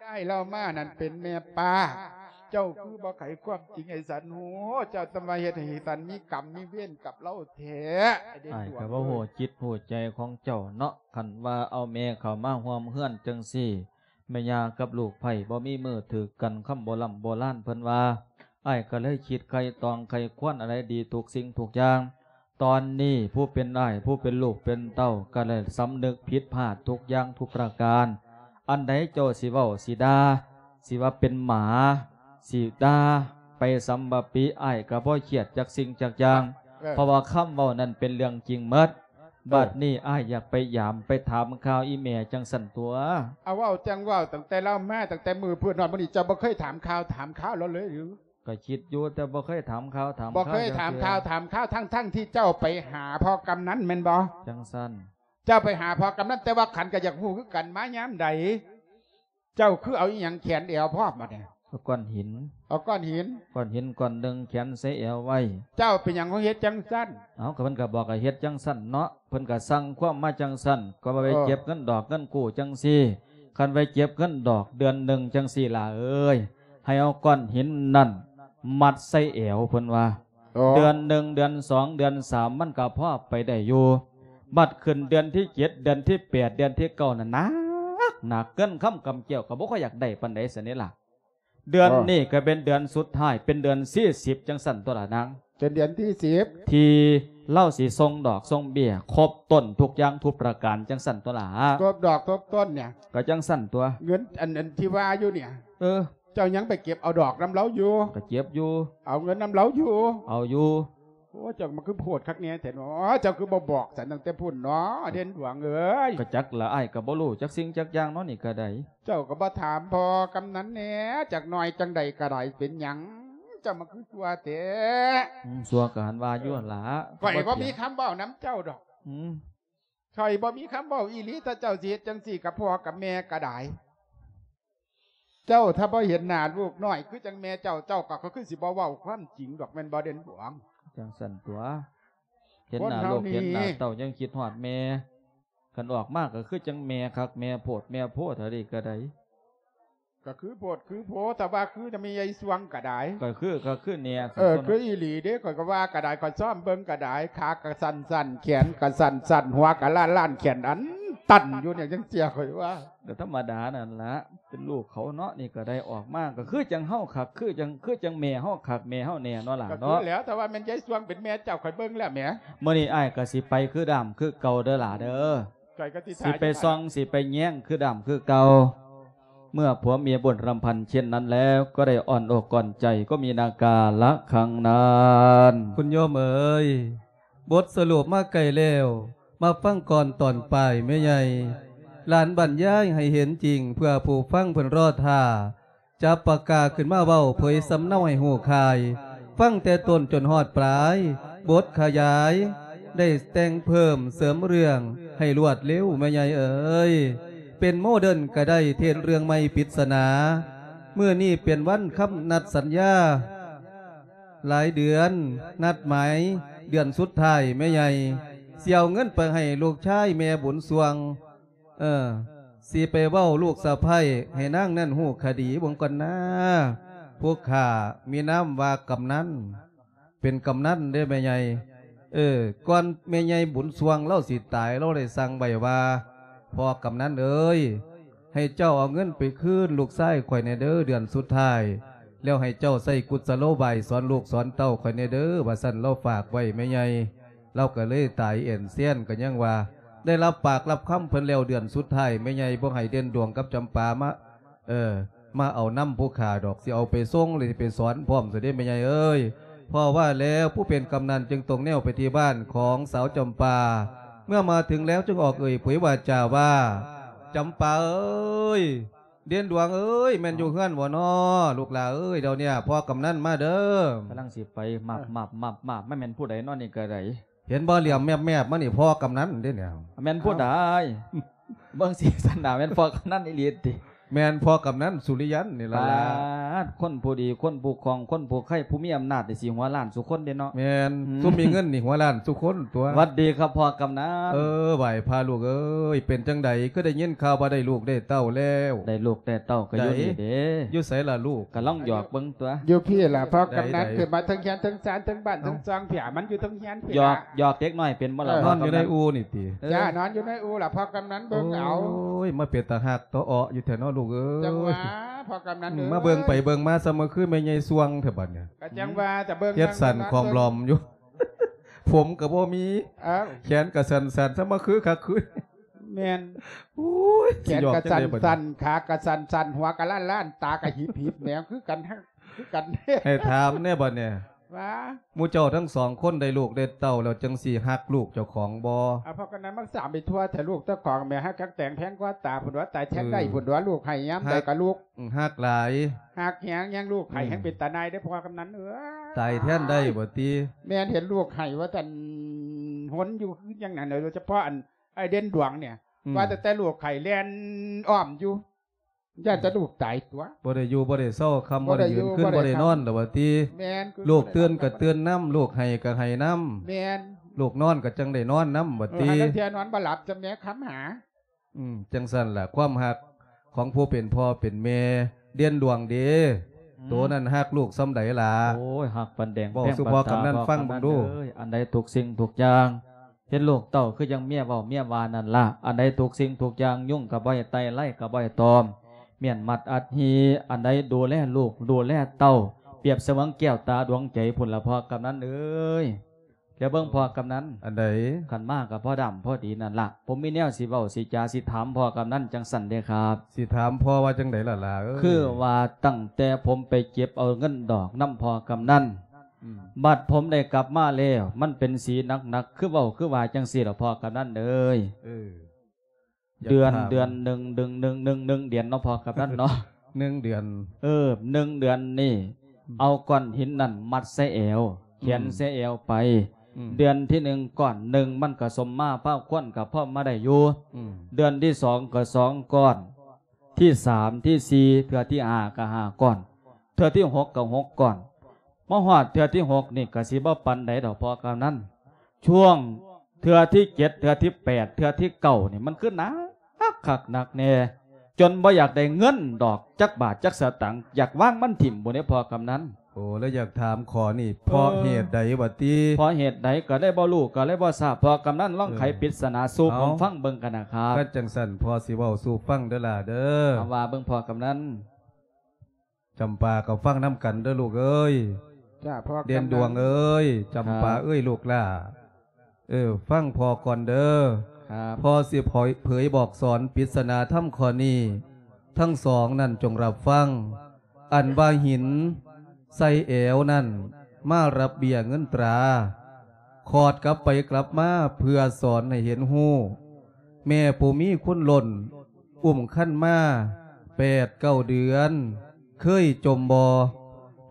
ຍາຍລາວມານັ້ນເປັນແມ່ປ້າ ເຈົ້າຄືບໍ່ໄຂຄວາມຈິງໃຫ້ສັນຮູ້? ເຈົ້າຕ້ອງມາເຮັດໃຫ້ສັນມີກຳມີເວນກັບລາວແທ້. ອ້າຍກໍບໍ່ຮູ້ຈິດຮູ້ໃຈຂອງເຈົ້າເນາະ ຄັນວ່າເອົາແມ່ເຂົ້າມາຮ່ວມເຮືອນຈັ່ງຊີ້ ແມ່ຍ່າກັບລູກໃພ້ບໍ່ມີມືຖືກກັນ ຄຳໂບລຳໂບລານເພິ່ນວ່າ. ອ້າຍກໍເລີຍຄິດໄຄຕອງໄຄຄວນອາໄລດີທຸກສິ່ງທຸກຢ່າງ. ຕອນນີ້ຜູ້ເປັນອ້າຍ ຜູ້ເປັນລູກເປັນເຕົ້າ ກໍໄດ້ສຳນຶກຜິດພາດທຸກຢ່າງທຸກປະການ. ອັນໃດເຈົ້າຊິເວົ້າ ຊິດ່າ ຊິວ່າເປັນໝາ ຊິດ່າໄປສຳບາປີ ອ້າຍກໍບໍ່ຄຽດຈັກສິ່ງຈັກຢ່າງ ເອີ ເພາະວ່າຄຳເວົ້ານັ້ນເປັນເລື່ອງຈິງໝົດ. ເອີ ບັດນີ້ອ້າຍຢາກໄປຢາມໄປຖາມຂ່າວອີ່ແມ່ຈັ່ງຊັ້ນຕົວະ. ເອົາ ເວົ້າຈັ່ງເວົ້າ ຕັ້ງແຕ່ລາວມາ ຕັ້ງແຕ່ມື້ພຸ້ນຮອດມື້ນີ້ ເຈົ້າບໍ່ເຄີຍຖາມຂ່າວຖາມຄາວລາວເລີຍຫຼື? ກໍຄິດຢູ່ ແຕ່ບໍ່ເຄີຍຖາມຂ່າວຖາມຄາວ ບໍ່ເຄີຍຖາມຂ່າວຖາມຄາວ ທັງໆທີ່ເຈົ້າໄປຫາພໍ່ກຳນັນແມ່ນບໍ່? ຈັ່ງຊັ້ນ ເຈົ້າໄປຫາພໍ່ກຳນັນ ແຕ່ວ່າຂັນກໍຢາກຮູ້ຄືກັນ ມາຍາມໃດ? ເຈົ້າຄືເອົາອີ່ຫຍັງແຂນແອວພ້ອມບັດນີ້? ເອົາກ້ອນຫີນ. ເອົາກ້ອນຫີນ? ກ້ອນຫີນກ້ອນໜຶ່ງແຂນໃສ່ແອວໄວ້. ເຈົ້າເປັນຫຍັງຄືເຮັດຈັ່ງຊັ້ນ? ເອົາ ກໍເພິ່ນກໍບອກໃຫ້ເຮັດຈັ່ງຊັ້ນເນາະ, ເພິ່ນກໍສັ່ງຄວາມມາຈັ່ງຊັ້ນ, ກໍວ່າໄປເກັບເງິນດອກເງິນກູ້ຈັ່ງຊີ້. ຄັນໄປເກັບເງິນດອກເດືອນໜຶ່ງຈັ່ງຊີ້ຫຼ້າເອີຍ, ໃຫ້ເອົາກ້ອນຫີນນັ້ນມັດໃສ່ແອວ ເພິ່ນວ່າ. ເດືອນໜຶ່ງ ເດືອນສອງ ເດືອນສາມ ມັນກໍພໍໄປໄດ້ຢູ່. ບັດຂຶ້ນເດືອນທີເຈັດ ເດືອນທີແປດ ເດືອນທີເກົ້ານັ້ນໜັກ ໜັກ ເງິນຄຳກຳແກ້ວກໍບໍ່ຄ່ອຍຢາກໄດ້ປານໃດຊັ້ນນີ້ລະ. ເດືອນນີ້ກໍເປັນເດືອນສຸດທ້າຍ ເປັນເດືອນທີສິບ ຈັ່ງຊັ້ນຕົວລະນາງ. ເປັນເດືອນທີສິບ ທີ່ລາວຊິສົ່ງດອກສົ່ງເບ້ຍຄົບຕົ້ນທຸກຢ່າງທຸກປະການ ຈັ່ງຊັ້ນຕົວລະ. ຄົບດອກຄົບຕົ້ນນີ້ ກໍຈັ່ງຊັ້ນຕົວະ. ເງິນອັນ ອັນທີ່ວ່າຢູ່ນີ້ ເອີ ເຈົ້າຍັງໄປເກັບເອົາດອກນຳລາວຢູ່? ກໍເກັບຢູ່. ເອົາເງິນນຳລາວຢູ່? ເອົາຢູ່. ໂອ້ ເຈົ້າມາຄືໂພດຄັກແນ່ແທ້ເນາະ, ເຈົ້າຄືບໍ່ບອກສັນຕັ້ງແຕ່ພຸ້ນເນາະ ເດັ່ນດວງເອີຍ. ກໍຈັກລະ ອ້າຍກໍບໍ່ຮູ້ຈັກສິ່ງຈັກຢ່າງເນາະ ນີ້ກໍໄດ້. ເຈົ້າກໍບໍ່ຖາມພໍ່ກຳນັນແດ່ຈັກໜ້ອຍ ຈັ່ງໃດກໍໄດ້. ເປັນຫຍັງເຈົ້າມາຄືຊົ່ວແທ້? ອືມ ຊົ່ວກໍຫັ້ນວ່າຢູ່ຫັ້ນລະ. ຂ້ອຍບໍ່ມີຄຳເວົ້ານຳເຈົ້າດອກ. ອືມ ຂ້ອຍບໍ່ມີຄຳເວົ້າອີ່ຫຼີ. ຖ້າເຈົ້າຊິເຮັດຈັ່ງຊີ້ກັບພໍ່ກັບແມ່ກໍໄດ້. ເຈົ້າຖ້າບໍ່ເຫັນໜ້າລູກນ້ອຍຄືຈັ່ງແມ່ເຈົ້າ, ເຈົ້າກໍຄືຊິບໍ່ເວົ້າຄວາມຈິງດອກ ແມ່ນບໍ່ ເດັ່ນດວງ? ຈັ່ງຊັ້ນຕົວະ. ເຫັນໜ້າລູກເຫັນໜ້າເຕົ້າຍັງຄິດຮອດແມ່. ຄັນອອກມາກໍຄືຈັ່ງແມ່ຄັກແມ່ໂພດແມ່ໂພເທົ່າໃດກໍໄດ້. ກໍຄືໂພດຄືໂພ, ຖ້າວ່າຄືນຳແມ່ໃຫຍ່ຊ່ວງກໍໄດ້. ກໍຄື ກໍຄືແນ່. ເອີ ຄືອີ່ຫຼີເດ້, ຂ້ອຍກໍວ່າກໍໄດ້, ຂ້ອຍຊ້ອມເບິ່ງກໍໄດ້. ຂາກໍສັ້ນໆ, ແຂນກໍສັ້ນໆ, ຫົວກໍລ້ານໆ, ແຂນອັນຕັນຢູ່ນີ້ ຈັ່ງເທື່ອ ຂ້ອຍວ່າ. ກໍທຳມະດານັ້ນລະ, ເປັນລູກເຂົາເນາະ. ນີ້ກໍໄດ້ອອກມາ ກໍຄືຈັ່ງເຮົາຄັກ, ຄືຈັ່ງ ຄືຈັ່ງແມ່ເຮົາຄັກ, ແມ່ເຮົາແນ່ເນາະຫຼານເນາະ. ກໍຄືແລ້ວ, ແຕ່ວ່າແມ່ນຍາຍຊ່ວງເປັນແມ່ເຈົ້າ, ຂ້ອຍເບິ່ງແລ້ວແໝ. ມື້ນີ້ອ້າຍກໍຊິໄປຄືດາມຄືເກົ່າເດີຫຼາເດີ. ຂ້ອຍກໍຊິ ຊິໄປສ່ອງ ຊິໄປແຍງຄືດຳຄືເກົ່າ. ເມື່ອຜົວເມຍບົນລຳພັນເຊັ່ນນັ້ນແລ້ວ ກໍໄດ້ອ່ອນອົກອ່ອນໃຈ ກໍມີນາກາລະຄັງນັ້ນ. ຄຸນໂຍມເອີຍ, ບົດສະຫຼຸບມາໃກ້ແລ້ວ, ມາຟັງກ່ອນຕອນປາຍແມ່ໃຫຍ່. ຫຼານບັນຍາຍໃຫ້ເຫັນຈິງ ເພື່ອຜູ້ຟັງເພິ່ນລໍຖ້າ. ຈັບປາກກາຂຶ້ນມາເວົ້າ ເຜີຍສຳເນົາໃຫ້ຮູ້ຄ່າຍ, ຟັງແຕ່ຕົ້ນຈົນຮອດປາຍ, ບົດຂະຫຍາຍ ໄດ້ແຕ່ງເພີ່ມເສີມເລື່ອງໃຫ້ລວດເລັວ ແມ່ໃຫຍ່ເອີຍ. ເປັນໂມເດີນກໍໄດ້ ເທດເລື່ອງໃໝ່ປິດສະໜາ. ມື້ນີ້ເປັນວັນຄຳນັດສັນຍາ ຫຼາຍເດືອນ ນັດໝາຍເດືອນສຸດທ້າຍ ແມ່ໃຫຍ່ ຊິເອົາເງິນໄປໃຫ້ລູກຊາຍແມ່ບຸນຊ່ວງ. ເອີ ຊິໄປເວົ້າລູກສະໃພ້ໃຫ້ນາງນັ້ນຮູ້ຄະດີເບິ່ງກ່ອນນາ. ພວກຂ້າມີນາມວ່າກຳນັນ, ເປັນກຳນັນເດ້ແມ່ໃຫຍ່. ເອີ ກ່ອນແມ່ໃຫຍ່ບຸນຊ່ວງລາວຊິຕາຍ ລາວໄດ້ສັ່ງໄວ້ວ່າ ພໍ່ກຳນັນເອີຍ, ໃຫ້ເຈົ້າເອົາເງິນໄປຄືນລູກຊາຍຂ້ອຍແດ່ເດີ ເດືອນສຸດທ້າຍ, ແລ້ວໃຫ້ເຈົ້າໃຊ້ກຸດສະໂລບາຍສອນລູກສອນເຕົ້າຂ້ອຍແດ່ເດີ ວ່າຊັ້ນ ລາວຝາກໄວ້ແມ່ໃຫຍ່. ລາວກໍເລີຍຕາຍແອນແຊນ ກໍຍັງວ່າໄດ້ຮັບປາກຮັບຄຳເພິ່ນແລ້ວ ເດືອນສຸດທ້າຍແມ່ໃຫຍ່ບໍ່ໃຫ້ເດັ່ນດວງກັບຈຳປາມາ ເອີ ມາເອົານຳຜູ້ຂ້າດອກ, ຊິເອົາໄປສົ່ງ ຫຼື ຊິໄປສອນພ້ອມຊະເດ້ແມ່ໃຫຍ່ເອີຍ. ເພາະວ່າແລ້ວຜູ້ເປັນກຳນັນຈຶ່ງຕົງແນວໄປທີ່ບ້ານຂອງສາວຈຳປາ. ເມື່ອມາເຖິງແລ້ວຈຶ່ງອອກເອີ່ຍເຜີຍວາຈາວ່າ ຈຳປາເອີຍ, ເດັ່ນດວງເອີຍ, ແມ່ນຢູ່ເຮືອນບໍ່ນໍ ລູກຫຼ້າເອີຍ? ດຽວນີ້ພໍ່ກຳນັນມາເດີ. ກຳລັງຊິໄປ ມາບໆໆໆ ມັນແມ່ນຜູ້ໃດນໍນີ້ກະໄດ? ເຫັນບໍ່ ຫຼຽມແມບໆມານີ້ ພໍ່ກຳນັນເດ້ນີ້. ແມ່ນຜູ້ໃດ? ເບິ່ງສີສັນໜ້າແມ່ນພໍ່ກຳນັນອີ່ຫຼີຕິ? ແມ່ນພໍ່ກຳນັນສຸລິຍັນນີ້ລະ. ປາດ ຄົນຜູ້ດີ ຄົນຜູ້ຄ່ອງ ຄົນຜູ້ໄຄ ຜູ້ມີອຳນາດນີ້ ຊິຫົວລ້ານສູ່ຄົນເດ້ເນາະ. ແມ່ນ ອືມ ຊຸມມີເງິນນີ້ຫົວລ້ານສູ່ຄົນຕົວະ. ຫວັດດີຄັບພໍ່ກຳນັນ. ເອີ ໄຫວ້ພະລູກເອີຍ, ເປັນຈັ່ງໃດ ຄືໄດ້ຍິນຂ່າວວ່າໄດ້ລູກໄດ້ເຕົ້າແລ້ວ? ໄດ້ລູກໄດ້ເຕົ້າກໍຢູ່ນີ້ເດ້. ຢູ່ໃສລະລູກ? ກຳລັງຫຍອກເບິ່ງຕົວະ. ຢູ່ພີ້ລະພໍ່ກຳນັນ. ຂຶ້ນມາເທິງເຮືອນເທິງຊານເທິງບ້ານເທິງຊ່ອງ ເອີ ເພຍ ມັນຢູ່ເທິງເຮືອນພີ້ລະ. ຫຍອກ ຫຍອກເດັກນ້ອຍເປັນບໍ່ລະ? ເອີ ນອນຢູ່ໃນອູ່ນີ້ຕິ? ເອີ ຈ້າ ນອນຢູ່ໃນອູ່ລະ ພໍ່ກຳນັນເບິ່ງເອົາ. ໂອ້ຍ ມາເປັນຕາຮັກຕາເອາະຢູ່ແທ້ເນາະລູກເອີຍ. ຈັ່ງວ່າພໍ່ກຳນັນເອີຍ ມາເບິ່ງໄປເບິ່ງມາ ສ່ຳມາຄືແມ່ໃຫຍ່ຊ່ວງແທ້ບັດນີ້. ກໍຈັ່ງວ່າ ຈະເບິ່ງ ເຮັດສັ້ນຂອມຫຼອມຢູ່ ຜົມກໍບໍ່ມີ. ເອີ ແຂນກໍສັ້ນໆ ສ່ຳມາຄືຄັກຄື ແມ່ນ. ໂອ້ຍ ແຂນກໍສັ່ນໆ ຂາກໍສັ່ນໆ ຫົວກໍລ້ານໆ ຕາກໍຫິບໆ ແນວຄືກັນ ຄືກັນ. ໃຫ້ຖາມແດ່ບັດນີ້ ວ່າ ໝູ່ເຈົ້າທັງສອງຄົນໄດ້ລູກໄດ້ເຕົ້າແລ້ວ ຈັ່ງຊິຮັກລູກເຈົ້າຂອງບໍ່? ອາ ພໍ່ກຳນັນມັກສາມໄປທົ່ວແທ້ ລູກເຈົ້າຂອງແໝ ຮັກຄັກແຕງແພງກວ່າຕາພຸ້ນຕົວະ. ຕາຍແທນໄດ້ພຸ້ນຕົວະ ລູກໃຫ້ຍາມໃດກໍລູກ ຮັກຫຼາຍ ຮັກແຮງ ຍັງລູກໃຫ້ແຮງເປັນຕານາຍເດ້ ພໍ່ກຳນັນເອີຍ. ຕາຍແທນໄດ້ບໍ່ຕິ? ແມ່ນ ເຫັນລູກໃຫ້ວ່າຊັ້ນ ຫົນຢູ່ຄືຫຍັງນັ້ນ ໂດຍສະເພາະອັນ ອ້າຍເດັ່ນດວງນີ້ ອືມ ວ່າແຕ່ ແຕ່ລູກໄຂ້ແລ່ນອ້ອມຢູ່ ຢ້ານແຕ່ລູກຕາຍຕົວະ ບໍ່ໄດ້ຢູ່ບໍ່ໄດ້ເຊົາ ຄ່ຳບໍ່ໄດ້ຢືນ ຄືນບໍ່ໄດ້ນອນແລ້ວວ່າຕິ. ແມ່ນ ລູກຕື່ນກໍຕື່ນນຳ ລູກໄຫ້ກໍໄຫ້ນຳ. ແມ່ນ ລູກນອນກໍຈັ່ງໄດ້ນອນນຳວ່າຕິ. ເອີ ຫາລາງເທື່ອນອນບໍ່ຫຼັບ ຈຳແນກຄຳຫາ. ອືມ ຈັ່ງຊັ້ນລະ ຄວາມຮັກຂອງຜູ້ເປັນພໍ່ເປັນແມ່ ເດັ່ນດວງເດ້. ອືມ ໂຕນັ້ນຮັກລູກສ່ຳໃດລະ? ໂອ້ຍ ຮັກປານແດງ ເວົ້າສູ່ພໍ່ກຳນັນຟັງເບິ່ງດູ. ອັນໃດທຸກສິ່ງທຸກຢ່າງ ເຫັນລູກເຕົ້າຄືຈັ່ງເມຍເວົ້າເມຍວ່ານັ້ນລະ. ອັນໃດທຸກສິ່ງທຸກຢ່າງ ຍຸງກໍບໍ່ໃຫ້ໄຕ່ ໄລກໍບໍ່ໃຫ້ຕອມ ມ້ຽນມັດອັດຮີ. ອັນໃດດູແລລູກ ດູແລເຕົ້າ ປຽບສະເໝືອນແກ້ວຕາດວງໃຈພຸ້ນລະ ພໍ່ກຳນັນເອີຍ. ແລ້ວເບິ່ງພໍ່ກຳນັນ ອັນໃດ? ຄັນມາກໍພໍດຳພໍດີນັ້ນລະ. ຜົມມີແນວຊິເວົ້າ ຊິຈາ ຊິຖາມພໍ່ກຳນັນຈັ່ງຊັ້ນເດ້ຄັບ. ຊິຖາມພໍ່ວ່າຈັ່ງໃດລະຫຼ້າເອີຍ? ຄືວ່າຕັ້ງແຕ່ຜົມໄປເກັບເອົາເງິນດອກນຳພໍ່ກຳນັນ ອືມ ບັດຜົມໄດ້ກັບມາແລ້ວ ມັນເປັນສີໜັກໆ ຄືເວົ້າຄືວ່າຈັ່ງຊີ້ລະ ພໍ່ກຳນັນເອີຍ. ເອີ ເດືອນ ເດືອນໜຶ່ງ ໜຶ່ງ ໜຶ່ງ ໜຶ່ງ ໜຶ່ງເດືອນເນາະ ພໍ່ກຳນັນເນາະ ໜຶ່ງເດືອນ. ເອີ ໜຶ່ງເດືອນນີ້ ອືມ ເອົາກ້ອນຫີນນັ້ນມັດໃສ່ແອວ ແຂວນ ອືມ ໃສ່ແອວໄປ. ອືມ ເດືອນທີໜຶ່ງກ້ອນໜຶ່ງ ມັນກະສົມມາພາຄວນ ກະພໍມາໄດ້ຢູ່. ອືມ ເດືອນທີສອງກະສອງກ້ອນ ທີສາມ ທີສີ່ ເທື່ອທີຫ້າກະຫ້າກ້ອນ ເທື່ອທີຫົກກະຫົກກ້ອນ. ມາຮອດເທື່ອທີຫົກນີ້ກະຊິບໍ່ປານໃດດອກພໍ່ກຳນັນ. ຊ່ວງເທື່ອທີເຈັດ ເທື່ອທີແປດ ເທື່ອທີເກົ້ານີ້ ມັນຄືໜັກຄັກໜັກແນ່ ຈົນບໍ່ຢາກໄດ້ເງິນດອກຈັກບາດຈັກສະຕັງ ຢາກວາງມັນຖິ້ມພຸ້ນເດ້ພໍ່ກຳນັນ. ໂອ້ ແລ້ວຢາກຖາມຂໍ້ນີ້ ເອີ ເພາະເຫດໃດວະຕິ? ເພາະເຫດໃດກະເລີຍບໍ່ຮູ້ ກະເລີຍບໍ່ຊາບ. ພໍ່ກຳນັນລອງ ເອີ ໄຂປິດສະໜາສູ່ ເອົາ ຜົມຟັງເບິ່ງກັນນະຄັບ. ຄັນຈັ່ງຊັ້ນ ພໍ່ຊິເວົ້າສູ່ຟັງເດີຫຼ້າເດີ. ເອົາ ວ່າເບິ່ງພໍ່ກຳນັນ. ຈຳປາກໍຟັງນຳກັນເດີລູກເອີຍ. ຈ້າ ພໍ່ກຳນັນ ເດັ່ນດວງເອີຍ ຈຳປາເອີຍ ລູກຫຼ້າ ເອີ ຟັງພໍ່ກ່ອນເດີ. ພໍ່ຊິເຜີຍບອກສອນປິດສະໜາທຳຂໍ້ນີ້ ທັງສອງນັ້ນຈົ່ງຮັບຟັງ. ອັນວ່າຫີນໃສ່ແອວນັ້ນ ມາຮັບເບ້ຍເງິນຕາ ຂອດກັບໄປກັບມາ ເພື່ອສອນໃຫ້ເຫັນຮູ້ ແມ່ຜູ້ມີຄຸນລົ້ນ ອຸ້ມຄັນມາແປດເກົ້າເດືອນ ເຄີຍຈົ່ມບໍ່?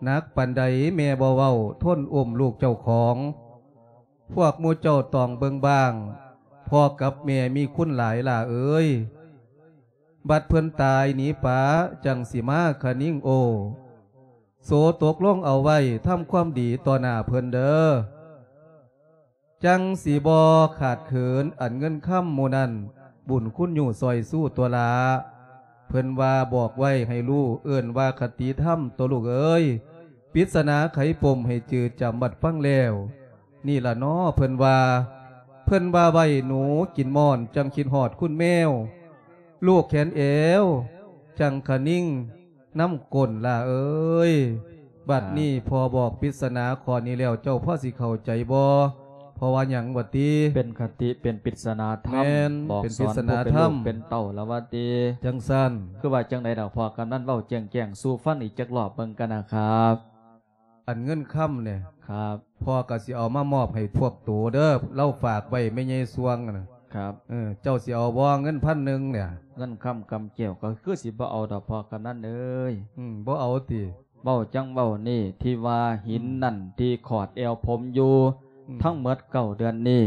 ໜັກປານໃດແມ່ບໍ່ເວົ້າ ທົນອຸ້ມລູກເຈົ້າຂອງ. ພວກໝູ່ເຈົ້າຕ້ອງເບິ່ງບ້າງ ພໍ່ກັບແມ່ມີຄຸນຫຼາຍຫຼ້າເອີຍ. ບັດເພິ່ນຕາຍໜີປາ ຈັ່ງຊິມາຄະນິງໂອ້. ໂສຕົກລົງເອົາໄວ້ ທຳຄວາມດີຕໍ່ໜ້າເພິ່ນເດີ. ຈັ່ງຊິບໍ່ຂາດເຂີນອັນເງິນຄຳໝູ່ນັ້ນ ບຸນຄຸນຍູ້ຊ່ອຍຊູຕົວະຫຼ້າ. ເພິ່ນວ່າບອກໄວ້ໃຫ້ຮູ້ ເອີ້ນວ່າຄະຕິທຳຕົວະລູກເອີຍ. ປິດສະໜາໄຂປົມໃຫ້ຈື່ຈຳບັດຟັງແລ້ວ ນີ້ລະເນາະເພິ່ນວ່າ. ເພິ່ນວ່າໄວ້ໜູກິນມ່ອນ ຈັ່ງຄິດຮອດຄຸນແມວ ລູກແຂນແອວ ຈັ່ງຄະນິງ ນຳກົ້ນຫຼ້າເອີຍ. ບັດນີ້ພໍ່ບອກປິດສະໜາຂໍ້ນີ້ແລ້ວ ເຈົ້າພໍຊິເຂົ້າໃຈບໍ່? ເພາະວ່າຫຍັງວະຕິ? ເປັນຄະຕິ ເປັນປິດສະໜາທຳ ແມ່ນ ບອກສອນຜູ້ເປັນລູກເປັນເຕົ້າລະວະຕິ. ຈັ່ງຊັ້ນ ຄືວ່າຈັ່ງໃດດອກ ພໍ່ກຳນັນເວົ້າແຈ້ງໆສູ່ຟັງອີກຈັກລອບເບິ່ງກັນນະຄັບ. ອັນເງິນຄຳນີ້ ຄັບ ພໍ່ກໍຊິເອົາມາມອບໃຫ້ພວກໂຕເດີ ລາວຝາກໄວ້ແມ່ໃຫຍ່ຊ່ວງນະ. ຄັບ ເອີ ເຈົ້າຊິເອົາບໍ່ເງິນພັນໜຶ່ງນີ້? ເງິນຄຳກຳແກ້ວກໍຄືຊິບໍ່ເອົາດອກພໍ່ກຳນັນເອີຍ. ອືມ ບໍ່ເອົາຕິ? ເວົ້າຈັ່ງເວົ້ານີ້ ທີ່ວ່າຫີນນັ້ນ ອືມ ທີ່ຂອດແອວຜົມຢູ່ ອືມ ທັງໝົດເກົ້າເດືອນນີ້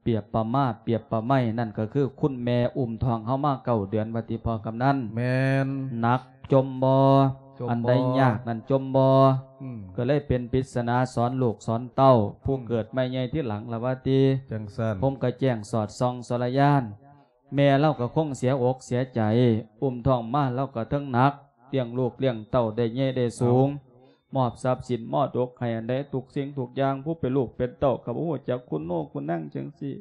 ປຽບປະມາ ປຽບປະໄມ ນັ້ນກໍຄືຄຸນແມ່ອຸ້ມທ້ອງເຮົາມາເກົ້າເດືອນວ່າຕິພໍ່ກຳນັນ. ແມ່ນ. ໜັກຈົ່ມບໍ່? ຈົ່ມບໍ່? ອັນໃດຍາກນັ້ນຈົ່ມບໍ່? ອືມ ກໍເລີຍເປັນປິດສະໜາສອນລູກສອນເຕົ້າ ຜູ້ ອືມ ເກີດໃໝ່ໃຫຍ່ທີຫຼັງລະວ່າຕິ. ຈັ່ງຊັ້ນ ຜົມກໍແຈ້ງສອດສ່ອງສອນລະຍານ ແມ່ລາວກໍຄົງເສຍອົກເສຍໃຈ ອຸ້ມທ້ອງມາລາວກໍເຖິງໜັກ ລ້ຽງລູກລ້ຽງເຕົ້າໄດ້ໃຫຍ່ໄດ້ສູງ ເອົາ ມອບຊັບສິນມໍລະດົກໃຫ້ອັນໃດທຸກສິ່ງທຸກຢ່າງ ຜູ້ເປັນລູກເປັນເຕົ້າກໍບໍ່ຮູ້ຈັກຄຸນໂນຄຸນນາງຈັ່ງຊີ້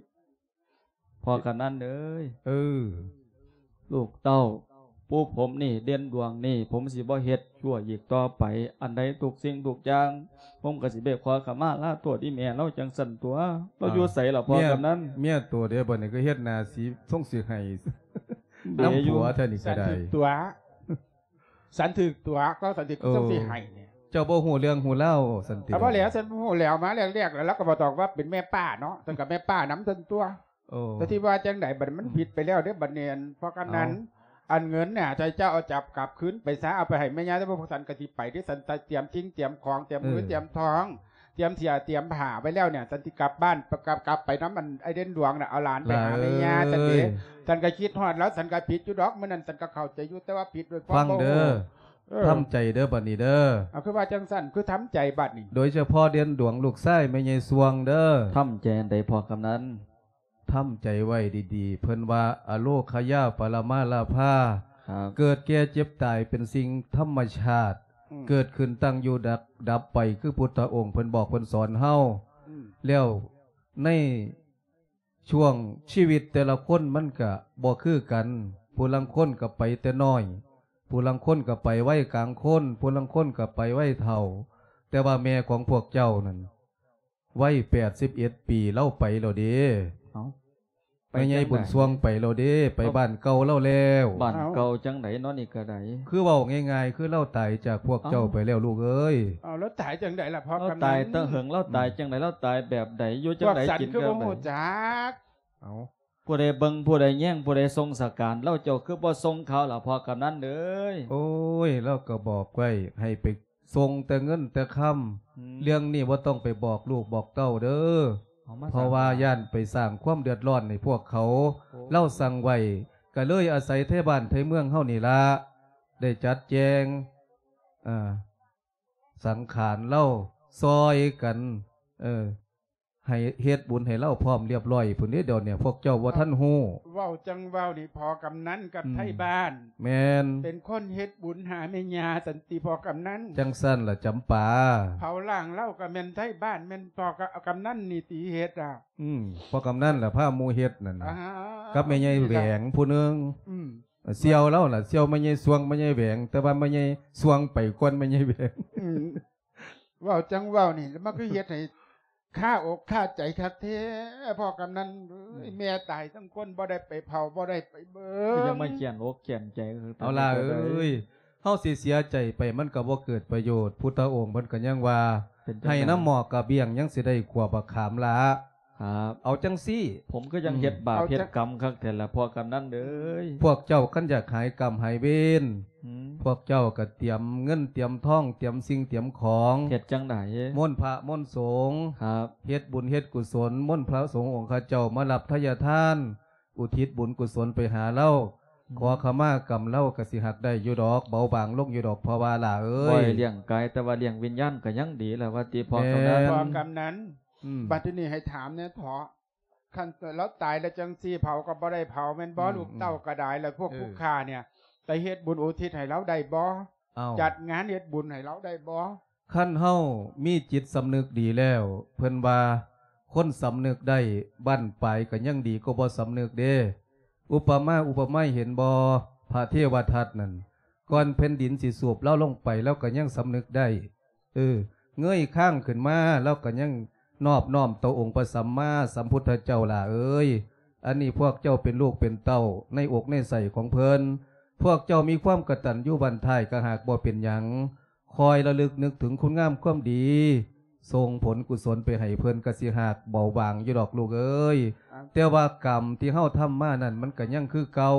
ພໍ່ກຳນັນເອີຍ. ເອີ ລູກເຕົ້າ ປູ່ຜົມນີ້ເດັ່ນດວງນີ້ ຜົມຊິບໍ່ເຮັດຊົ່ວອີກຕໍ່ໄປ ອັນໃດທຸກສິ່ງທຸກຢ່າງ ຜົມກໍຊິໄປຂໍຂະມາລາໂທດອີ່ແມ່ລາວຈັ່ງຊັ້ນຕົວະ. ລາວຢູ່ໃສລະພໍ່ກຳນັນ? ເມຍໂຕເດ ບັດນີ້ກໍເຮັດໜ້າສີ ຊົງຊິໄຫ້ນຳຜົວແທ້ນີ້ກໍໄດ້. ສັນຖືກຕົວະ ສັນຖືກຕົວະ ກໍສັນຖືກ ເອີ ຊົງຊິໄຫ້ນີ້. ເຈົ້າບໍ່ຮູ້ເລື່ອງຮູ້ລາວສັນຕິ? ກໍບໍ່ແລ້ວ ສັນບໍ່ຮູ້ແລ້ວ ມາແລກໆ ແລ້ວລາວກໍບໍ່ຕ້ອງວ່າເປັນແມ່ປ້າເນາະ ສັນກໍແມ່ປ້ານຳສັນຕົວະ. ໂອ້ ແຕ່ທີ່ວ່າຈັ່ງໃດ ບັດນີ້ມັນ ອືມ ຜິດໄປແລ້ວເດ້ ບັດນີ້ ອັນ ເພາະກະນັ້ນ ເອົາ ອັນເງິນນີ້ ໃຫ້ເຈົ້າເອົາຈັບກັບຄືນໄປຊະ ເອົາໄປໃຫ້ແມ່ຍ່າ ແຕ່ພວກສັນກະຊິໄປເດ້ ສັນຕຽມສິ່ງຕຽມຂອງ ຕຽມເງິນ ເອີ ຕຽມທອງ ຕຽມເສື້ອຕຽມຜ້າໄວ້ແລ້ວເນຍ ສັນຊິກັບບ້ານ ກັບ ກັບໄປນຳອັນອ້າຍເດັ່ນຫຼວງນະ ເອົາຫຼານໄປຫາແມ່ຍ່າ ສັນເດ. ສັນກໍຄິດຮອດລາວ ສັນກໍຜິດຢູ່ດອກ ມື້ນັ້ນສັນກໍເຂົ້າໃຈຢູ່ ແຕ່ວ່າຜິດໂດຍຄວາມບໍ່ຮູ້. ເອີ ທຳໃຈເດີບັດນີ້ເດີ. ເອົາ ຄືວ່າຈັ່ງຊັ້ນ ຄືທຳໃຈບັດນີ້? ໂດຍສະເພາະເດັ່ນຫຼວງລູກຊາຍແມ່ໃຫຍ່ຊ່ວງເດີ. ທຳໃຈອັນໃດພໍ່ກຳນັນ? ທຳໃຈໄວ້ດີໆ ເພິ່ນວ່າ ອະໂລຄະຍາປະລະມາລາພາ ເກີດແກ່ເຈັບຕາຍເປັນສິ່ງທຳມະຊາດ ເກີດຂຶ້ນຕັ້ງຢູ່ດັບ ດັບໄປ ຄືພຸດທະອົງເພິ່ນບອກເພິ່ນສອນເຮົາ. ແລ້ວໃນຊ່ວງຊີວິດແຕ່ລະຄົນມັນກະບໍ່ຄືກັນ ຜູ້ລາງຄົນກະໄປແຕ່ນ້ອຍ ຜູ້ລາງຄົນກະໄປໄວກາງຄົນ ຜູ້ລາງຄົນກະໄປໄວເຖົ້າ ແຕ່ວ່າແມ່ຂອງພວກເຈົ້ານັ້ນ ໄວແປດສິບເອັດປີ ລາວໄປແລ້ວເດ້. ເອົ້າ ແມ່ໃຫຍ່ບຸນຊ່ວງໄປແລ້ວເດ້ ໄປບ້ານເກົ່າລາວແລ້ວ. ບ້ານເກົ່າຈັ່ງໃດເນາະນີ້ກະໄດ້? ຄືເວົ້າງ່າຍໆ ຄືລາວຕາຍຈາກພວກເຈົ້າໄປແລ້ວ ລູກເອີຍ. ເອົ້າ ລາວຕາຍຈັ່ງໃດລະພໍ່ກຳນັນ? ລາວຕາຍແຕ່ເຫິງ ລາວຕາຍຈັ່ງໃດ? ລາວຕາຍແບບໃດ? ຢູ່ຈັ່ງໃດ? ກິນແບບໃດ? ເອົ້າ ຜູ້ໃດເບິ່ງ ຜູ້ໃດແຍງ ຜູ້ໃດສົ່ງສະການລາວ ເຈົ້າຄືບໍ່ສົ່ງຂ່າວລະພໍ່ກຳນັນເອີຍ? ໂອ້ຍ ລາວກໍບອກໄວ້ໃຫ້ໄປ ສົ່ງແຕ່ເງິນແຕ່ຄຳ ເລື່ອງນີ້ບໍ່ຕ້ອງໄປບອກລູກບອກເຕົ້າເດີ ເພາະວ່າຢ້ານໄປສ້າງຄວາມເດືອດຮ້ອນໃຫ້ພວກເຂົາ. ລາວສັ່ງໄວ້ ກະເລີຍອາໄສໄທບ້ານໄທເມືອງເຮົານີ້ລະ ໄດ້ຈັດແຈງ ເອີ ສັງຂານລາວ ຊ່ອຍກັນ ເອີ ໃຫ້ເຮັດບຸນໃຫ້ລາວພ້ອມລຽບລ້ອຍພຸ້ນເດ້. ດຽວນີ້ພວກເຈົ້າບໍ່ທັນຮູ້. ເວົ້າຈັ່ງເວົ້ານີ້ ພໍ່ກຳນັນກັບໄທບ້ານ ແມ່ນ ເປັນຄົນເຮັດບຸນຫາແມ່ຍ່າ ສັນຕິ ພໍ່ກຳນັນ? ຈັ່ງຊັ້ນລະຈຳປາ. ເຜົາລ້າງລາວກະແມ່ນໄທບ້ານ ແມ່ນພໍ່ກຳນັນນີ້ຕິເຮັດອະ. ອືມ ພໍ່ກຳນັນລະພາໝູ່ເຮັດນັ້ນນະ ກັບແມ່ໃຫຍ່ແຫວງຜູ້ໜຶ່ງ. ອືມ ສ່ຽວລາວລະ ສ່ຽວແມ່ໃຫຍ່ຊ່ວງ ແມ່ໃຫຍ່ແຫວງ ແຕ່ວ່າແມ່ໃຫຍ່ຊ່ວງໄປກ່ອນແມ່ໃຫຍ່ແຫວງ. ອືມ ເວົ້າຈັ່ງເວົ້ານີ້ ມັນຄືເຮັດໃຫ້ຄາອົກຄາໃຈຄັກແທ້ ພໍ່ກຳນັນເອີຍ. ແມ່ຕາຍທັງຄົນ ບໍ່ໄດ້ໄປເຜົາ ບໍ່ໄດ້ໄປເບິ່ງ ຄືຍັງມາຂຽນອົກຂຽນໃຈ. ເອົາລະເອີຍ ເຮົາຊິເສຍໃຈໄປ ມັນກໍບໍ່ເກີດປະໂຫຍດ. ພຸດທະອົງເພິ່ນກໍຍັງວ່າ ໃຫ້ນ້ຳໝອກກະບ້ຽງ ຍັງຊິໄດ້ຂົ້ວບັກຂາມລະ. ເອົາຈັ່ງຊີ້ ຜົມຄືຍັງເຮັດບາບເຮັດກຳຄັກແທ້ລະ ພໍ່ກຳນັນເອີຍ. ພວກເຈົ້າຄັນຢາກຫາຍກຳຫາຍເວນ ພວກເຈົ້າກະຕຽມເງິນຕຽມທອງ ຕຽມສິ່ງຕຽມຂອງ. ເຮັດຈັ່ງໃດ? ມົນພະມົນສົງ ເຮັດບຸນເຮັດກຸສົນ ມົນພະສົງອົງຄະເຈົ້າມາຮັບທະຍາທານ ອຸທິດບຸນກຸສົນໄປຫາລາວ. ຂໍຂະມາກຳລາວກະຊິຫາກໄດ້ຢູ່ດອກ ເບົາບາງລົງຢູ່ດອກ ພໍ່ວ່າຫຼ້າເອີຍ. ບໍ່ໄດ້ລ້ຽງກາຍ ແຕ່ວ່າລ້ຽງວິນຍານກະຍັງດີລະວ່າຕິ ພໍ່ກຳນັນ. ພໍ່ກຳນັນ ອືມ ບັດທີນີ້ໃຫ້ຖາມແດ່ເຖາະ ຄັນລາວຕາຍແລ້ວຈັ່ງຊີ້ ເຜົາກໍບໍ່ໄດ້ເຜົາແມ່ນບໍ່? ອືມ ລູກເຕົ້າກໍໄດ້ ແລ້ວພວກຜູ້ຂ້າເນຍ ໄປເຮັດບຸນອຸທິດໃຫ້ລາວໄດ້ບໍ່? ເອົ້າ ຈັດງານເຮັດບຸນໃຫ້ລາວໄດ້ບໍ່? ຄັນເຮົາມີຈິດສຳນຶກດີແລ້ວ ເພິ່ນວ່າ ຄົນສຳນຶກໄດ້ບັ້ນປາຍກໍຍັງດີກວ່າບໍ່ສຳນຶກເດ້. ອຸປະມາອຸປະໄມເຫັນບໍ່? ພະເທວະທັດນັ້ນ ກ່ອນແຜ່ນດິນຊິສູບລາວລົງໄປ ລາວກໍຍັງສຳນຶກໄດ້. ເອີ ເງີຍຄາງຂຶ້ນມາ ລາວກໍຍັງນອບນ້ອມຕໍ່ອົງພະສຳມາສຳພຸດທະເຈົ້າຫຼ້າເອີຍ. ອັນນີ້ພວກເຈົ້າເປັນລູກເປັນເຕົ້າໃນອົກໃນໄສ້ຂອງເພິ່ນ ພວກເຈົ້າມີຄວາມກະຕັນຍູບັນທາຍ ກະຫາກບໍ່ເປັນຫຍັງ ຄອຍລະລຶກນຶກເຖິງຄຸນງາມຄວາມດີ ສົ່ງຜົນກຸສົນໄປໃຫ້ເພິ່ນ ກະຊິຫາກເບົາບາງຢູ່ດອກລູກເອີຍ. ແຕ່ວ່າກຳທີ່ເຮົາທຳມານັ້ນ ມັນກະຍັງຄືເກົ່າ.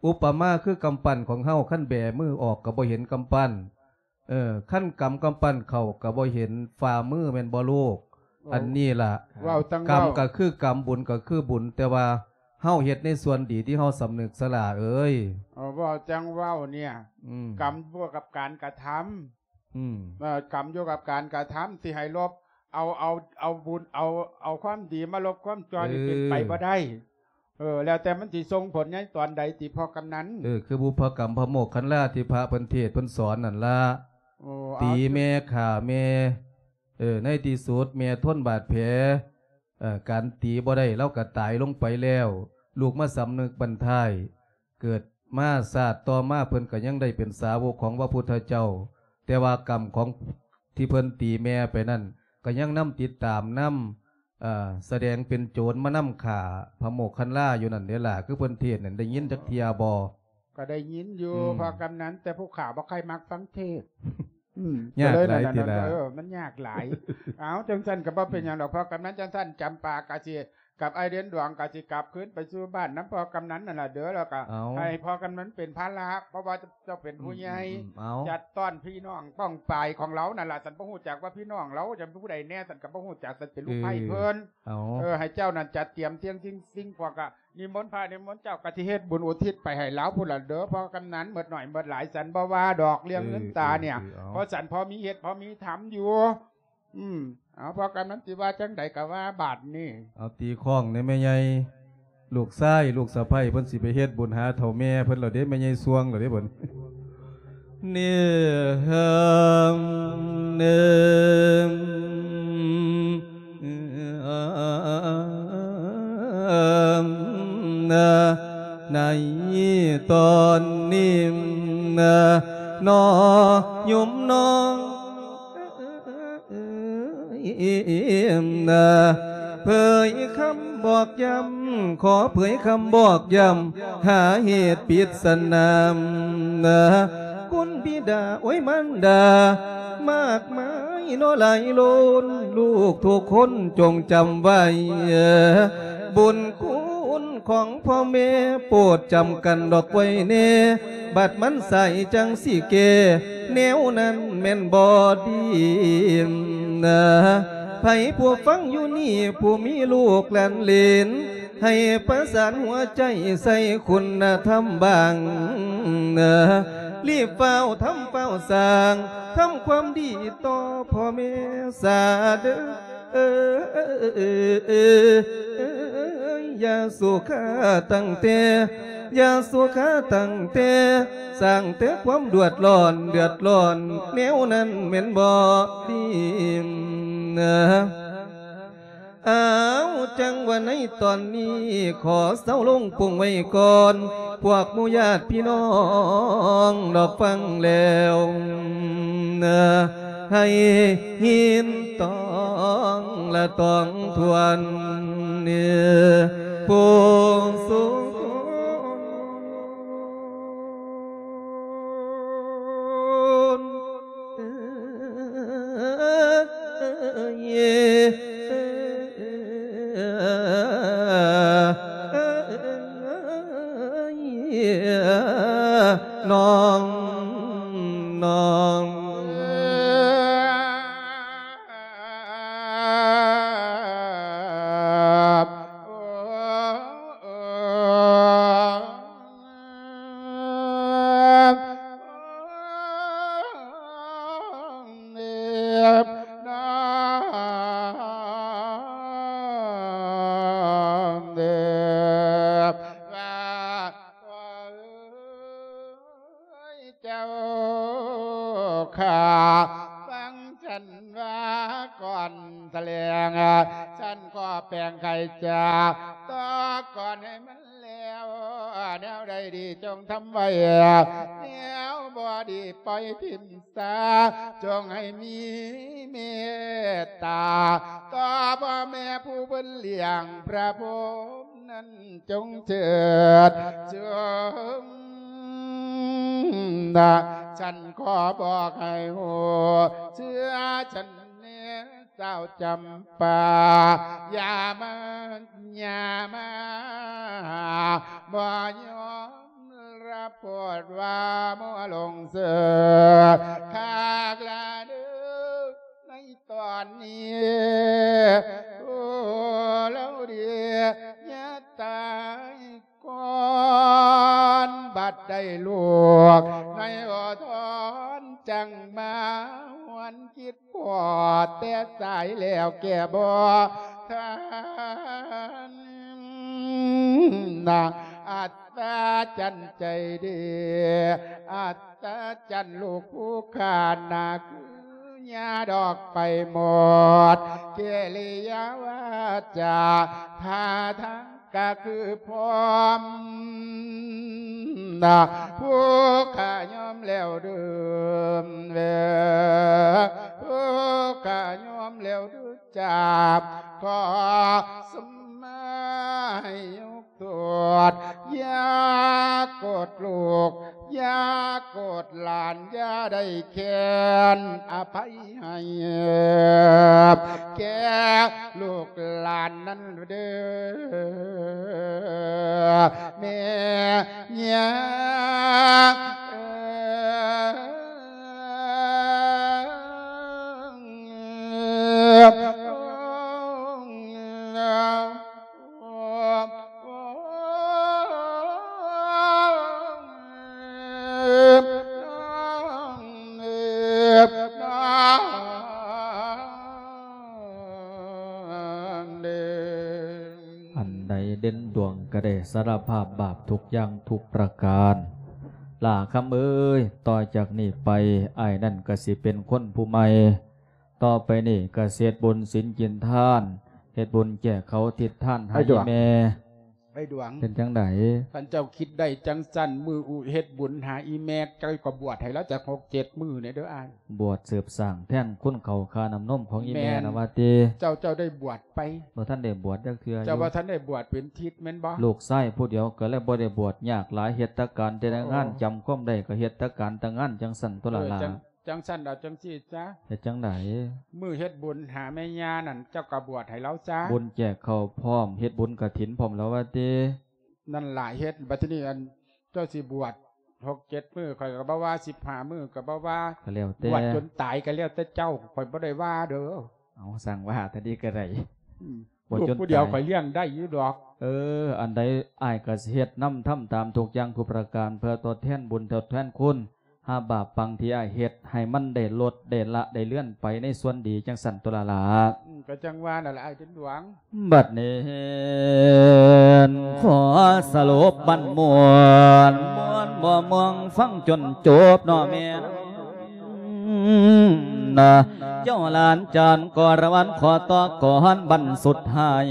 ອຸປະມາຄືກຳປັ້ນຂອງເຮົາ ຄັນແບມືອອກກະບໍ່ເຫັນກຳປັ້ນ. ເອີ ຄັນກຳກຳປັ້ນເຂົ້າກະບໍ່ເຫັນຝ່າມືແມ່ນບໍ່ລູກ? ອັນນີ້ລະ ເວົ້າຈັ່ງເວົ້າ ກຳກະຄືກຳ ບຸນກະຄືບຸນ ແຕ່ວ່າເຮົາເຮັດໃນສ່ວນດີທີ່ເຮົາສຳນຶກສະຫຼ້າເອີຍ. ເວົ້າຈັ່ງເວົ້າເນຍ ອືມ ກຳຢູ່ກັບການກະທຳ. ອືມ ເອີ ກຳຢູ່ກັບການກະທຳ ຊິໃຫ້ລົບ ເອົາ ເອົາ ເອົາບຸນ ເອົາ ເອົາຄວາມດີມາລົບຄວາມຊົ່ວນີ້ ເອີ ເປັນໄປບໍ່ໄດ້. ເອີ ແລ້ວແຕ່ມັນຊິສົ່ງຜົນໃນຕອນໃດຕິ ພໍ່ກຳນັນ? ເອີ ຄືບຸບພະກຳພະໂມກຄັນລາທີ່ພະເພິ່ນເທດເພິ່ນສອນນັ້ນລະ. ໂອ້ ຕີແມ່ຂ້າແມ່ ເອີ ໃນທີ່ສຸດແມ່ທົນບາດແຜ ເອີ ການຕີບໍ່ໄດ້ ລາວກະຕາຍລົງໄປແລ້ວ ລູກມາສຳນຶກບັ້ນທ້າຍ ເກີດມາຊາດຕໍ່ມາ ເພິ່ນກໍຍັງໄດ້ເປັນສາວົກຂອງພະພຸດທະເຈົ້າ. ແຕ່ວ່າກຳຂອງທີ່ເພິ່ນຕີແມ່ໄປນັ້ນ ກໍຍັງນຳຕິດຕາມນຳ ເອີ ສະແດງເປັນໂຈນມານຳຂ້າພະໂມກຄັນລາຢູ່ນັ້ນເດ້ລະ ຄືເພິ່ນເທດນັ້ນ ໄດ້ຍິນຈັກເທື່ອບໍ່? ກໍໄດ້ຍິນຢູ່ ອືມ ພໍ່ກຳນັນ ແຕ່ຜູ້ຂ້າບໍ່ຄ່ອຍມັກຟັງເທດ. ອືມ ຍາກຫຼາຍຕິລະ ເອີ ມັນຍາກຫຼາຍ. ເອົາ ຈັ່ງຊັ້ນກໍບໍ່ເປັນຫຍັງດອກ ອືມ ພໍ່ກຳນັນ. ຈັ່ງຊັ້ນຈຳປາກໍຊິ ກັບອ້າຍເດັ່ນດວງກໍຊິກັບຄືນໄປສູ່ບ້ານນຳພໍ່ກຳນັນນັ້ນລະເດີ ແລ້ວກໍ ເອົາ ໃຫ້ພໍ່ກຳນັນເປັນພາລະ ເພາະວ່າເຈົ້າເປັນຜູ້ໃຫຍ່ ອືມໆໆ ເອົາ ຈັດຕ້ອນພີ່ນ້ອງປ້ອງປາຍຂອງລາວນັ້ນລະ. ສັນບໍ່ຮູ້ຈັກວ່າພີ່ນ້ອງລາວຈະເປັນຜູ້ໃດແດ່ ສັນກໍບໍ່ຮູ້ຈັກ ສັນເປັນລູກໃພ້ເພິ່ນ ເອີ ເອີ ໃຫ້ເຈົ້ານັ້ນຈັດຕຽມສິ່ງ ສິ່ງ ສິ່ງ ພວກກໍນິມົນພະນິມົນເຈົ້າ ກໍຊິເຮັດບຸນອຸທິດໄປໃຫ້ລາວພຸ້ນລະເດີ ພໍ່ກຳນັນ. ໝົດໜ້ອຍໝົດຫຼາຍສັນບໍ່ວ່າດອກ ເລື່ອງເງິນຕາເນຍ ເອີ ເອີ ເອີ ເອົາ ເພາະສັນພໍມີເຮັດພໍມີທຳຢູ່. ອືມ ເອົາ ພໍ່ກຳນັນຊິວ່າຈັ່ງໃດກໍວ່າບາດນີ້. ເອົາ ຕີຄ້ອງແດ່ແມ່ໃຫຍ່ ລູກຊາຍລູກສະໃພ້ເພິ່ນຊິໄປເຮັດບຸນຫາເຖົ້າແມ່ເພິ່ນແລ້ວເດ້ ແມ່ໃຫຍ່ຊ່ວງແລ້ວເດ້ເພິ່ນ. ເນ ເອີ ເນ ໃນຕອນນີ້ນະ ນອ ໂຍມນ້ອງ ເອີຍ ເອີຍ ເອີຍ ເອີຍ ເຜີຍຄຳບອກຢ້ຳ ຂໍເຜີຍຄຳບອກຢ້ຳ ຫາເຫດປິດສະໜາມນະ ຄຸນບິດາ ໂອ້ຍ ມານດາ ມາກມາຍເນາະຫຼາຍລ້ນ ລູກທຸກຄົນຈົ່ງຈຳໄວ້ ບຸນຄຸນຂອງພໍ່ແມ່ ໂປດຈຳກັນດອກໄວ້ແນ່ ບັດມັນສາຍຈັ່ງຊິແກ້ ແນວນັ້ນແມ່ນບໍ່ດີນະ ໃຜຜູ້ຟັງຢູ່ນີ້ ຜູ້ມີລູກຫຼານເລນ ໃຫ້ປະສານຫົວໃຈໃສ່ຄຸນນະທຳບາງນະ ລີບຟ້າວທຳຟ້າວສ້າງ ທຳຄວາມດີຕໍ່ພໍ່ແມ່ຊາເດີ ເອີ ເອີ ເອີ ເອີ ເອີ ຢ່າສຸຂາຕັ້ງແຕ່ ຢ່າສຸຂາຕັ້ງແຕ່ ສ້າງແຕ່ຄວາມເດືອດຮ້ອນ ເດືອດຮ້ອນ ແນວນັ້ນແມ່ນບໍ່ດີນະ. ອ້າວ ຈັ່ງວ່າໃນຕອນນີ້ ຂໍເຊົາລົງປົງໄວ້ກ່ອນ ພວກໝູ່ຍາດພີ່ນ້ອງດອກຟັງແລ້ວ ໃຫ້ຍິນຕອງລະຕອງທວນ ຜູ້ສູງ ນ້ອງ ນ້ອງ ເຈົ້າຂ້າ ຟັງ ທ່ານວ່າກ່ອນສະແຫຼງ ທ່ານກໍແປງໄຂຈາກ ຕໍ່ກ່ອນໃຫ້ມັນແລ້ວ ແນວໃດດີຈົ່ງທຳໄວ້ ແນວບໍ່ດີປ່ອຍຖິ້ມຊາ ຈົ່ງໃຫ້ມີເມດຕາ ຕໍ່ພໍ່ແມ່ຜູ້ເພິ່ນລ້ຽງພະພົມນັ້ນ ຈົ່ງເຈີດຈົ່ງນະ ທ່ານກໍບອກໃຫ້ຮູ້ ເຊື່ອທ່ານ ແມ່ສາວຈຳປາ ຢ່າມາ ຢ່າມາ ບໍ່ຍອມຮັບໂທດວ່າມົວຫຼົງເສີກ ຄັກລະເດີ ໃນຕອນນີ້ ໂອ້ ລາວເດ ຢ່າຕາຍ ກ່ອນບັດໄດ້ລູກ ໃນໂອທອນ ຈັ່ງມາຫວນຄິດພໍດ ແຕ່ສາຍແລ້ວແກ້ບໍ່ທັນນະ ອັດສະຈັນໃຈເດ ອັດສະຈັນລູກຜູ້ຂ້ານະ ຄື ຍາດອກໄປໝົດ ກິລິຍາວາຈາ ທ່າທາງກະຄືພ້ອມນະ ຜູ້ຂ້າຍອມແລ້ວເດີ ເອີ ຜູ້ຂ້າຍອມແລ້ວເດີ ຈາບ ຂໍສະມາໃຫ້ຍົກ ໂທດ ຢ່າໂກດລູກ ຢ່າໂກດຫຼານ ຢ່າໄດ້ແຄ ນອະໄພໃຫ້ແກ່ລູກຫຼານນັ້ນເດີ ແມ່ຍ່າເອີຍ. ອັນໃດເດັ່ນດວງກໍໄດ້ສາລະພາບບາບທຸກຢ່າງທຸກປະການ. ຫຼ້າຄຳເອີຍ, ຕໍ່ຈາກນີ້ໄປ ອ້າຍນັ້ນກໍຊິເປັນຄົນຜູ້ໃໝ່. ຕໍ່ໄປນີ້ກໍຊິເຮັດບຸນສິນກິນທານ, ເຮັດບຸນແຈກເຂົ້າທິດທານໃຫ້ ອ້າຍດວງ ແມ່. ອ້າຍດວງ ເປັນຈັ່ງໃດ? ຄັນເຈົ້າຄິດໄດ້ຈັ່ງຊັ້ນ ມື້ອຸເຮັດບຸນຫາອີແມ່ ເຈົ້າກໍບວດໃຫ້ລາວຈັກຫົກເຈັດມື້ແດ່ເດີອ້າຍ. ບວດສືບສ້າງແທນຄຸນເຂົ້າຄ່ານ້ຳນົມຂອງອີແມ່ ແມ່ນ ນະວ່າຕິ. ເຈົ້າ ເຈົ້າໄດ້ບວດໄປ? ບໍ່ທັນໄດ້ບວດຈັກເທື່ອຢູ່. ເຈົ້າບໍ່ທັນໄດ້ບວດເປັນທິດແມ່ນບໍ່? ລູກຊາຍຜູ້ດຽວກໍເລີຍບໍ່ໄດ້ບວດ, ຍາກຫຼາຍ, ເຮັດແຕ່ການແຕ່ງານ. ອໍ ຈຳຄວາມໄດ້ກໍເຮັດແຕ່ການແຕ່ງານ ຈັ່ງຊັ້ນຕົວລະຫຼ້າ. ເອີ ຈັ່ງ ຈັ່ງຊັ້ນເອົາຈັ່ງຊີ້ຊະ. ເຮັດຈັ່ງໃດ? ມື້ເຮັດບຸນຫາແມ່ຍ່ານັ້ນ ເຈົ້າກໍບວດໃຫ້ລາວຊະ. ບຸນແຈກເຂົ້າພ້ອມ, ເຮັດບຸນກະຖິນພ້ອມແລ້ວວ່າຕິ. ນັ້ນລະເຮັດ, ບັດທີນີ້ ອັນ ເຈົ້າຊິບວດຫົກເຈັດມື້ ຂ້ອຍກໍບໍ່ວ່າ, ສິບຫ້າມື້ກໍບໍ່ວ່າ, ກໍແລ້ວແຕ່. ບວດຈົນຕາຍກໍແລ້ວແຕ່ເຈົ້າ, ຂ້ອຍບໍ່ໄດ້ວ່າເດີ. ເອົາ, ຊ່າງວ່າ ຕາດີກໍໄດ້. ອືມ ບໍ່ ລູກຜູ້ດຽວ ຈົນຕາຍ ຂ້ອຍລ້ຽງໄດ້ຢູ່ດອກ. ເອີ ອັນໃດອ້າຍກໍຊິເຮັດນຳ, ທຳຕາມທຸກຢ່າງທຸກປະການ ເພື່ອທົດແທນບຸນ ທົດແທນຄຸນ ຫາບາບປັງທີ່ອ້າຍເຮັດ ໃຫ້ມັນໄດ້ລົດ ໄດ້ລະ ໄດ້ເລືອນໄປໃນສ່ວນດີ ຈັ່ງຊັ້ນຕົວລະຫຼ້າ. ອືມ ກໍຈັ່ງວ່ານັ້ນລະ ອ້າຍເປັນດວງ. ບັດນີ້ຂໍສະຫຼຸບບັນມ່ວນ, ມ່ວນບໍ່ມ່ວງຟັງຈົນຈົບເນາະແມ່. ເຈົ້າຫຼານຈານກໍລະວັນ ຂໍຕໍ່ກ່ອນບັນສຸດທ້າຍ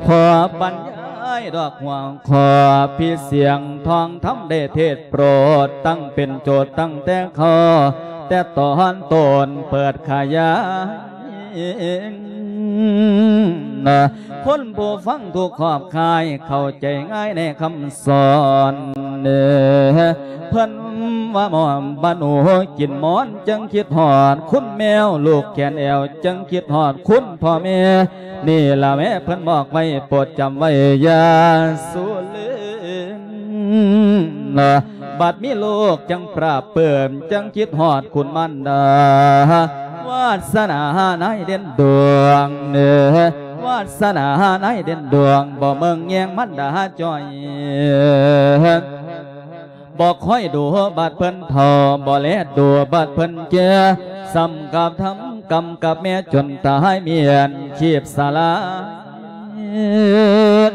ຂໍບັນຍາຍດອກຫົວຂໍ້ ພິດສຽງທອງທຳໄດ້ເທດໂປດ ຕັ້ງເປັນໂຈດຕັ້ງແຕ່ເຂົ້າ ແຕ່ຕອນຕົ້ນເປີດຂະຫຍາຍ. ຄົນຜູ້ຟັງທຸກຂອບຂ່າຍ ເຂົ້າໃຈງ່າຍໃນຄຳສອນ. ເພິ່ນວ່າໝໍບ້ານໂອກິນໝອນ ຈຶ່ງຄິດຮອດຄຸນແມວ ລູກແຂນແອວ ຈຶ່ງຄິດຮອດຄຸນພໍ່ແມ່. ນີ້ລະແມ້ເພິ່ນບອກໄວ້ ໂປດຈຳໄວ້ຢ່າສູລືມ. ບັດມີລູກຈັ່ງປາບປື້ມ ຈຶ່ງຄິດຮອດຄຸນມານດາ ວາດສະໜານາຍເດັ່ນດວງເອີ ວາດສະໜານາຍເດັ່ນດວງ ບໍ່ເບິ່ງແຍງມານດາຈ່ອຍ ບໍ່ຄອຍດູບາດເພິ່ນເຖົ້າ ບໍ່ແລດູບາດເພິ່ນແກ່ ສ່ຳກັບທຳກຳກັບແມ່ຈົນຕາຍ ມ້ຽນຊີບສາລາຍ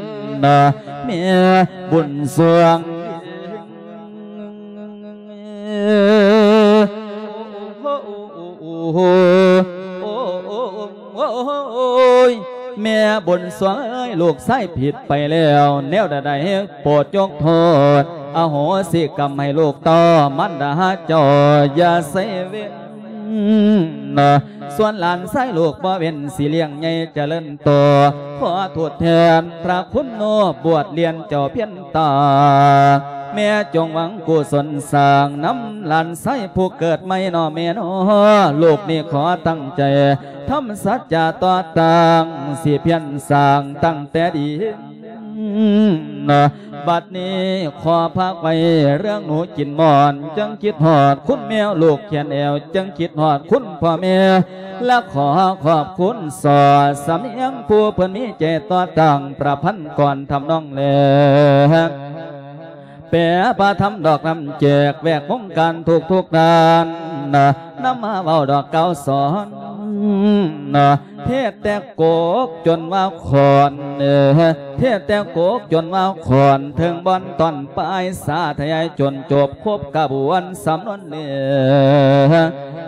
ແມ່ບຸນສວງ. ໂອ້ຍ ແມ່ບຸນສວງເອີຍ ລູກຊາຍຜິດໄປແລ້ວ ແນວໃດໆໂປດຍົກໂທດ ອະໂຫສິກຳໃຫ້ລູກຕໍ່ ມານດາເຈົ້າຢ່າໃສ່ເວນ ສ່ວນຫຼານຊາຍລູກບໍ່ເວັ້ນ ຊິລ້ຽງໃຫຍ່ຈະເລີນໂຕ ຂໍທົດແທນພະຄຸນໂນ ບວດລຽນເຈົ້າພຽນຕາ ແມ່ຈົ່ງຫວັງກຸສົນສ້າງນຳຫຼານຊາຍຜູ້ເກີດໃໝ່ເນາະແມ່ເນາະ ລູກນີ້ຂໍຕັ້ງໃຈທຳສັດຈະຕໍ່ຕັ້ງ ຊິພຽນສ້າງຕັ້ງແຕ່ດີ. ບັດນີ້ຂໍຝາກໄວ້ເລື່ອງໜູກິນໝອນ ຈຶ່ງຄິດຮອດຄຸນແມວ ລູກແຂນແອວ ຈຶ່ງຄິດຮອດຄຸນພໍ່ແມ່ ແລະຂໍຂອບຄຸນສອດສຳນຽງ ຜູ້ເພິ່ນມີໃຈຕໍ່ຕັ້ງ ປະພັນກ່ອນທຳນອງແລ ແປພະທຳດອກນຳແຈກ ແວກວົງການທຸກໆດ້ານ ນຳມາເວົ້າດອກກ່າວສອນ ເທດແຕ່ກົກຈົນວ່າຂອນ ເທດແຕ່ກົກຈົນວ່າຂອນ ເຖິງບ່ອນຕອນປາຍ ສາທະຍາຍຈົນຈົບ ຄົບກະບວນສຳນວນເນື້ອ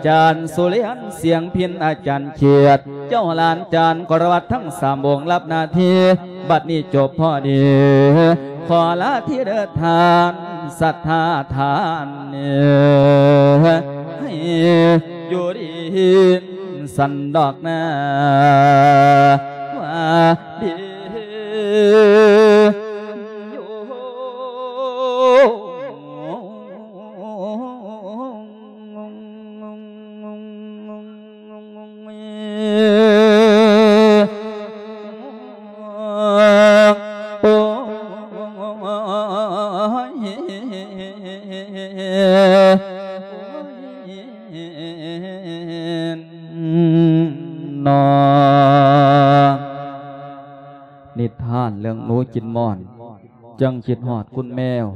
ຈານສຸລິຍັນ ສຽງພິນ ອາຈານຂຽດ ເຈົ້າຫຼານຈານກໍລະວັດທັງສາມອົງ ຮັບໜ້າທີ່ ບັດນີ້ຈົບພໍດີ ຂໍລາທີເດີທ່ານ ສັດທາທ່ານ ໃຫ້ຢູ່ດີສັນດອກນາ ວ່າດີຢູ່. ໂອ້ຍ ເນາະ ນິທານເລື່ອງໜູກິນໝອນ ຈຶ່ງຄິດຮອດຄຸນແມວ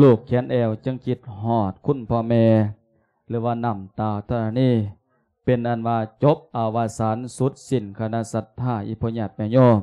ລູກແຂນແອວຈຶ່ງຄິດຮອດຄຸນພໍ່ແມ່ ຫຼືວ່ານ້ຳຕາທະລະນີ ເປັນອັນວ່າຈົບອະວະສານສຸດສິ້ນຄະນະສັດທາ ອີ່ພໍ່ຍາດແມ່ໂຍມ